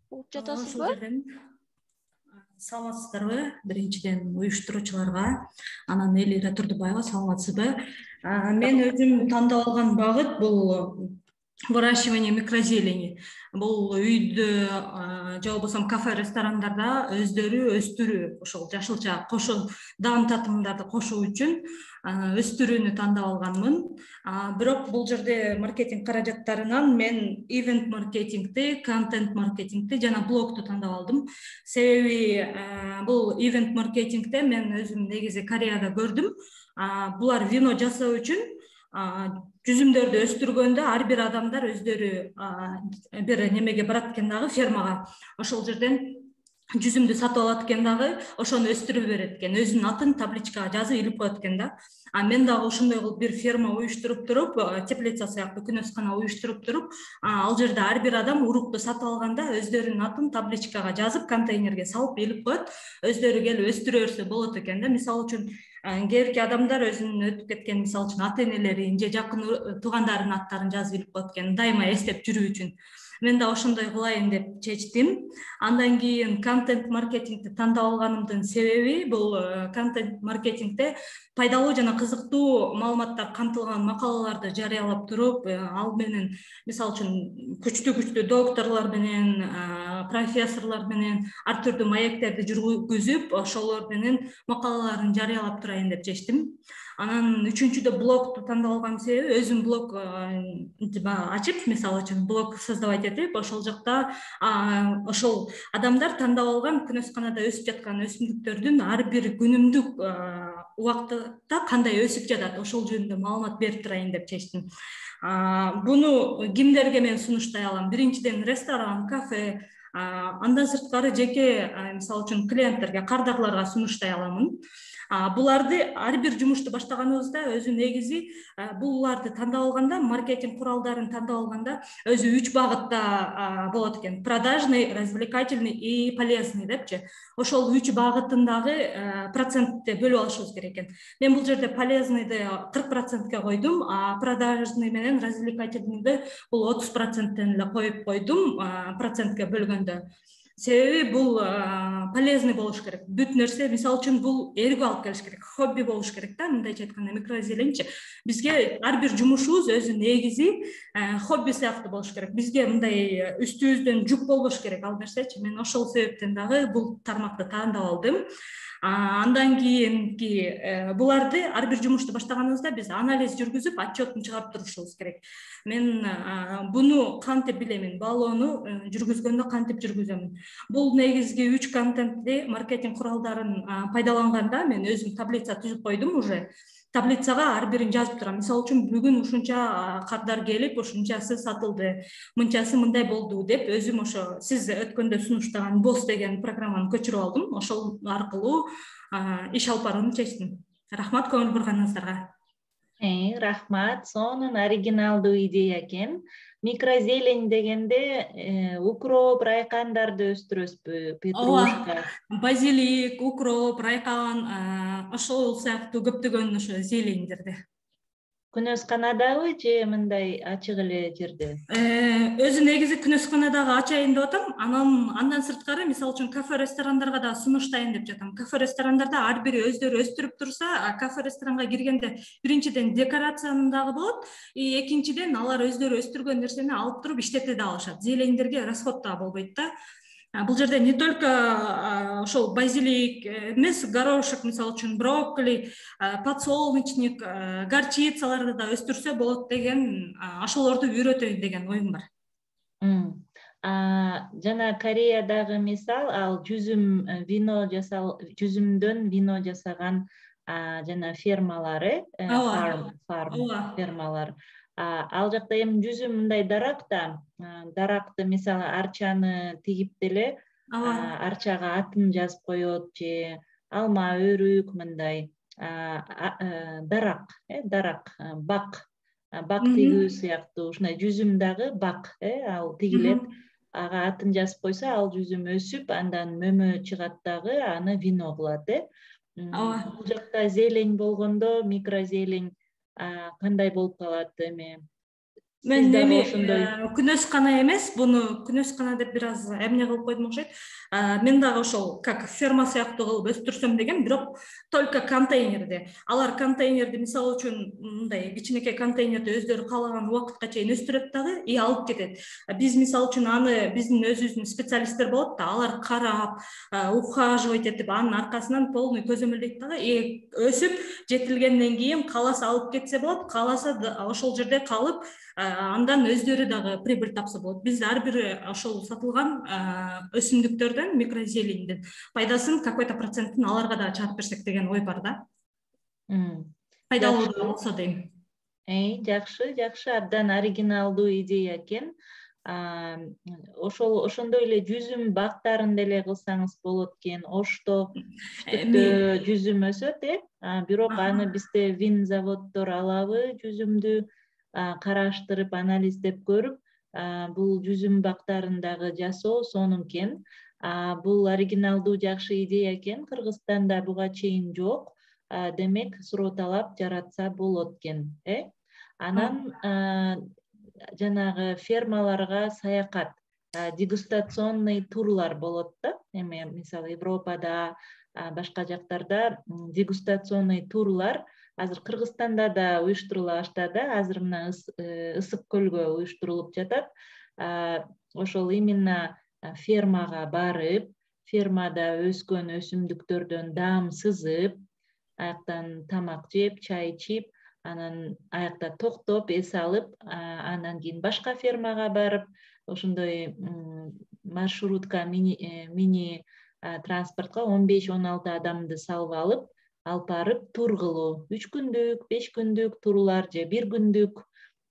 Угуп жатасызбы? Ошол жерден. Саламатсыздарбы? Биринчиден уюштуруучуларга, анан Элира Турдубаева, саламатсызбы? Мен өзүм тандап алган багыт бул выращивание микрозелени. Бул үйдө же болбосо кафе, ресторандарда өздөрү өстүрүү, ошол жашылча кошо даам татымдарды кошуу үчүн өстүрүүнү тандап алганмын. Бирок бул жерде маркетинг каражаттарынан мен ивент маркетингти, контент маркетингти жана блогту тандап алдым. Себеби бул ивент маркетингте мен өзүм негизи Кореяда көрдүм. Булар вино жасоо үчүн жүзүмдөрдү өстүргөндө ар бир адамдар өздөрү бир немеге барат экен дагы, фермага. Ошол жерден жүзүмдү сатып алат экен дагы, ошону өстүрүп берет экен. Өзүнүн атын табличкага жазып илип коет экен да. Мен дагы ошондой кылып бир ферма уюштуруп туруп, теплица сыяктуу күнөскана уюштуруп туруп, ал жерде ар бир адам урукту сатып алганда өздөрүнүн атын табличкага жазып, контейнерге салып илип коет. Өздөрү келип өстүрө берсе болот экен да. Мисалы үчүн кээбирки адамдар өзүнүн өтүп кеткен, мисалы үчүн ата энелерин же жакын туугандарынын аттарын жазып илип коет экен, дайыма эстеп жүрүү үчүн. Мен да ошондой кылайын деп чечтим. Андан кийин контент маркетингти тандап алганымдын себеби бул контент маркетингте пайдалуу жана кызыктуу маалыматтар камтылган макалаларды жарыялап туруп, ал менен мисалы үчүн күчтүү докторлор менен, профессорлор менен ар түрдүү маектерди жүргүзүп, ошолор менен макалаларын жарыялап турайын деп чечтим. Анан үчүнчүдө блогту тандап алган себеби өзүм блог ачып, мисалы үчүн блог создавать этип, ошол жакта ошол адамдар тандап алган күнөсканада өсүп жаткан өсүмдүктөрдүн ар бир күнүмдүк убакытта кандай өсүп жатат, ошол жөнүндө маалымат берип турайын деп чечтим. Буну кимдерге мен сунуштай алам? Биринчиден ресторан, кафе, андан сырткары жеке, мисалы үчүн клиенттерге, кардарларга сунуштай аламын. Буларды ар бир жумушту баштаганыбызда өзү негизи буларды тандап алганда, маркетинг куралдарын тандап алганда өзү 3 багытта болот экен: продажный, развлекательный и полезный депчи. Ошол 3 багытындагы процентти бөлүп алышыбыз керек экен. Мен бул жерде полезныйды 40%ке койдум, а продажный менен развлекательныйды бул 30%тен эле коюп койдум процентке бөлгөндө. Себеби бул полезный болуш керек. Бүт нерсе, мисалы үчүн, бул эргүү алып келиш керек, хобби болуш керек да. Мындайча айтканда, микрозеленчи бизге ар бир жумушубуз өзү негизи хобби сыяктуу болуш керек. Бизге мындай үстүбүздөн жүк болбош керек ал нерсечи. Мен ошол себептен дагы бул тармакты тандап алдым. Андан кийинки буларды ар бир жумушту баштаганыбызда биз анализ жүргүзүп, отчетун чыгарып турушубуз керек. Мен буну кантип билемин, баалоону жүргүзгөндө кантип жүргүзөмүн? Бул негизги 3 контентти маркетинг куралдарын пайдаланганда мен өзүм таблица түзүп койдум уже. Таблицага ар бирин жазып турам. Мисалы үчүн, бүгүн ушунча кардар келип, ушунчасы сатылды, мынчасы мындай болду деп өзүм ошо сиз өткөндө сунуштаган босс деген программаны көчүрүп алдым. Ошол аркылуу иш алып барууну чечтим. Рахмат көңүл бурганыңыздарга. Рахмат, сонун оригиналдуу идея экен. Микрозелень дегенде укроп, райкандарды өстүрөсүзбү? Петрушка, базилик, укроп, райкан, ошол сыяктуу көптөгөн ошо зелендерди. Күнөсканадабы же мындай ачык эле жерде? Өзү негизи күнөсканадагы ачайын деп атам. Андан сырткары, мисалы үчүн, кафе, ресторандарга да сунуштайын деп жатам. Кафе, ресторандарда ар бири өздөрү өстүрүп турса, кафе, ресторанга киргенде биринчиден декорацияны дагы болот, экинчиден алар өздөрү өстүргөн нерсени алып туруп иштете да алышат. Зелендерге расход да болбойт да. Бул жерде не только ошол базилик эмес, горошек, мисалы үчүн, брокколи, подсолнечник, горчицаларды да өстүрсө болот деген, ошолорду үйрөтөйүн деген оюм бар. Жана Кореядагы мисал, ал жүзүмдөн вино жасаган жана фермалары, фарм фермалар. Ал жакта эми жүзүм мындай даракты, мисалы, арчаны тигип деле, арчага атын жазып коет же алма, өрүк, мындай дарак, бак тигүү сыяктуу, ушундай жүзүм дагы бак, ал тигилет. ага атын жазып койсо, ал жүзүм өсүп, андан мөмө чыгат дагы, аны вино кылат, ооба. Бул жакта зелень болгондо, микрозелень кандай болуп калат эми? Мен дагы ошондой күнөскана эмес, буну күнөскана деп бир аз эмне кылып койдум окшойт. Мен дагы ошол как ферма сыяктуу кылып өстүрсөм деген, бирок только контейнерде. Алар контейнерди мисалы үчүн мындай кичинекей контейнерди өздөрү каалаган убакытка чейин өстүрөт дагы и алып кетет. Биз мисалы үчүн аны биздин өзүбүздүн специалисттер болот да, алар карап, ухаживать этип, анын аркасынан полный көзөмөлдөйт дагы. Өсүп жетилгенден кийин кааласа алып кетсе болот, кааласа ошол жерде калып, андан өздөрү дагы прибыль тапса болот. Биз ар бир ошол сатылган өсүмдүктөрдөн, микрозеленден пайдасын какой-то процентин аларга да чыгарып берсек деген ой бар да. Пайдалуу да болсо дейм. Жакшы, абдан оригиналдуу идея экен. Ошондой эле жүзүм бактарын деле кылсаңыз болот экен. Ошто түштүктө жүзүм өсөт, бирок аны бизде вин заводдор алабы, жүзүмдү караштырып, анализдеп көрүп, бул жүзүм бактарын дагы жасоо сонун экен. Бул оригиналдуу жакшы идея экен. Кыргызстанда буга чейин жок. Демек, суроо талап жаратса болот экен, Анан жанагы фермаларга саякат, дегустационный турлар болот да. Эми мисалы Европада, башка жактарда дегустационный турлар азыр Кыргызстанда да уюштурула баштады. Азыр мына Ысык көлгө уюштурулуп жатат. Ошол именно фермага барып, фермада өскөн өсүмдүктөрдөн даам сызып, аяктан тамак жеп, чай ичип, анан аякта токтоп, эс алып, андан кийин башка фермага барып, ошондой маршрутка, мини транспортко 15-16 адамды салып алып барып тур кылуу. 3 күндүк, 5 күндүк турлар же 1 күндүк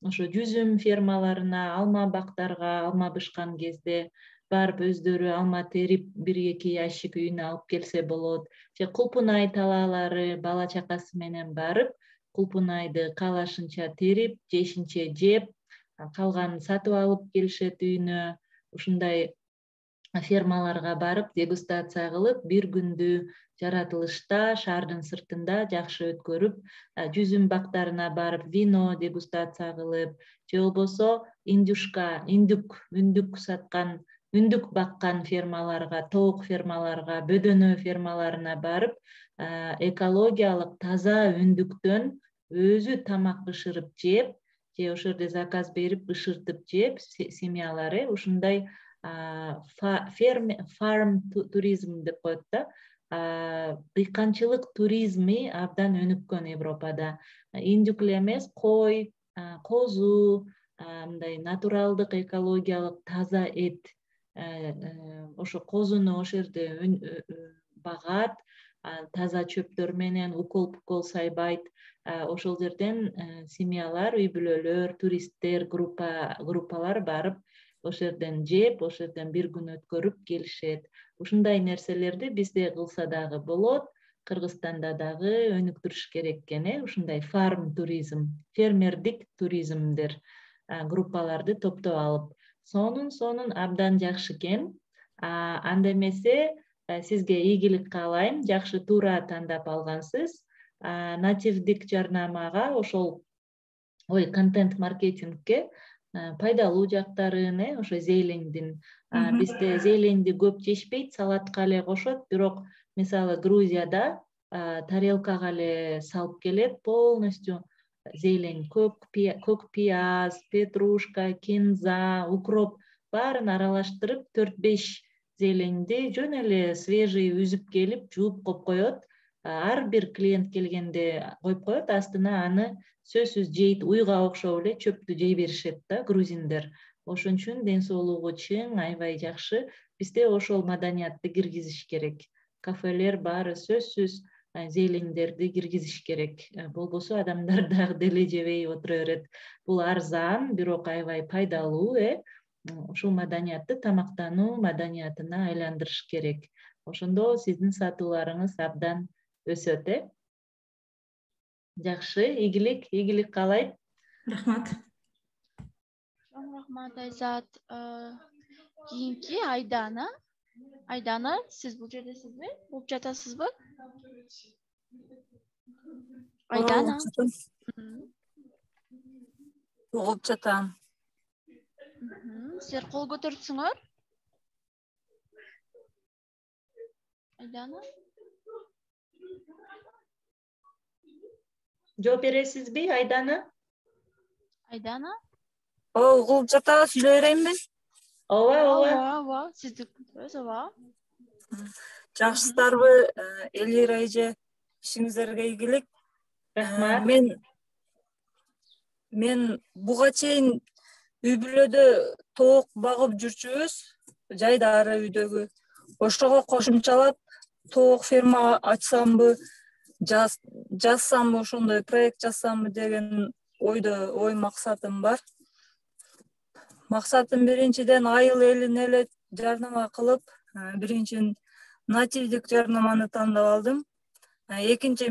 ошо жүзүм фермаларына, алма бактарга, алма бышкан кезде барып өздөрү алма терип 1-2 ящик үйүнө алып келсе болот. Же кулпунай талаалары бала чакасы менен барып, кулпунайды каалашынча терип, жешинче жеп, калганын сатып алып келишет үйүнө. Ушундай фермаларга барып, дегустация кылып, 1 күндү жаратылышта, шаардын сыртында жакшы өткөрүп, жүзүм бактарына барып, вино дегустация кылып, же болбосо үндүк саткан, үндүк баккан фермаларга, тоок фермаларга, бөдөнө фермаларына барып, экологиялык таза үндүктөн өзү тамак бышырып жеп, же ошол жерде заказ берип бышыртып жеп, семьялар, ушундай фарм туризм деп коет да. Дыйканчылык туризми абдан өнүккөн Европада. Индюк эле эмес, кой, козу, мындай натуралдык, экологиялык таза эт. Ошо козуну ошол жерде багат, таза чөптөр менен укол сайбайт. Ошол жерден семьялар, үй бүлөлөр, туристтер, группалар барып, ошол жерден жеп, ошол жерден 1 күн өткөрүп келишет. Ушундай нерселерди бизде кылса дагы болот, Кыргызстанда дагы өнүктүрүш керек экен, ушундай фарм туризм, фермердик туризмдер, группаларды топтоп алып. Сонун абдан жакшы экен. Анда эмесе сизге ийгилик каалайм, жакшы туура тандап алгансыз. Нативдик жарнамага, ошол контент маркетингке пайдалуу жактарын, ошо зелендин. Бизде зеленди көп жешпейт, салатка эле кошот, бирок мисалы Грузияда тарелкага эле салып келет, полностью зелень, көк пияз, петрушка, кинза, укроп баарын аралаштырып 4-5 зеленди жөн эле свежий үзүп келип, жууп коюп коет. Ар бир клиент келгенде коюп коет, астына аны сөзсүз жейт, уйга окшоп эле чөптү жей беришет да грузиндер. Ошон үчүн ден соолугу чың, аябай жакшы. Бизде ошол маданиятты киргизиш керек. Кафелер баары сөзсүз зелендерди киргизиш керек. Болбосо адамдар дагы деле жебей отура берет. Бул арзан, бирок аябай пайдалуу, ушул маданиятты тамактануу маданиятына айландырыш керек. Ошондо сиздин сатууларыңыз абдан өсөт, Жакшы, ийгилик каалайм. Рахмат. Рахмат Айзат. кийинки Айдана. Айдана, сиз бул жердесизби? Болуп жатасызбы? Айдана. Болуп жатам. Силер кол көтөрүпсүңөр? Айдана. Жооп бересизби, Айдана? Айдана. Угулуп жатабы, сүйлөй берейинби? Ооба. Сизди күтөбүз, ооба. Жакшысыздарбы, Элира эже, ишиңиздерге ийгилик. Рахмат. Мен буга чейин үй бүлөдө тоок багып жүрчүбүз, жайдары үйдөгү. Ошого кошумчалап тоок ферма ачсамбы, жазсамбы, ошондой проект жазсамбы деген ой максатым бар. Максатым биринчиден айыл элине эле жарнама кылып, биринчи нативдик жарнаманы тандап алдым. Экинчи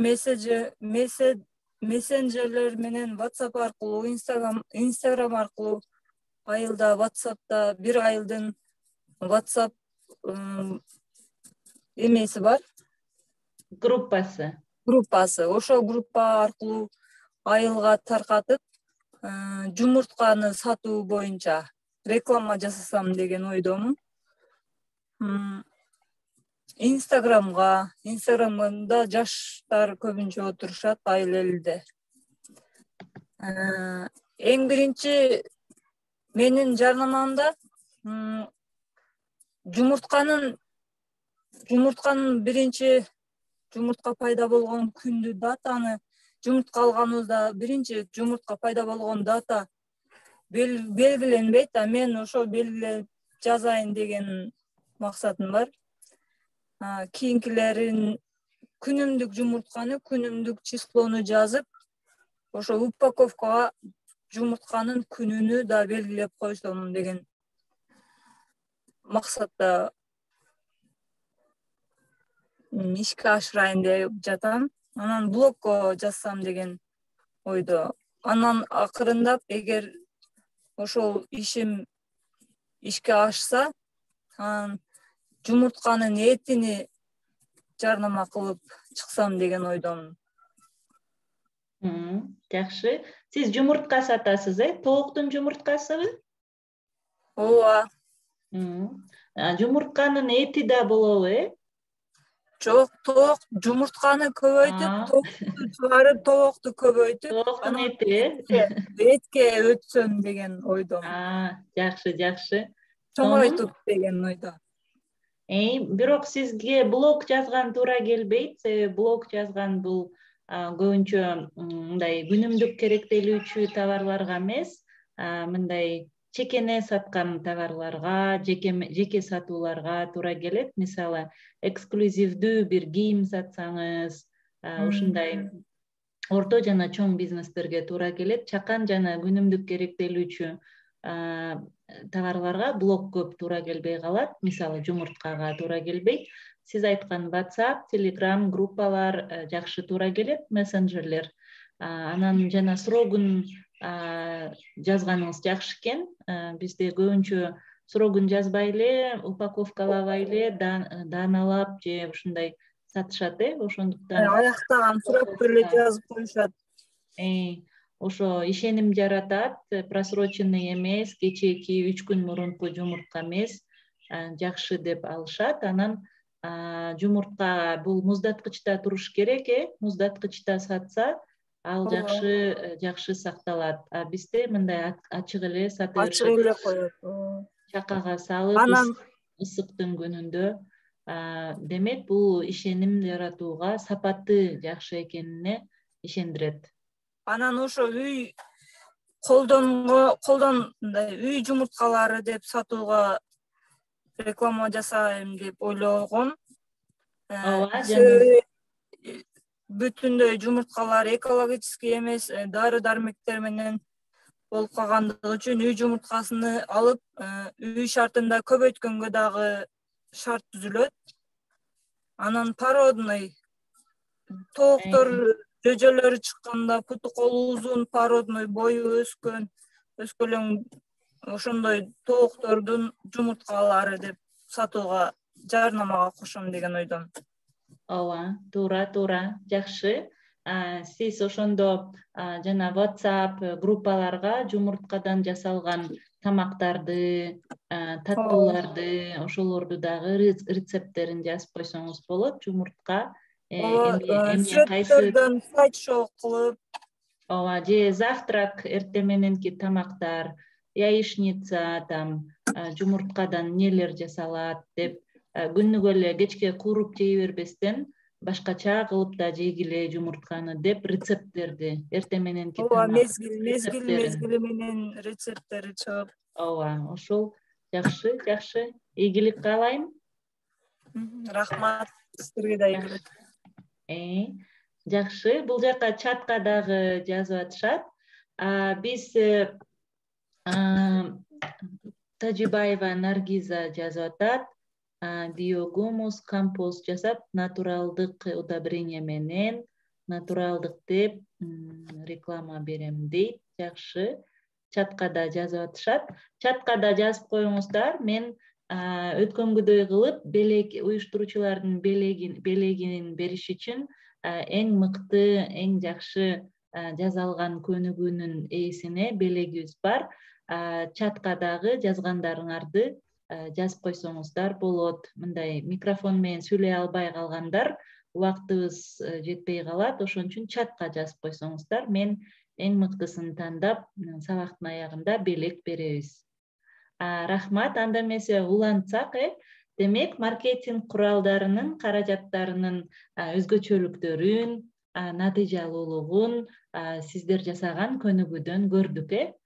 мессенджерлер менен WhatsApp аркылуу, Instagram аркылуу, айылда WhatsApp'та бир айылдын WhatsApp эмеси бар. Группасы. Ошо группа аркылуу айылга таркатып, жумуртканы сатуу боюнча реклама жасасам деген ойдомун. Инстаграмда жаштар көбүнчө отурушат айыл элде. Эң биринчи менин жарнамамда жумуртканын биринчи жумуртка пайда болгон күндү, датаны, жумуртка алганыбызда биринчи жумуртка пайда болгон дата белгиленбейт, мен ошо белгилеп жазайын деген максатым бар. Кийинкилерин күнүмдүк жумуртканы, күнүмдүк числону жазып, ошо упаковкага жумуртканын күнүнү да белгилеп койсом деген максатта ишке ашырайын деп жатам. Анан блогко жазсам деген ойдо. Анан акырындап, эгер ошол ишим ишке ашса, анан жумуртканын этини жарнама кылып чыксам деген ойдомун. Жакшы. Сиз жумуртка сатасыз, Тооктун жумурткасыбы? Ооба. Жумуртканын эти да болобу, Жок, тоок жумуртканы көбөйтүп, тоокту чыгарып, тоокту көбөйтүп, Тооктун эти, этке өтсөм деген ойдомун. Жакшы. Чоңойтуп деген ойдо. Бирок сизге блог жазган туура келбейт, себеби блог жазган бул көбүнчө мындай күнүмдүк керектелүүчү товарларга эмес, мындай чекене саткан товарларга, жеке сатууларга туура келет. Мисалы, эксклюзивдүү бир кийим сатсаңыз, ушундай орто жана чоң бизнестерге туура келет. Чакан жана күнүмдүк керектелүүчү товарларга блог көп туура келбей калат. Мисалы, жумурткага туура келбейт. Сиз айткан WhatsApp, Telegram группалар жакшы туура келет, мессенджерлер. Анан жана срогун жазганыңыз жакшы экен. Бизде көбүнчө срогун жазбай эле, упаковкалабай эле, дааналап же ушундай сатышат, ошондуктан аяктаган срокто эле жазып коюшат. Ошо ишеним жаратат, просроченный эмес, кечээки 3 күн мурунку жумуртка эмес, жакшы деп алышат. Анан жумуртка бул муздаткычта туруш керек, муздаткычта сатса, ал жакшы сакталат. Бизде мындай ачык эле сата беришет. Ачык эле коет. Чакага салып, ысыктын күнүндө. Демек, бул ишеним жаратууга, сапаты жакшы экенине ишендирет. Анан ошо үй үй жумурткалары деп сатууга реклама жасайм деп ойлогом. Бүтүндөй жумурткалар экологический эмес, дары-дармектер менен болуп калгандыгы үчүн үй жумурткасыны алып, үй шартында көбөйткөнгө дагы шарт түзүлөт. Анан породный тооктор жөжөлөрү чыкканда, путу колу узун, породный, бою өскөлөң ошондой тооктордун жумурткалары деп сатууга жарнамага кошом деген ойдомун. Ооба, туура, жакшы. Сиз ошондо жана WhatsApp группаларга жумурткадан жасалган тамактарды, таттууларды, ошолорду дагы рецепттерин жазып койсоңуз болот. Жумуртка эмне кайсы Сүрөттөрдөн слайд-шоу кылып. Ооба, же завтрак, эртең мененки тамактар, яичница, жумурткадан нелер жасалат деп күнүгө эле кечке кууруп жей бербестен башкача кылып да жейгиле жумуртканы деп рецепттерди эртең мененки мезгили менен рецепттери чыгып. Ооба, ошол жакшы. Ийгилик каалайм. Рахмат, сизге да ийгилик. Жакшы, бул жака чатка дагы жазып атышат. Биз Тажибаева Наргиза жазып атат. Биогумус компост жасап, натуралдык удобрение менен, натуралдык деп реклама берем дейт. Жакшы. Чатка да жазып атышат. Чатка да жазып коюңуздар. Мен өткөнгүдөй кылып, уюштуруучулардын белегин бериш үчүн эң мыкты, эң жакшы жазалган көнүгүүнүн ээсине белегибиз бар. Чатка дагы жазгандарыңарды жазып койсоңуздар болот. Мындай микрофон менен сүйлөй албай калгандар убактыбыз жетпей калат, ошон үчүн чатка жазып койсоңуздар, мен эң мыктысын тандап, сабактын аягында белек беребиз. Рахмат, анда эмесе улантсак, демек, маркетинг куралдарынын, каражаттарынын өзгөчөлүктөрүн, натыйжалуулугун сиздер жасаган көнүгүүдөн көрдүк.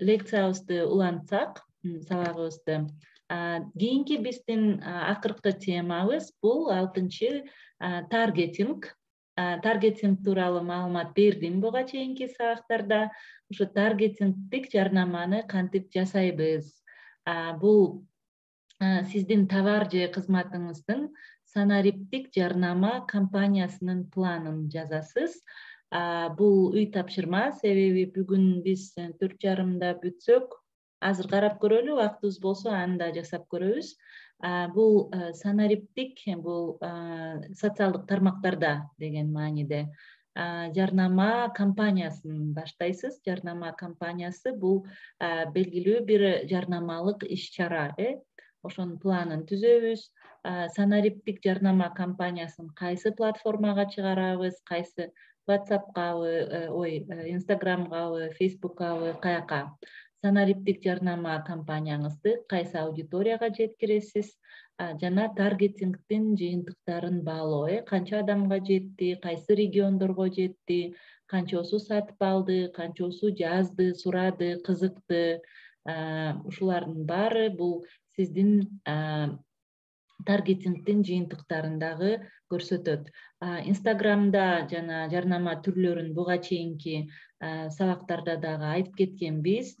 Лекциябызды улантсак, сабагыбызды. Кийинки биздин акыркы темабыз бул 6-чы таргетинг. Таргетинг тууралуу маалымат бердим буга чейинки сабактарда. Ушу таргетингдик жарнаманы кантип жасайбыз? Бул сиздин товар же кызматыңыздын санариптик жарнама кампаниясынын планын жазасыз. Бул үй тапшырма, себеби бүгүн биз 4:30 бүтсөк, азыр карап көрөлү, убактыбыз болсо анда жасап көрөбүз. Бул санариптик, бул социалдык тармактарда деген мааниде жарнама кампаниясын баштайсыз. Жарнама кампаниясы бул белгилүү бир жарнамалык иш-чара. Ошонун планын түзөбүз. Санариптик жарнама кампаниясын кайсы платформага чыгарабыз, кайсы WhatsApp'кабы, Instagram'кабы, Facebook'кабы, каяка. Санариптик жарнама кампанияңызды кайсы аудиторияга жеткиресиз, жана таргетингдин жыйынтыктарын баалоо, канча адамга жетти, кайсы региондорго жетти, канчосу сатып алды, канчосу жазды, сурады, кызыкты. Ушулардын баары бул сиздин таргетингдин жыйынтыктарындагы көрсөтөт. Инстаграмда жана жарнама түрлөрүн буга чейинки сабактарда дагы айтып кеткенбиз.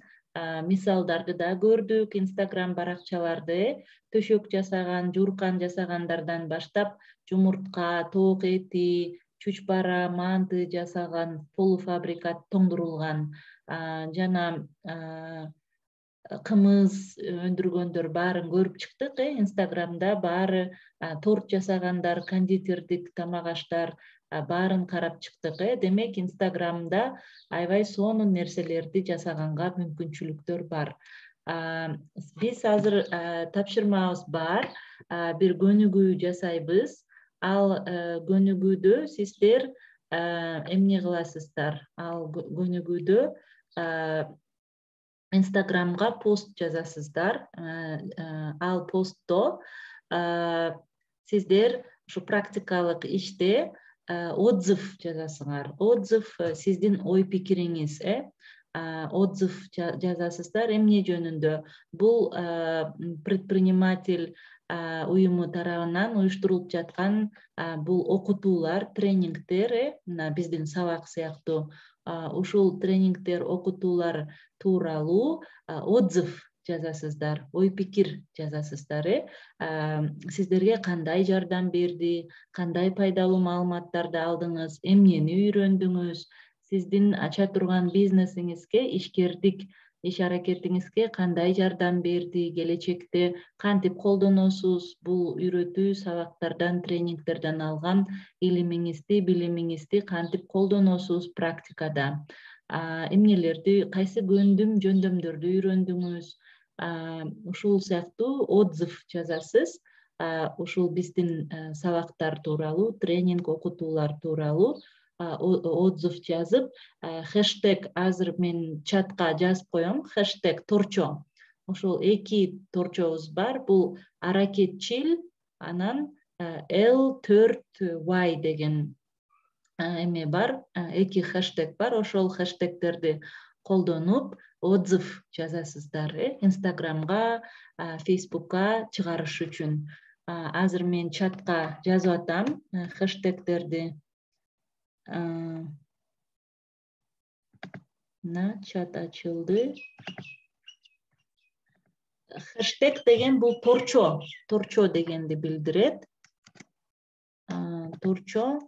Мисалдарды да көрдүк. Инстаграм баракчаларды төшөк жасаган, жууркан жасагандардан баштап жумуртка, тоок эти, чучпара, манты жасаган, полуфабрикат тоңдурулган жана кымыз өндүргөндөр баарын көрүп чыктык. Инстаграмда баары торт жасагандар, кондитердик тамак аштар баарын карап чыктык. Демек, Инстаграмда аябай сонун нерселерди жасаганга мүмкүнчүлүктөр бар. Биз азыр тапшырмабыз бар, бир көнүгүү жасайбыз. Ал көнүгүүдө сиздер эмне кыласыздар? Ал көнүгүүдө Инстаграмга пост жазасыздар. Ал постто сиздер ушу практикалык иште отзыв жазасыңар. Отзыв сиздин ой пикириңиз, отзыв жазасыздар. Эмне жөнүндө? Бул предприниматель уюму тарабынан уюштурулуп жаткан бул окутуулар, тренингдер, мына биздин сабак сыяктуу ушул тренингдер, окутуулар тууралуу отзыв жазасыздар, ой пикир жазасыздар. Сиздерге кандай жардам берди, кандай пайдалуу маалыматтарды алдыңыз, эмнени үйрөндүңүз, сиздин ача турган бизнесиңизге ишкердик иш аракетиңизге кандай жардам берди, келечекте кантип колдоносуз, бул үйрөтүү сабактардан, тренингтерден алган илимиңизди, билимиңизди кантип колдоносуз практикада, эмнелерди, кайсы жөндөмдөрдү үйрөндүңүз, ушул сыяктуу отзыв жазасыз. Ушул биздин сабактар тууралуу, тренинг, окутуулар тууралуу отзыв жазып, хэштег азыр мен чатка жазып коем, хэштег торчо. Ошол 2 торчобуз бар. Бул аракетчил, анан L4Y деген эме бар, 2 хэштег бар. Ошол хэштегтерди колдонуп отзыв жазасыздар, Инстаграмга, Фейсбукка чыгарыш үчүн. Азыр мен чатка жазып атам хэштегтерди. Чат ачылды. Хэштег деген бул торчо дегенди билдирет. Торчо.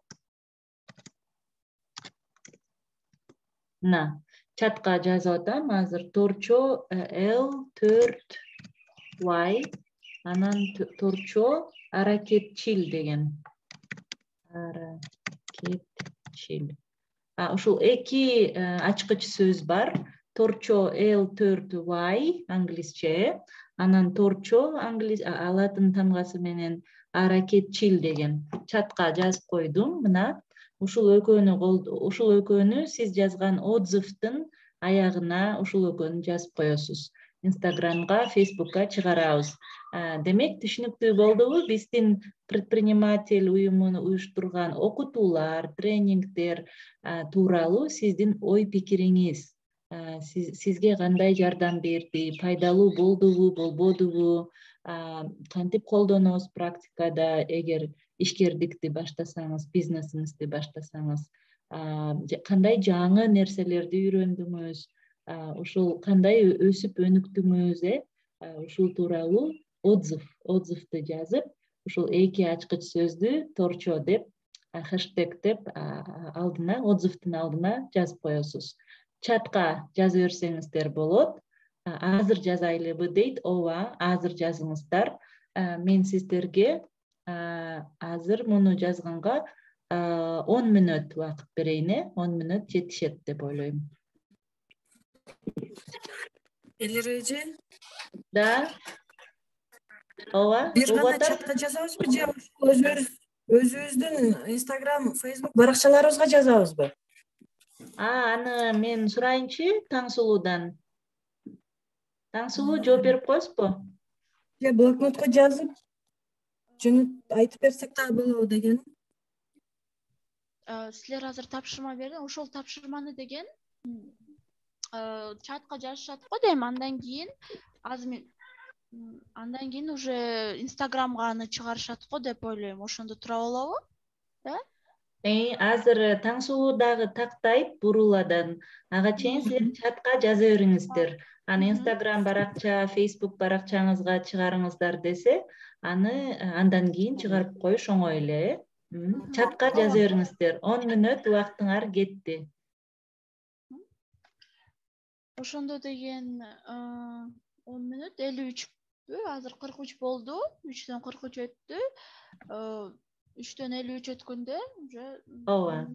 Чатка жазып атам азыр торчо L4Y, анан торчо аракетчил деген. Аракетчил. Ушул 2 ачкыч сөз бар. Торчо L4Y англисче, анан торчо латын тамгасы менен аракетчил деген. Чатка жазып койдум. Мына ушул экөөнү сиз жазган отзывдын аягына ушул экөөнү жазып коесуз. Инстаграмга, Фейсбукка чыгарабыз. Демек, түшүнүктүү болдубу? Биздин предприниматель уюмуну уюштурган окутуулар, тренингдер тууралуу сиздин ой пикириңиз, сизге кандай жардам берди, пайдалуу болдубу, болбодубу, кантип колдонобуз практикада, эгер ишкердикти баштасаңыз, бизнесиңизди баштасаңыз, кандай жаңы нерселерди үйрөндүңүз, ушул кандай өсүп өнүктүңүз, ушул тууралуу отзывды жазып, ушул 2 ачкыч сөздү торчо деп, хэштег деп алдына, отзывдын алдына жазып коесуз. Чатка жаза берсеңиздер болот. Азыр жазайлыбы дейт. Ооба, азыр жазыңыздар. Мен сиздерге азыр муну жазганга 10 мүнөт убакыт берейин, 10 мүнөт жетишет деп ойлойм. Элер эже? Да. Ооба. Бир гана чатка жазабызбы же өзүбүздүн Инстаграм, Фейсбук баракчаларыбызга жазабызбы? Аны мен сурайынчы Таңсулуудан. Таңсулуу жооп берип коесузбу? Же блокнотко жазып, жөнөт айтып берсек дагы болобу деген. Силер азыр тапшырма бердиң, ошол тапшырманы деген чатка жазышат го дейм, андан кийин уже Инстаграмга аны чыгарышат го деп ойлойм. Ошондо тура болобу? Да? Азыр Таңсулуу дагы тактайт буруладан. Ага чейин силер чатка жаза бериңиздер. Аны Инстаграм баракча, Фейсбук баракчаңызга чыгарыңыздар десе, аны андан кийин чыгарып коюш оңой эле. Чатка жаза бериңиздер. 10 мүнөт убактыңар кетти. Ошондо деген 10 мүнөт 53 азыр 43 болду. 3дөн 43 өттү. 3дөн 53 өткөндө уже ооба.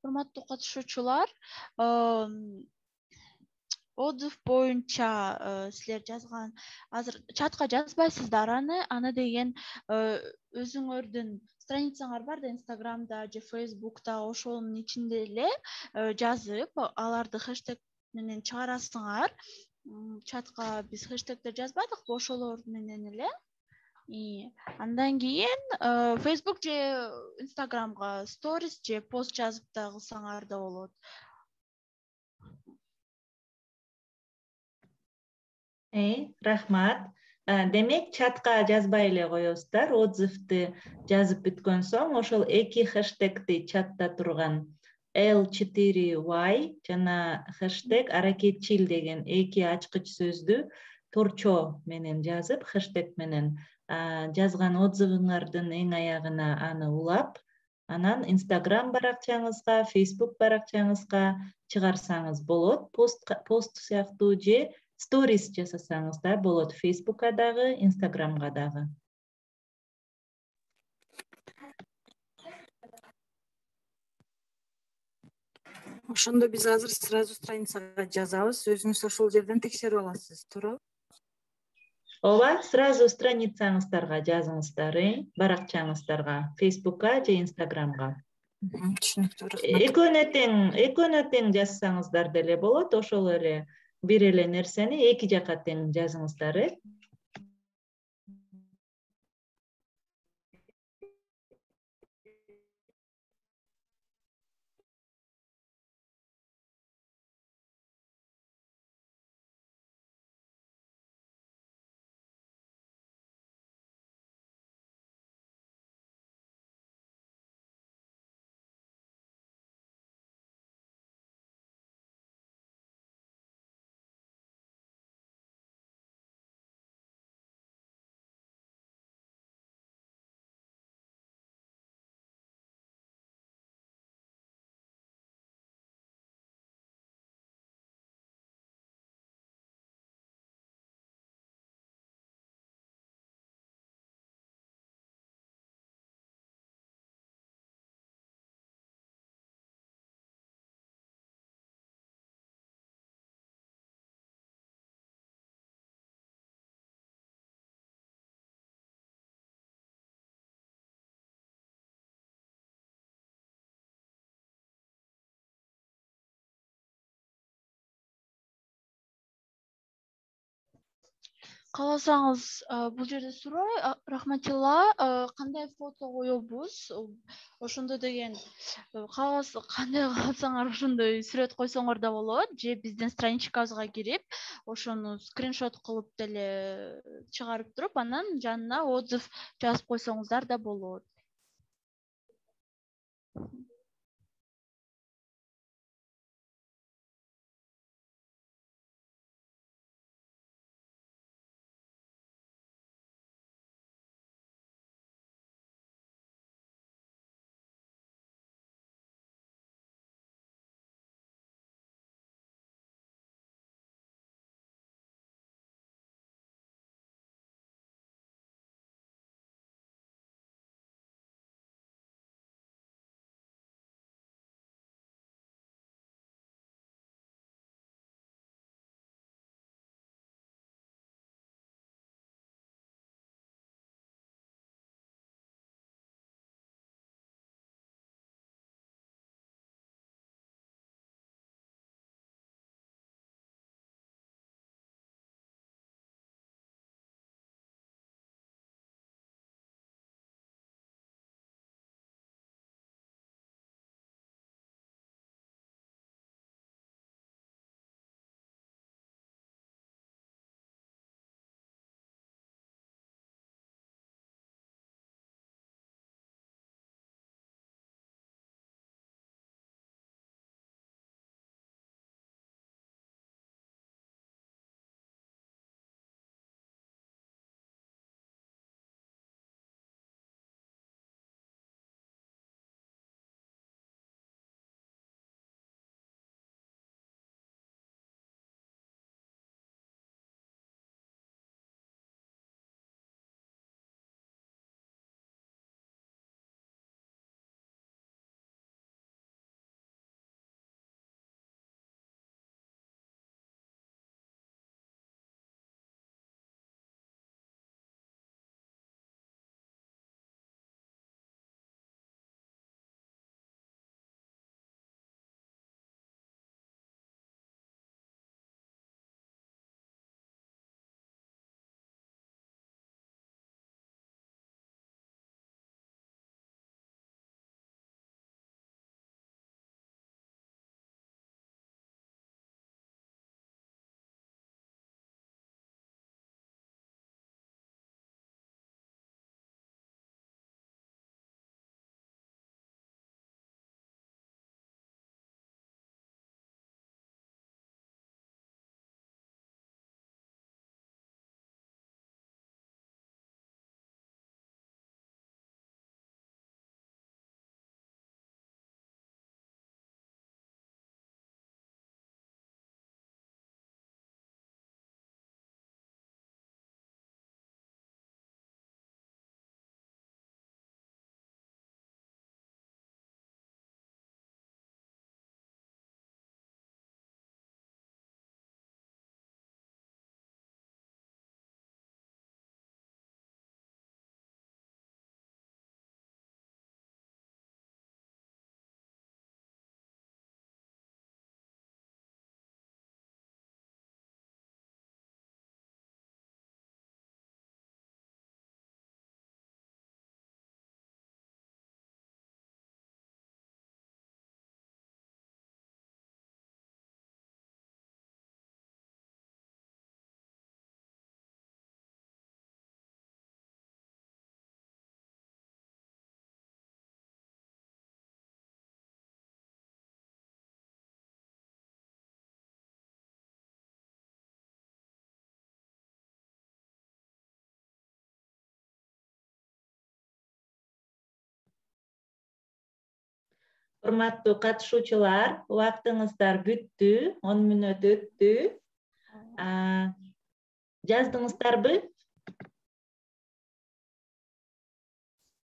урматтуу катышуучулар, отзыв боюнча силер жазган, азыр чатка жазбайсыздар аны деген өзүңөрдүн страницаңар бар да, Инстаграмда же Фейсбукта, ошонун ичинде эле жазып, аларды хэштег менен чыгарасыңар. Чатка биз хэштегдер жазбадыкпы, ошолор менен эле. Андан кийин Facebook же Инстаграмга сторис же пост жазып да кылсаңар да болот. Рахмат. Демек, чатка жазбай эле коесуздар. Отзывды жазып бүткөн соң, ошол эки хэштегти чатта турган L4Y жана хэштег аракетчил деген эки ачкыч сөздү торчо менен жазып, хэштег менен жазган отзывыңардын эң аягына аны улап, анан Инстаграм баракчаңызга, Фейсбук баракчаңызга чыгарсаңыз болот. Пост сыяктуу же сторис жасасаңыз да болот. Фейсбукка дагы, Инстаграмга дагы. Ошондо биз азыр сразу страницага жазабыз, өзүңүз ошол жерден текшерип аласыз, туурабы? Ооба, сразу страницаңыздарга жазыңыздар, баракчаңыздарга, Фейсбукка же Инстаграмга. Түшүнүктүү, рахмат. Экөөнө тең жазсаңыздар деле болот, ошол эле бир эле нерсени эки жака тең жазыңыздар. Кааласаңыз, бул жерде суроо, Рахматилла, кандай фото коебуз? Ошондо деген кандай кааласаңар ошондой сүрөт койсоңор да болот, же биздин страничкабызга кирип, ошону скриншот кылып деле чыгарып туруп, анан жанына отзыв жазып койсоңуздар да болот. Урматтуу катышуучулар, убактыңыздар бүттү, 10 мүнөт өттү. Жаздыңыздарбы?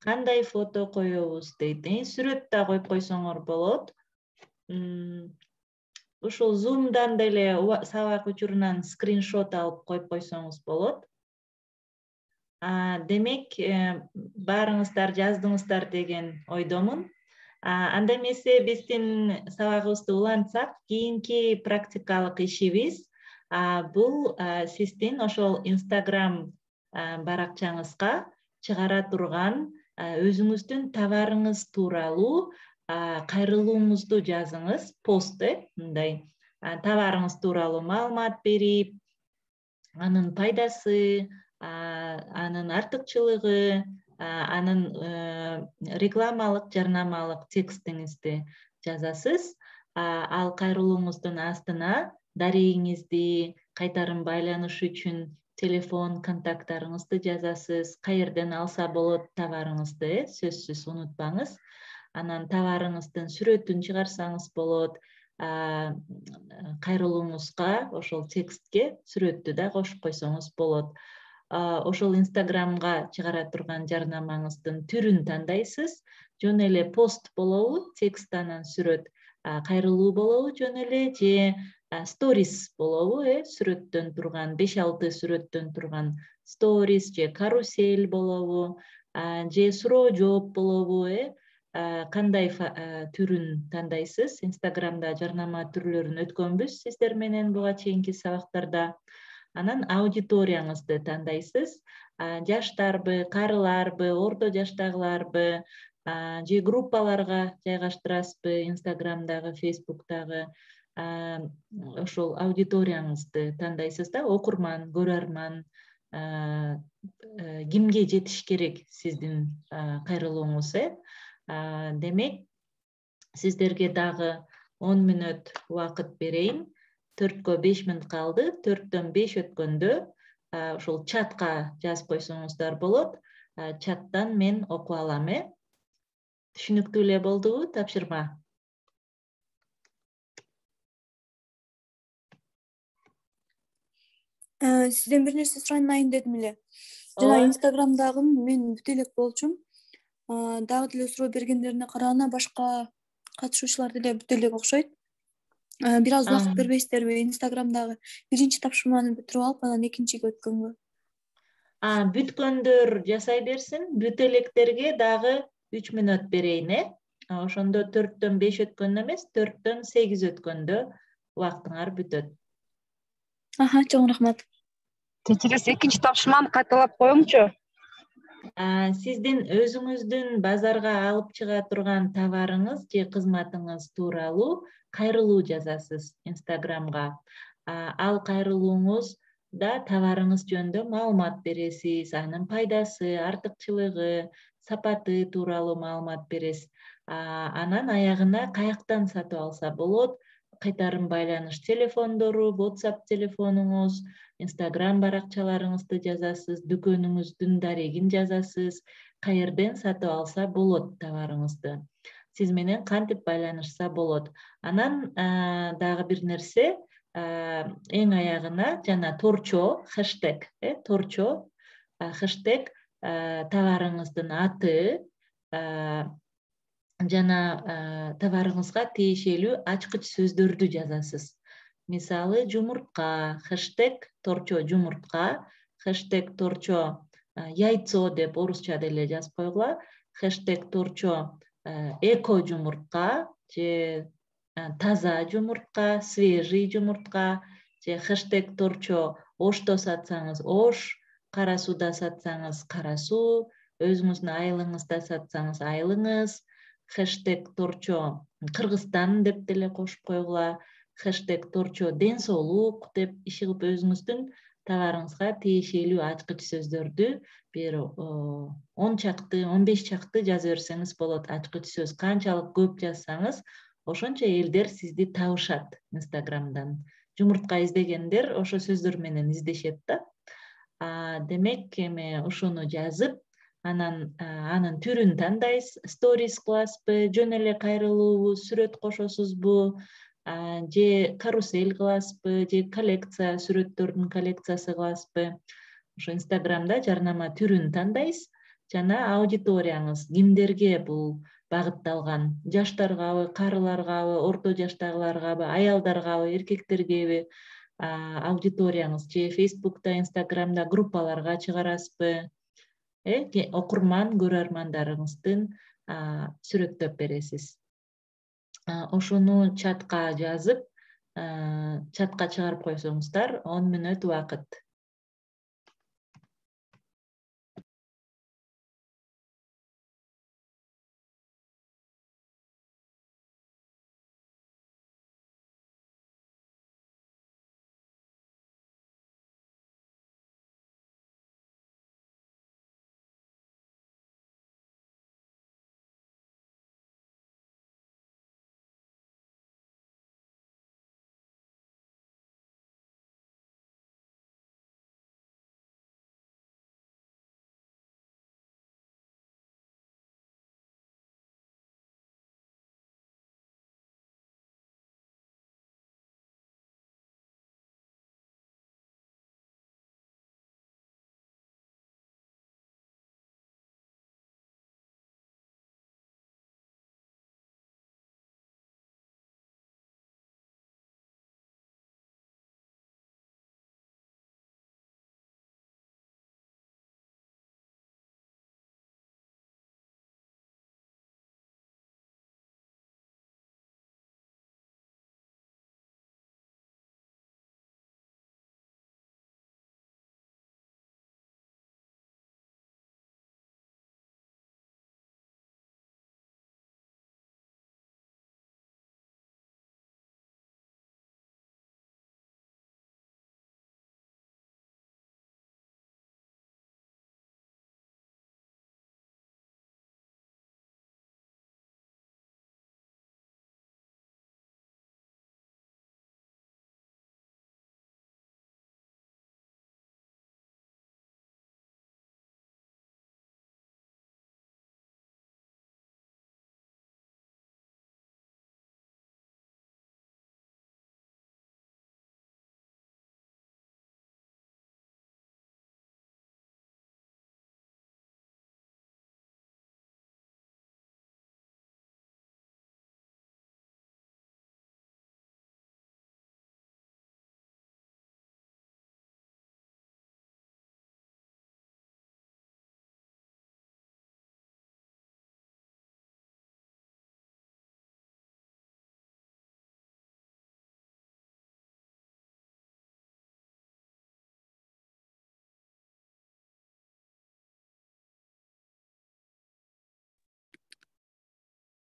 Кандай фото коебуз дейт. Сүрөт да коюп койсоңор болот. Ушул Zoom'дан деле сабак учурунан скриншот алып коюп койсоңуз болот. Демек, баарыңыздар жаздыңыздар деген ойдомун. Анда эмесе биздин сабагыбызды улантсак, кийинки практикалык ишибиз бул сиздин ошол Instagram баракчаңызга чыгара турган өзүңүздүн товарыңыз тууралуу кайрылууңузду жазыңыз, пост, мындай товарыңыз тууралуу маалымат берип, анын пайдасы, анын артыкчылыгы, анын рекламалык, жарнамалык текстиңизди жазасыз. Ал кайрылууңуздун астына дарегиңизди, кайтарым байланыш үчүн телефон контакттарыңызды жазасыз, каерден алса болот товарыңызды, сөзсүз унутпаңыз. Анан товарыңыздын сүрөтүн чыгарсаңыз болот, кайрылууңузга ошол текстке сүрөттү да кошуп койсоңуз болот. Ошол Instagramга чыгара турган жарнамаңыздын түрүн тандайсыз. Жөн эле пост болобу, текст анан сүрөт, кайрылуу болобу жөн эле, же сторис болобу, сүрөттөн турган, 5-6 сүрөттөн турган сторис, же карусель болобу, же суроо жооп болобу, кандай түрүн тандайсыз. Инстаграмда жарнама түрлөрүн өткөнбүз сиздер менен буга чейинки сабактарда. Анан аудиторияңызды тандайсыз. Жаштарбы, карыларбы, орто жаштагыларбы, же группаларга жайгаштырасызбы, Инстаграмдагы, Фейсбуктагы. Ошол аудиторияңызды тандайсыз да, окурман, көрөрман, кимге жетиш керек сиздин кайрылууңуз. Демек, сиздерге дагы 10 мүнөт убакыт берейин. 4-кө 5 мүнөт калды. 4-төн 5 өткөндө ошол чатка жазып койсоңуздар болот. Чаттан мен окуп алам. Түшүнүктүү эле болдубу тапшырма? Сизден бир нерсе суранайын дедим эле. Жана Инстаграмдагы мен бүт элек болчумун. Дагы деле суроо бергендерине караганда башка катышуучулар деле бүт элек окшойт. Бир аз убакыт бербейсиздерби Инстаграмдагы биринчи тапшырманы бүтүрүп алып, анан экинчиге өткөнгө? Бүткөндөр жасай берсин, бүт электерге дагы 3 мүнөт берейин. Ошондо 4-төн 5 өткөндө эмес, 4-төн 8 өткөндө убактыңар бүтөт. Чоң рахмат. Кечиресиз, экинчи тапшырманы кайталап коюңчу. Сиздин өзүңүздүн базарга алып чыга турган товарыңыз же кызматыңыз тууралуу кайрылуу жазасыз Инстаграмга. Ал кайрылууңузда товарыңыз жөнүндө маалымат бересиз, анын пайдасы, артыкчылыгы, сапаты тууралуу маалымат бересиз. Анан аягына каяктан сатып алса болот, кайтарым байланыш телефондору, WhatsApp телефонуңуз, Instagram баракчаларыңызды жазасыз, дүкөнүңүздүн дарегин жазасыз, каерден сатып алса болот товарыңызды. Сиз менен кантип байланышса болот. Анан дагы бир нерсе, эң аягына жана торчо, хэштег, торчо, хэштег товарыңыздын аты, жана товарыңызга тиешелүү ачкыч сөздөрдү жазасыз. Мисалы, жумуртка, хэштег торчо жумуртка, хэштег торчо яйцо деп орусча деле жазып койгула, хэштег торчо эко жумуртка, же таза жумуртка, свежий жумуртка, же хэштег торчо ошто сатсаңыз ош, кара сууда сатсаңыз кара суу, өзүңүздүн айылыңызда сатсаңыз айылыңыз, хэштег торчо Кыргызстан деп деле кошуп койгула, хэштег торчо ден соолук деп иши кылып өзүңүздүн товарыңызга тиешелүү ачкыч сөздөрдү бир 10 чакты, 15 чакты жаза берсеңиз болот. Ачкыч сөз канчалык көп жазсаңыз, ошончо элдер сизди табышат Инстаграмдан. Жумуртка издегендер ошо сөздөр менен издешет да. Демек, эме ошону жазып, анан анын түрүн тандайсыз, сторис кыласызбы, жөн эле кайрылуубу, сүрөт кошосузбу, же карусель кыласызбы, же коллекция, сүрөттөрдүн коллекциясы кыласызбы. Ошо Инстаграмда жарнама түрүн тандайсыз жана аудиторияңыз кимдерге бул багытталган, жаштаргабы, карыларгабы, орто жаштагыларгабы, аялдаргабы, эркектергеби аудиторияңыз, же Фейсбукта, Инстаграмда группаларга чыгарасызбы, окурман көрөрмандарыңыздын сүрөттөп бересиз. Ошону чатка жазып, чатка чыгарып койсоңуздар 10 мүнөт убакыт.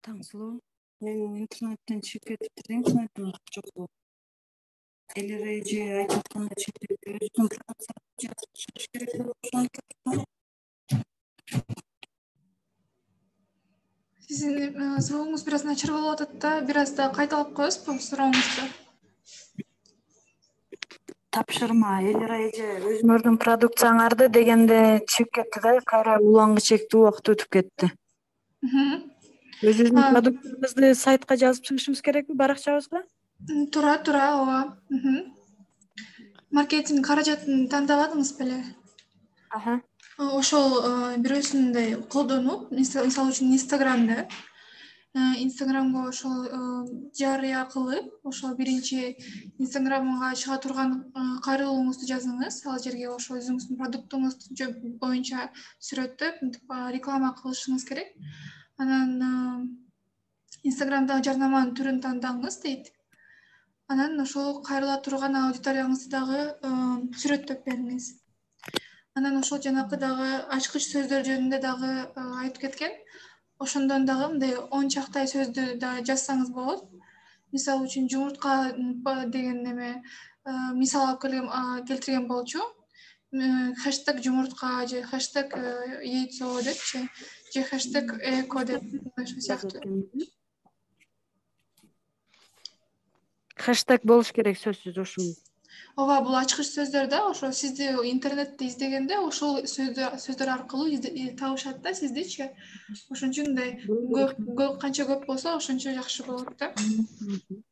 Таңсулуу, мен интернеттен чыгып кетиптир, интернетим жок. Эле же айтып аткандай чектелип өзүнүн продукциясын чыгыш керек деп ошону. Сиздин сооңуз бир аз начар болуп атат да, бир аз да кайталап коесузбу сурооңузду? Тапшырма эле же өзүңөрдүн продукцияңарды дегенде чыгып кетти да, кайра уланга чектүү убакыт өтүп кетти. Өзүбүздүн продукциябызды сайтка жазып чыгышыбыз керекпи, баракчабызга? Туура, ооба. Маркетинг каражатын тандабадыңыз беле? Ошол бирөөсүн мындай колдонуп, мисалы үчүн Инстаграмга ошол жарыя кылып, ошол биринчи Инстаграмга чыга турган кайрылууңузду жазыңыз. Ал жерге ошол өзүңүздүн продуктуңуз боюнча сүрөттөп, реклама кылышыңыз керек. Анан Инстаграмдагы жарнаманын түрүн тандаңыз дейт. Анан ошол кайрыла турган аудиторияңызды дагы сүрөттөп бериңиз. Анан ошол жанакы дагы ачкыч сөздөр жөнүндө дагы айтып кеткен. Ошондон дагы мындай 10 чактай сөздү да жазсаңыз болот. Мисалы үчүн жумуртка деген неме мисал алып келтирген болчу. Хэштег жумуртка же хэштег яйцо депчи, же хэштег эко деп ошол сыяктуу. Хэштег болуш керек сөзсүз ушул. ооба, бул ачкыч сөздөр да ошо сизди интернетте издегенде ошол сөздөр аркылуу табышат да сиздичи. Ошон үчүн мындай канча көп болсо ошончо жакшы болот да.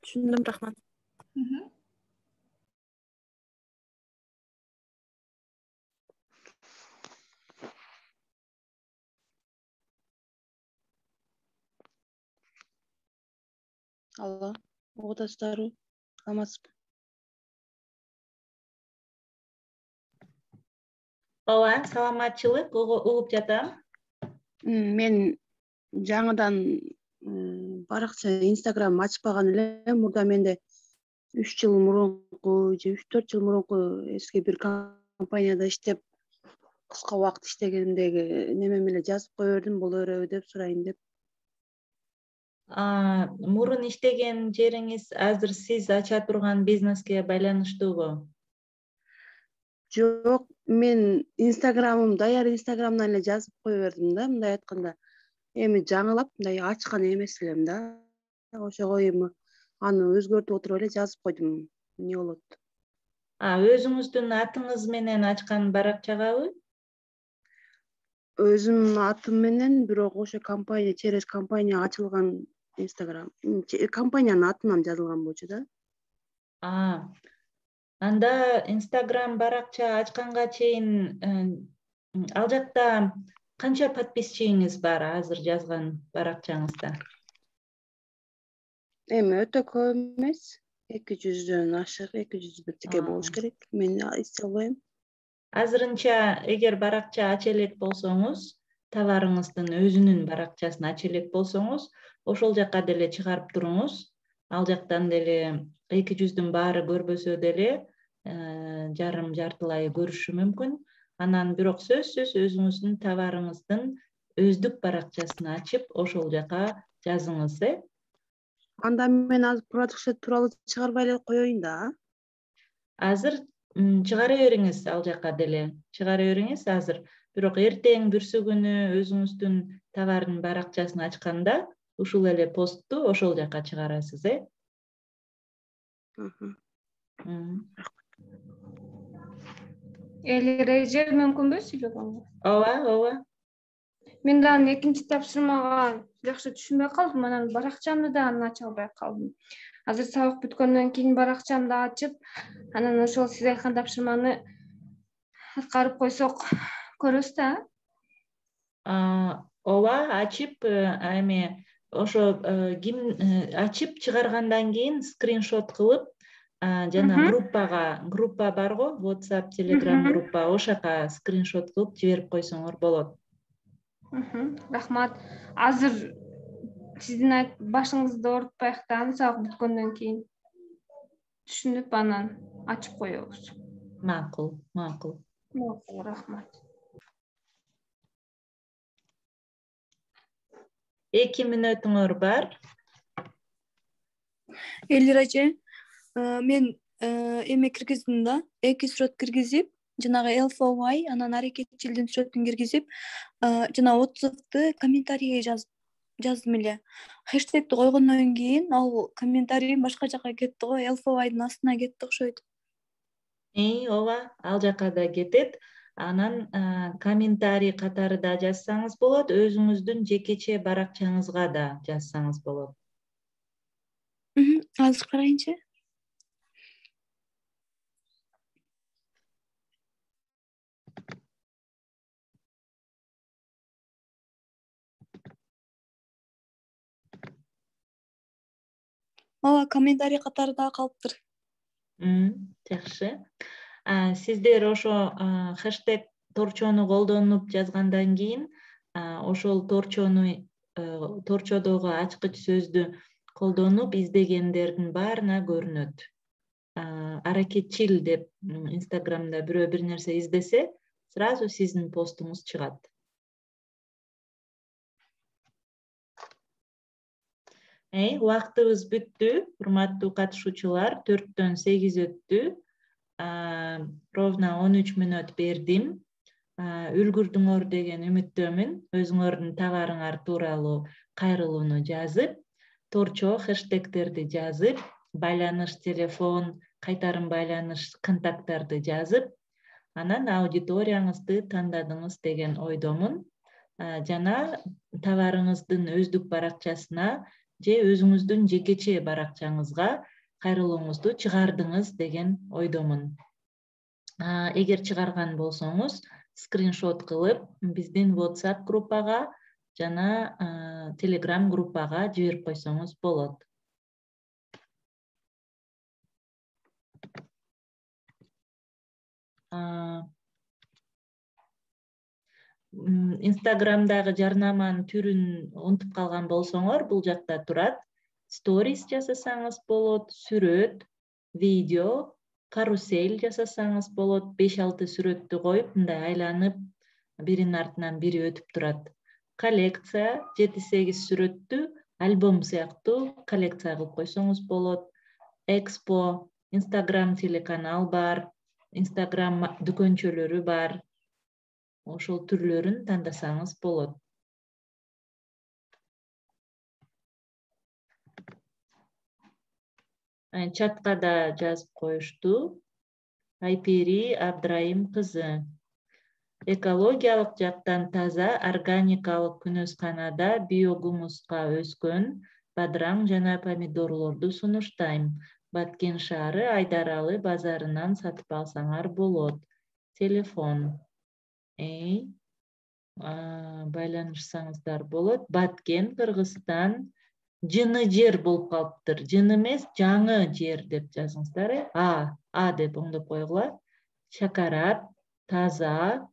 Түшүндүм, рахмат. Алло, угуп атасыздарбы? Саламатсызбы? Ооба, саламатчылык, угуп жатам. Мен жаңыдан баракча Instagram ачпаган элем. Мурда менде 3 жыл мурунку же 3-4 жыл мурунку эски бир компанияда иштеп, кыска убакыт иштегендеги немем эле жазып кое бердим, боло береби деп сурайын деп. Мурун иштеген жериңиз азыр сиз ача турган бизнеске байланыштуубу? Жок, мен Instagram'ым даяр Instagram'дан эле жазып кое бердим да, мындай айтканда. Эми жаңылап мындай ачкан эмес элем да. Ошого эми аны өзгөртүп отуруп эле жазып койдум. Эмне болот? Өзүңүздүн атыңыз менен ачкан баракчагабы? Өзүмдүн атым менен, бирок ошо компания, через компания ачылган Instagram. Компаниянын атынан жазылган болчу да. Анда Instagram баракча ачканга чейин ал жакта канча подписчиңиз бар азыр жазган баракчаңызда? Эми өтө көп эмес, 200дөн ашык, 200 бирдеке болуш керек. Мен эстей албайм. Азырынча эгер баракча ача элек болсоңуз, товарыңыздын өзүнүн баракчасын ача элек болсоңуз, ошол жака деле чыгарып туруңуз. Ал жактан деле 200дүн баары көрбөсө деле жарым жартылай көрүшү мүмкүн. Анан бирок сөзсүз өзүңүздүн товарыңыздын өздүк баракчасын ачып, ошол жака жазыңыз, Анда мен азыр продукция тууралуу чыгарбай эле коеюн да. Азыр чыгара бериңиз, ал жака деле чыгара бериңиз азыр. Бирок эртең бүрсү күнү өзүңүздүн товардын баракчасын ачканда ушул эле постту ошол жака чыгарасыз, Эреже мүмкүнбү сүйлөгөнгө? Ооба. Мен дагы экинчи тапшырмага жакшы түшүнбөй калдым, анан баракчамды дагы ача албай калдым. Азыр сабак бүткөндөн кийин баракчамды ачып, анан ошол сиз айткан тапшырманы аткарып койсок көрөбүз да. Ооба, ачып, эми ошо ким ачып чыгаргандан кийин скриншот кылып, жана группа барго, WhatsApp, Telegram группа, ошака скриншот кылып жиберип койсоңор болот. Рахмат. Азыр сиздин башыңызды оорутпайык да, сабак бүткөндөн кийин түшүнүп анан ачып коебуз. Макул. Рахмат. 2 мүнөтүңөр бар. Элир эже, мен эме киргиздим да, 2 сүрөт киргизип, жанагы LFY, анан аракетчилдин сүрөтүн киргизип, жана отзывды комментарийге жаздым эле. Хэштегти койгондон кийин ал комментарий башка жака кетти го, LFY'дын астына кетти окшойт. Ооба, ал жака да кетет. Анан комментарий катары да жазсаңыз болот, өзүңүздүн жекече баракчаңызга да жазсаңыз болот. Азыр карайынчы. Ооба, комментарий катары да калыптыр. Жакшы. Сиздер ошо хэштег торчону колдонуп жазгандан кийин, ошол торчодогу ачкыч сөздү колдонуп издегендердин баарына көрүнөт. Аракетчил деп Instagramда бирөө бир нерсе издесе, сразу сиздин постуңуз чыгат. Убактыбыз бүттү, урматтуу катышуучулар, 4-төн 8 өттү. Ровно 13 мүнөт бердим. Үлгүрдүңөр деген үмүттөмүн. Өзүңөрдүн товарыңар тууралуу кайрылууну жазып, торчо хэштегтерди жазып, байланыш телефон, кайтарым байланыш контакттарды жазып, анан аудиторияңызды тандадыңыз деген ойдомун. Жана товарыңыздын өздүк баракчасына же өзүңүздүн жекече баракчаңызга кайрылууңузду чыгардыңыз деген ойдомун. Эгер чыгарган болсоңуз, скриншот кылып биздин WhatsApp группага жана Telegram группага жиберип койсоңуз болот. Инстаграмдагы жарнаманын түрүн унутуп калган болсоңор, бул жакта турат. Сторис жасасаңыз болот, сүрөт, видео, карусель жасасаңыз болот. 5-6 сүрөттү коюп, мындай айланып, биринин артынан бири өтүп турат. Коллекция 7-8 сүрөттү альбом сыяктуу коллекция кылып койсоңуз болот. Экспо, Instagram телеканал бар, Instagram дүкөнчөлөрү бар. Ошол түрлөрүн тандасаңыз болот. Чатка да жазып коюшту. Айпери Абдрайым кызы. Экологиялык жактан таза, органикалык күнөсканада биогумуска өскөн бадыраң жана помидорлорду сунуштайм. Баткен шаары Айдаралы базарынан сатып алсаңар болот. Телефон. Байланышсаңыздар болот. Баткен, Кыргызстан. Жыны жер болуп калыптыр. Жыны эмес, жаңы жер деп жазыңыздар. А деп оңдоп койгула. Шакарат, таза,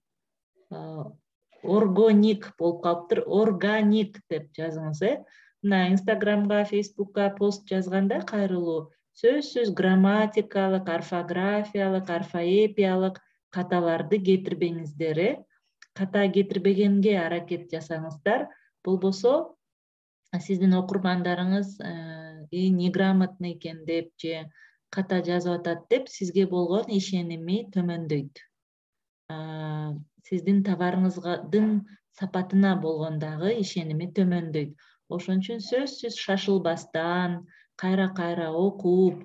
органик болуп калыптыр. Органик деп жазыңыз. Мына Инстаграмга, Фейсбукка пост жазганда кайрылуу сөзсүз грамматикалык, орфографиялык, орфоэпиялык каталарды кетирбеңиздер. Ката кетирбегенге аракет жасаңыздар. Болбосо сиздин окурмандарыңыз неграмотный экен деп же ката жазып атат деп сизге болгон ишеними төмөндөйт. Сиздин товарыңыздын сапатына болгон дагы ишеними төмөндөйт. Ошон үчүн сөзсүз шашылбастан, кайра окуп,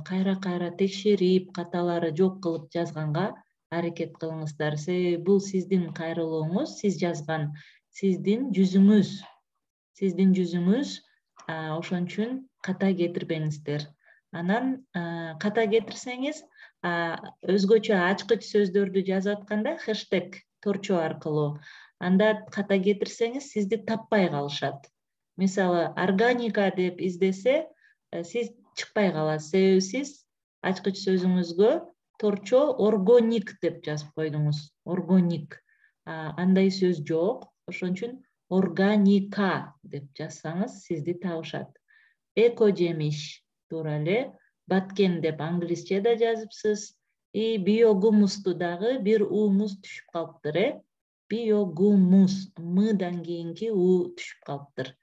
кайра текшерип, каталары жок кылып жазганга аракет кылыңыздар. Бул сиздин кайрылууңуз, сиз жазган сиздин жүзүңүз. Ошон үчүн ката кетирбеңиздер. Анан ката кетирсеңиз, өзгөчө ачкыч сөздөрдү жазып атканда хэштег торчо аркылуу, анда ката кетирсеңиз сизди таппай калышат. Мисалы, органика деп издесе, сиз чыкпай каласыз. Себеби сиз ачкыч сөзүңүзгө торчо органик деп жазып койдуңуз. Органик. Андай сөз жок. Ошон үчүн органика деп жазсаңыз сизди табышат. Эко жемиш туура эле. Баткен деп англисче да жазыпсыз. Биогумусту дагы бир уумуз түшүп калыптыр. Биогумус. Мыдан кийинки у түшүп калыптыр.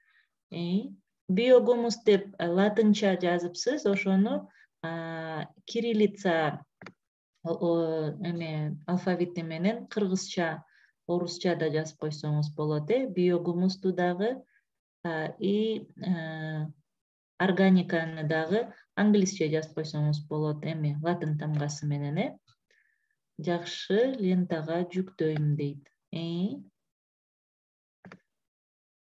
Биогумус деп латынча жазыпсыз. Ошону кириллица алфавити менен кыргызча, орусча да жазып койсоңуз болот. Биогумусту дагы органиканы дагы англисче жазып койсоңуз болот. Латын тамгасы менен. Жакшы, лентага жүктөйм дейт.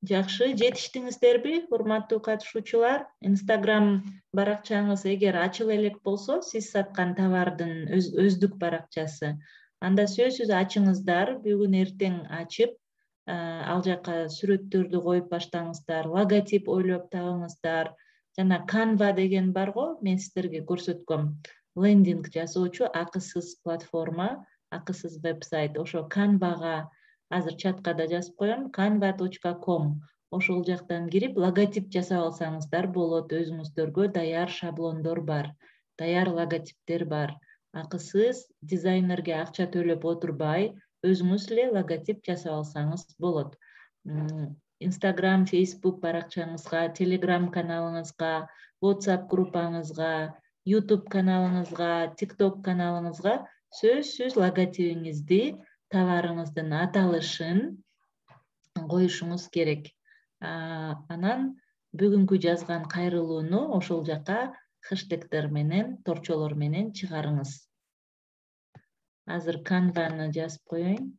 Жакшы, жетиштиңиздерби, урматтуу катышуучулар? Инстаграм баракчаңыз эгер ачыла элек болсо, сиз саткан товардын өздүк баракчасы, анда сөзсүз ачыңыздар, бүгүн эртең ачып, ал жака сүрөттөрдү коюп баштаңыздар, логотип ойлоп табыңыздар. Жана Canva деген барго, мен сиздерге көрсөткөм. Лендинг жасоочу акысыз платформа, акысыз вебсайт. Ошо Canva'га азыр чатка да жазып коем, canva.com. Ошол жактан кирип, логотип жасап алсаңыздар болот. Өзүңүздөргө даяр шаблондор бар, даяр логотиптер бар. Акысыз, дизайнерге акча төлөп отурбай, өзүңүз эле логотип жасап алсаңыз болот. Instagram, Facebook баракчаңызга, Telegram каналыңызга, WhatsApp группаңызга, YouTube каналыңызга, TikTok каналыңызга сөзсүз логотипиңизди, товарыңыздын аталышын коюшуңуз керек. Анан бүгүнкү жазган кайрылууну ошол жака хэштегдер менен, торчолор менен чыгарыңыз. Азыр Canva'ны жазып коеюн.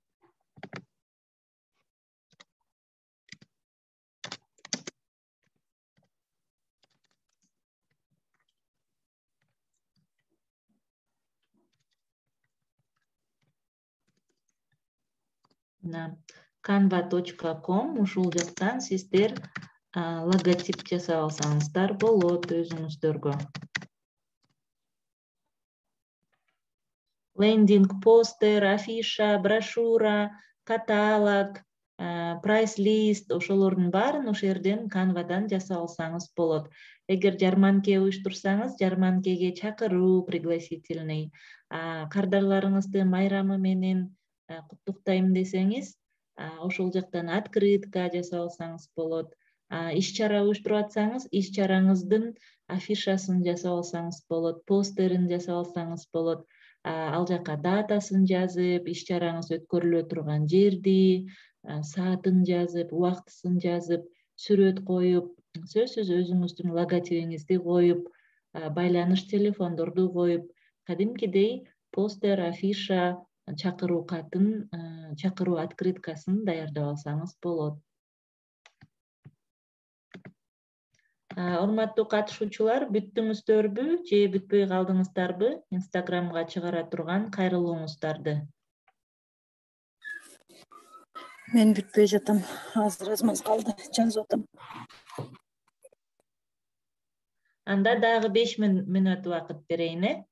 canva.com ушул жактан сиздер логотип жасап алсаңыздар болот өзүңүздөргө. Лендинг, постер, афиша, брошюра, каталог, прайс-лист ошолордун баарын ошол жерден Canva'дан жасап алсаңыз болот. Эгер жарманке уюштурсаңыз, жарманкеге чакыруу пригласительный, кардарларыңызды майрамы менен куттуктайм десеңиз, ошол жактан открытка жасап алсаңыз болот. Иш-чара уюштуруп атсаңыз, иш-чараңыздын афишасын жасап алсаңыз болот, постерин жасап алсаңыз болот. Ал жака датасын жазып, иш-чараңыз өткөрүлө турган жерди, саатын жазып, убактысын жазып, сүрөт коюп, сөзсүз өзүңүздүн логотипиңизди коюп, байланыш телефондорду коюп, кадимкидей постер, афиша, чакыруу катын, чакыруу открыткасын даярдап алсаңыз болот. Урматтуу катышуучулар, бүттүңүздөрбү же бүтпөй калдыңыздарбы? Инстаграмга чыгара турган кайрылууңуздарды. Мен бүтпөй жатам. Азыр аз калды, жазып атам. Анда дагы 5 мүнөт убакыт берейин,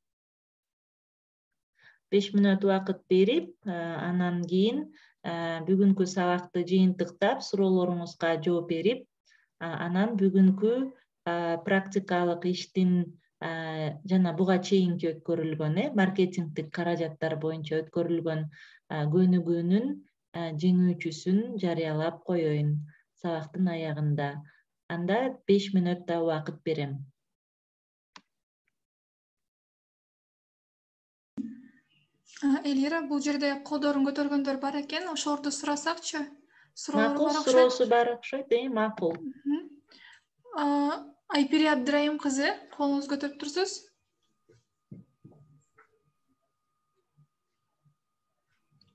5 мүнөт убакыт берип, анан кийин бүгүнкү сабакты жыйынтыктап, суроолоруңузга жооп берип, анан бүгүнкү практикалык иштин жана буга чейинки өткөрүлгөн маркетингдик каражаттар боюнча өткөрүлгөн көнүгүүнүн жеңүүчүсүн жарыялап коеюн сабактын аягында. Анда 5 мүнөт да убакыт берем. Элира, бул жерде колдорун көтөргөндөр бар экен, ошолорду сурасакчы? Макул, суроосу бар окшойт, макул. Айпири Абдырайым кызы, колуңузду көтөрүп турсуз.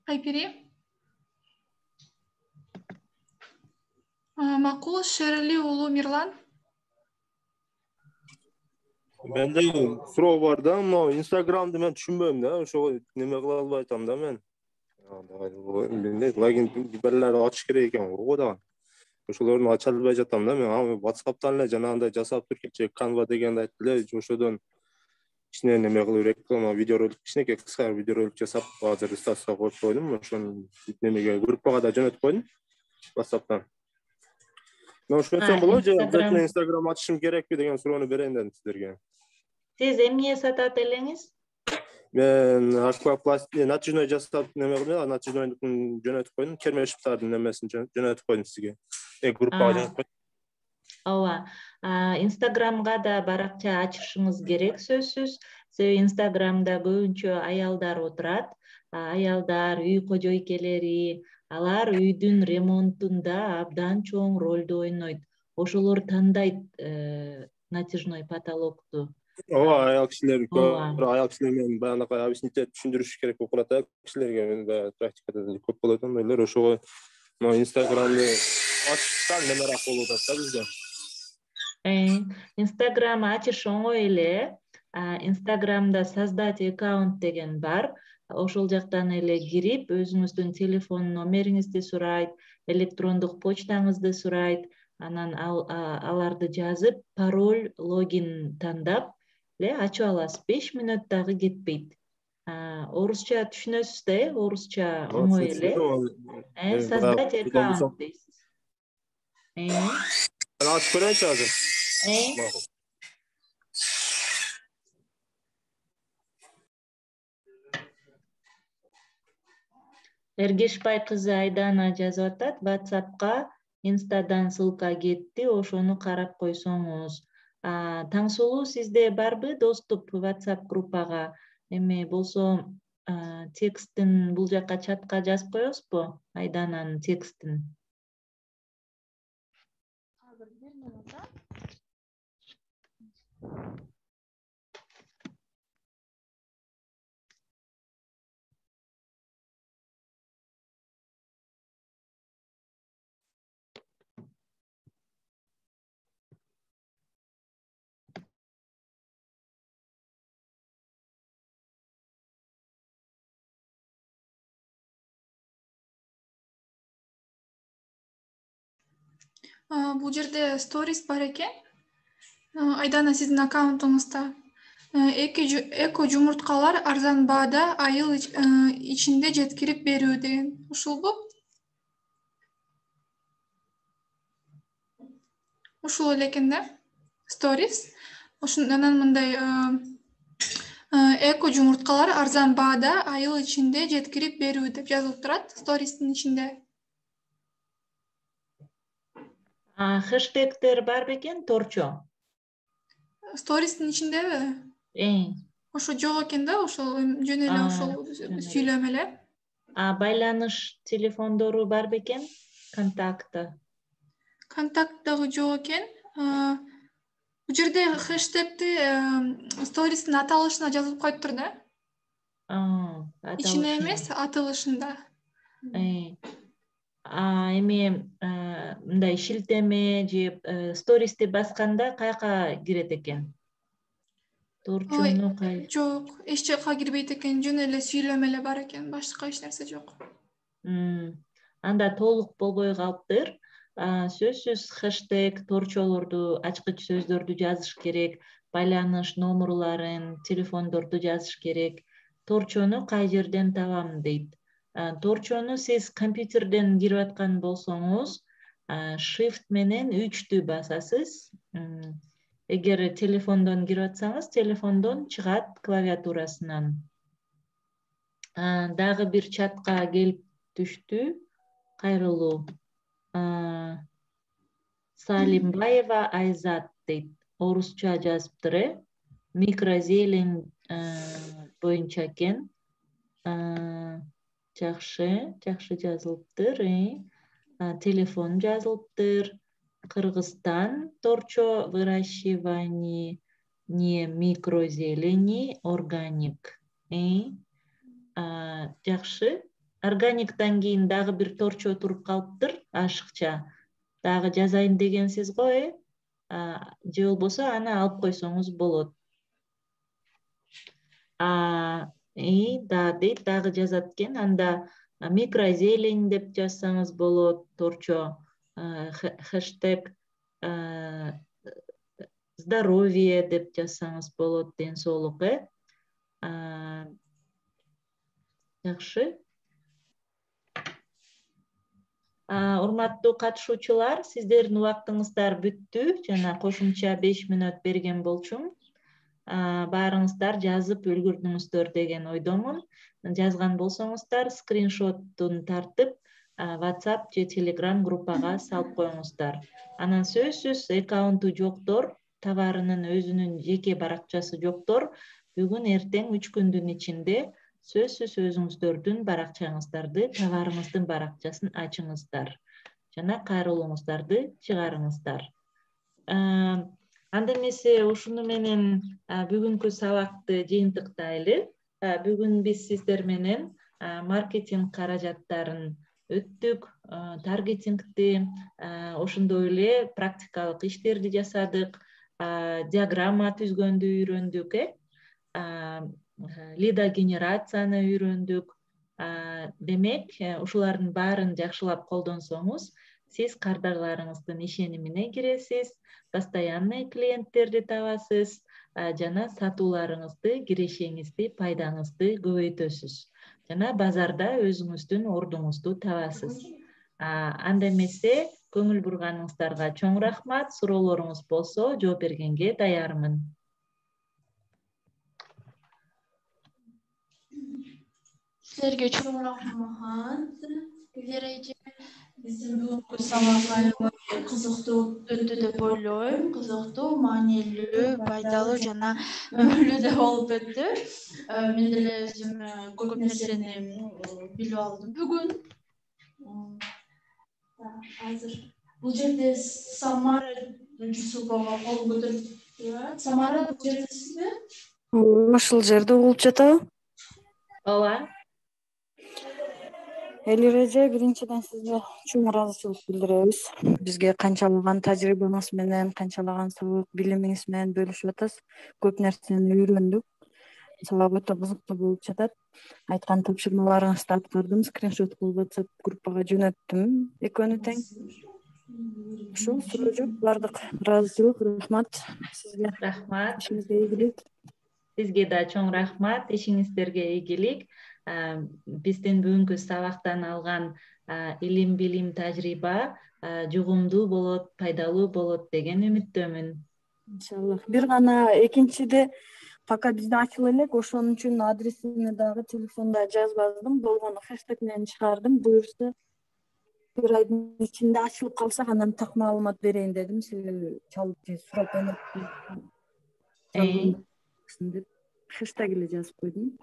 Айпири. Макул, Шерли уулу Мирлан. Менде суроо бар да, но Инстаграмды мен түшүнбөйм да, ошого неме кыла албай атам да мен. Логин берлерди ачыш керек экен го да. Ошолорду ача албай жатам да мен. WhatsApp'тан эле жанагындай жасап туруп кетчү, Canva дегенди айтты эле, ошодон кичине неме кылып реклама, видеоролик, кичинекей кыска видеоролик жасап, азыр статуска коюп койдум. Ошону немеге группага да жөнөтүп койдум WhatsApp'тан. Мен ошентсем болобу же обязательно Instagram ачышым керекпи деген суроону берейин дедим сиздерге. Сиз эмне сатат элеңиз? Мен аквапластик натяжной жасап неме кылдым, натяжнойдун жөнөтүп койдум, кермешиптардын немесин жөнөтүп койдум сизге. Группага жөнөтүп койдум. Ооба, Инстаграмга да баракча ачышыңыз керек сөзсүз. Себеби Инстаграмда көбүнчө аялдар отурат. Аялдар, үй кожойкелери, алар үйдүн ремонтунда абдан чоң ролду ойнойт. Ошолор тандайт натяжной потолокту. Ооба, аял кишилер менен баягы объяснить түшүндүрүш керек болуп калат кишилерге. Мен баягы практикада көп болот андайлар. Ошого Инстаграмды ачсак немерак болуп атат да бизде. Инстаграм ачыш оңой эле. Инстаграмда создать аккаунт деген бар. Ошол жактан эле кирип, өзүңүздүн телефон номериңизди сурайт, электрондук почтаңызды сурайт, анан аларды жазып, пароль, логин тандап эле ачып аласыз. 5 мүнөт дагы кетпейт. Орусча түшүнөсүз да, орусча оңой эле. Создать аккаунт дейсиз. Ачып көрөйүнчү азыр. Эргешбай кызы Айдана жазып атат, WhatsApp'ка Инстадан ссылка кетти, ошону карап койсоңуз. Таңсулуу, сизде барбы доступ WhatsApp группага? Эми болсо текстин бул жака чатка жазып коесузбу? Айдананын текстин. Бул жерде сторис бар экен. Айдана сиздин аккаунтуңузда эко жумурткалар арзан баада айыл ичинде жеткирип берүү деген. Ушулбу? Ушул эле экен да? Сторис. Анан мындай эко жумурткалар арзан баада айыл ичинде жеткирип берүү деп жазылып турат стористин ичинде. Хэштегтер бар бекен торчо? Стористин ичиндеби? Ошо жок экен да, ошол жөн эле ошол сүйлөм эле. Байланыш телефондору бар бекен? Контакт дагы жок экен. Бул жерде хэштегти стористин аталышына жазылып коюптур да. Ичине эмес, аталышында. Эми мындай шилтеме же стористи басканда каяка кирет экен? Торчону Жок, эч жака кирбейт экен, жөн эле сүйлөм эле бар экен, башка эч нерсе жок. Анда толук болбой калыптыр. Сөзсүз хэштег, торчолорду, ачкыч сөздөрдү жазыш керек, байланыш номерларын, телефондорду жазыш керек. Торчону кай жерден табам дейт. Торчону сиз компьютерден кирип аткан болсоңуз, shift менен 3-тү басасыз. Эгер телефондон кирип атсаңыз, телефондон чыгат клавиатурасынан. Дагы бир чатка келип түштү. Кайрылуу. Салимбаева Айзат дейт. Орусча жазыптыр, микрозелень боюнча экен. Жакшы жазылыптыр. Телефон жазылыптыр. Кыргызстан торчо выращивание микрозелени органик. Жакшы. Органиктан кийин дагы бир торчо туруп калыптыр, ашыкча. Дагы жазайын дегенсиз го, же болбосо аны алып койсоңуз болот. Дейт, дагы жазат экен. Анда микрозелень деп жазсаңыз болот, торчо. Хэштег здоровье деп жазсаңыз болот, ден соолук. Жакшы. Урматтуу катышуучулар, сиздердин убактыңыздар бүттү. Жана кошумча 5 мүнөт берген болчумун. Баарыңыздар жазып үлгүрдүңүздөр деген ойдомун. Жазган болсоңуздар, скриншоттун тартып, WhatsApp же Telegram группага салып коюңуздар. Анан сөзсүз аккаунту жоктор, товарынын өзүнүн жеке баракчасы жоктор, бүгүн эртең 3 күндүн ичинде сөзсүз өзүңүздөрдүн баракчаңыздарды, товарыңыздын баракчасын ачыңыздар. Жана кайрылууңуздарды чыгарыңыздар. Анда эмесе ушуну менен бүгүнкү сабакты жыйынтыктайлы. Бүгүн биз сиздер менен маркетинг каражаттарын өттүк, таргетингти, ошондой эле практикалык иштерди жасадык, диаграмма түзгөндү үйрөндүк, лидогенерацияны үйрөндүк. Демек, ушулардын баарын жакшылап колдонсоңуз, сиз кардарларыңыздын ишенимине киресиз, постоянный клиенттерди табасыз, жана сатууларыңызды, кирешеңизди, пайдаңызды көбөйтөсүз. Жана базарда өзүңүздүн ордуңузду табасыз. Анда эмесе көңүл бурганыңыздарга чоң рахмат. Суроолоруңуз болсо жооп бергенге даярмын. Силерге чоң рахмат. Биздин бүгүнкү сабак кызыктуу өттү деп ойлойм. Кызыктуу, маанилүү, пайдалуу жана өмүрлүү да болуп өттү. Мен деле өзүм көп нерсени билип алдым бүгүн. Азыр бул жерде Самара Жусупова кол көтөрүп. Самара, бул жерде сизби? Ушул жерде болуп жатабы? Ооба. Элиреже, биринчиден сизге чоң ыраазычылык билдиребиз. Бизге канчалаган тажрыйбаңыз менен, канчалаган сабак билимиңиз менен бөлүшүп атасыз. Көп нерсени үйрөндүк. Сабак өтө кызыктуу болуп жатат. Айткан тапшырмаларыңызды аткардым, скриншот кылып WhatsApp группага жөнөттүм. Экөөнү тең. Ошол суроо жок, баардык ыраазычылык. Рахмат сизге. Рахмат. Ишиңизге ийгилик. Сизге да чоң рахмат, ишиңиздерге ийгилик. Биздин бүгүнкү сабактан алган илим, билим, тажрыйба жугумдуу болот, пайдалуу болот деген үмүттөмүн. Иншаллах. Бир гана экинчиде пока бизде ачыла элек, ошон үчүн адресине дагы телефонда жазбадым. Болгону хэштег менен чыгардым. Буюрса бир айдын ичинде ачылып калсак, анан так маалымат берейин дедим. Сиз чалып же сурап деп хэштег эле жазып койдум.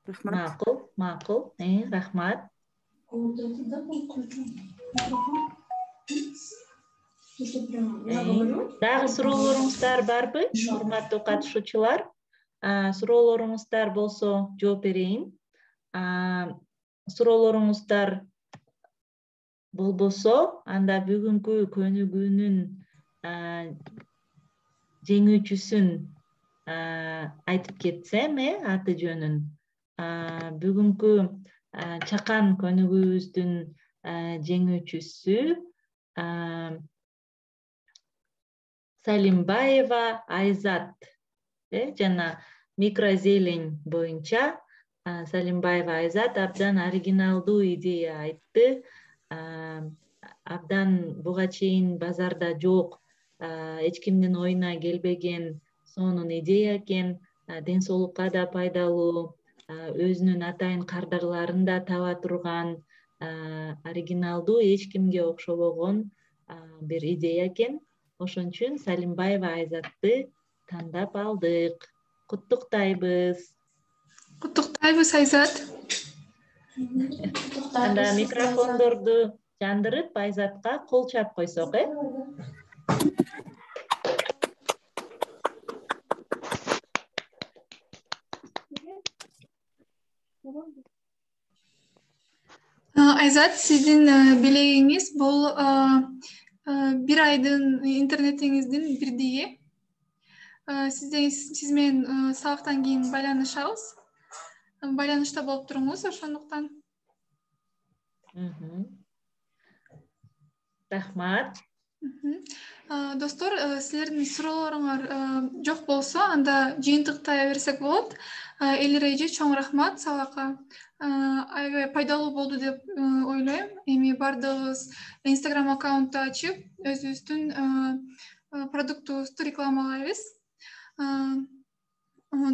Рахмат. Макул, макул. Рахмат. Дагы суроолоруңуздар барбы, урматтуу катышуучулар? Суроолоруңуздар болсо жооп берейин. Суроолоруңуздар болбосо, анда бүгүнкү көнүгүүнүн жеңүүчүсүн айтып кетсем, аты жөнүн. Бүгүнкү чакан көнүгүүбүздүн жеңүүчүсү Салимбаева Айзат. Жана микрозелень боюнча Салимбаева Айзат абдан оригиналдуу идея айтты. Абдан буга чейин базарда жок, эч кимдин оюна келбеген сонун идея экен. Ден соолукка да пайдалуу, өзүнүн атайын кардарларын да таба турган, оригиналдуу, эч кимге окшобогон бир идея экен. Ошон үчүн Салимбаева Айзатты тандап алдык. Куттуктайбыз. Куттуктайбыз, Айзат. Анда микрофондорду жандырып, Айзатка кол чап койсок, Айзат, сиздин белегиңиз бул бир айдын интернетиңиздин бирдиги. Сиз менен сабактан кийин байланышабыз. Байланышта болуп туруңуз, ошондуктан. Рахмат. Достор, силердин суроолоруңар жок болсо, анда жыйынтыктай берсек болот. Эл эреже чоң рахмат сабакка. Аябай пайдалуу болду деп ойлойм. Эми бардыгыбыз Instagram аккаунтту ачып, өзүбүздүн продуктубузду рекламалайбыз.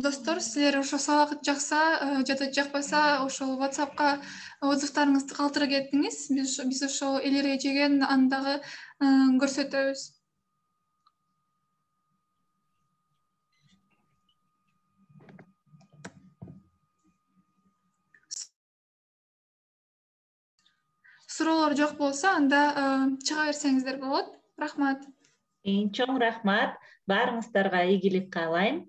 Достор, силер ошо сабак жакса жада жакпаса, ошол WhatsAppка отзывтарыңызды калтыра кетиңиз. Биз ошол эл эрежеге аны дагы көрсөтөбүз. Суроолор жок болсо, анда чыга берсеңиздер болот. Рахмат. Чоң рахмат. Баарыңыздарга ийгилик каалайм.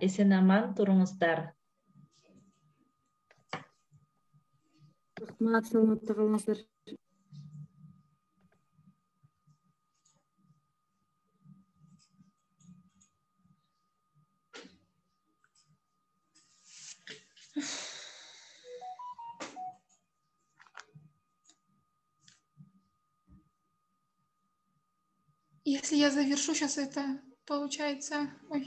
Эсен аман туруңуздар. Рахмат, саламатта калыңыздар. Если я завершу сейчас это, получается... Ой.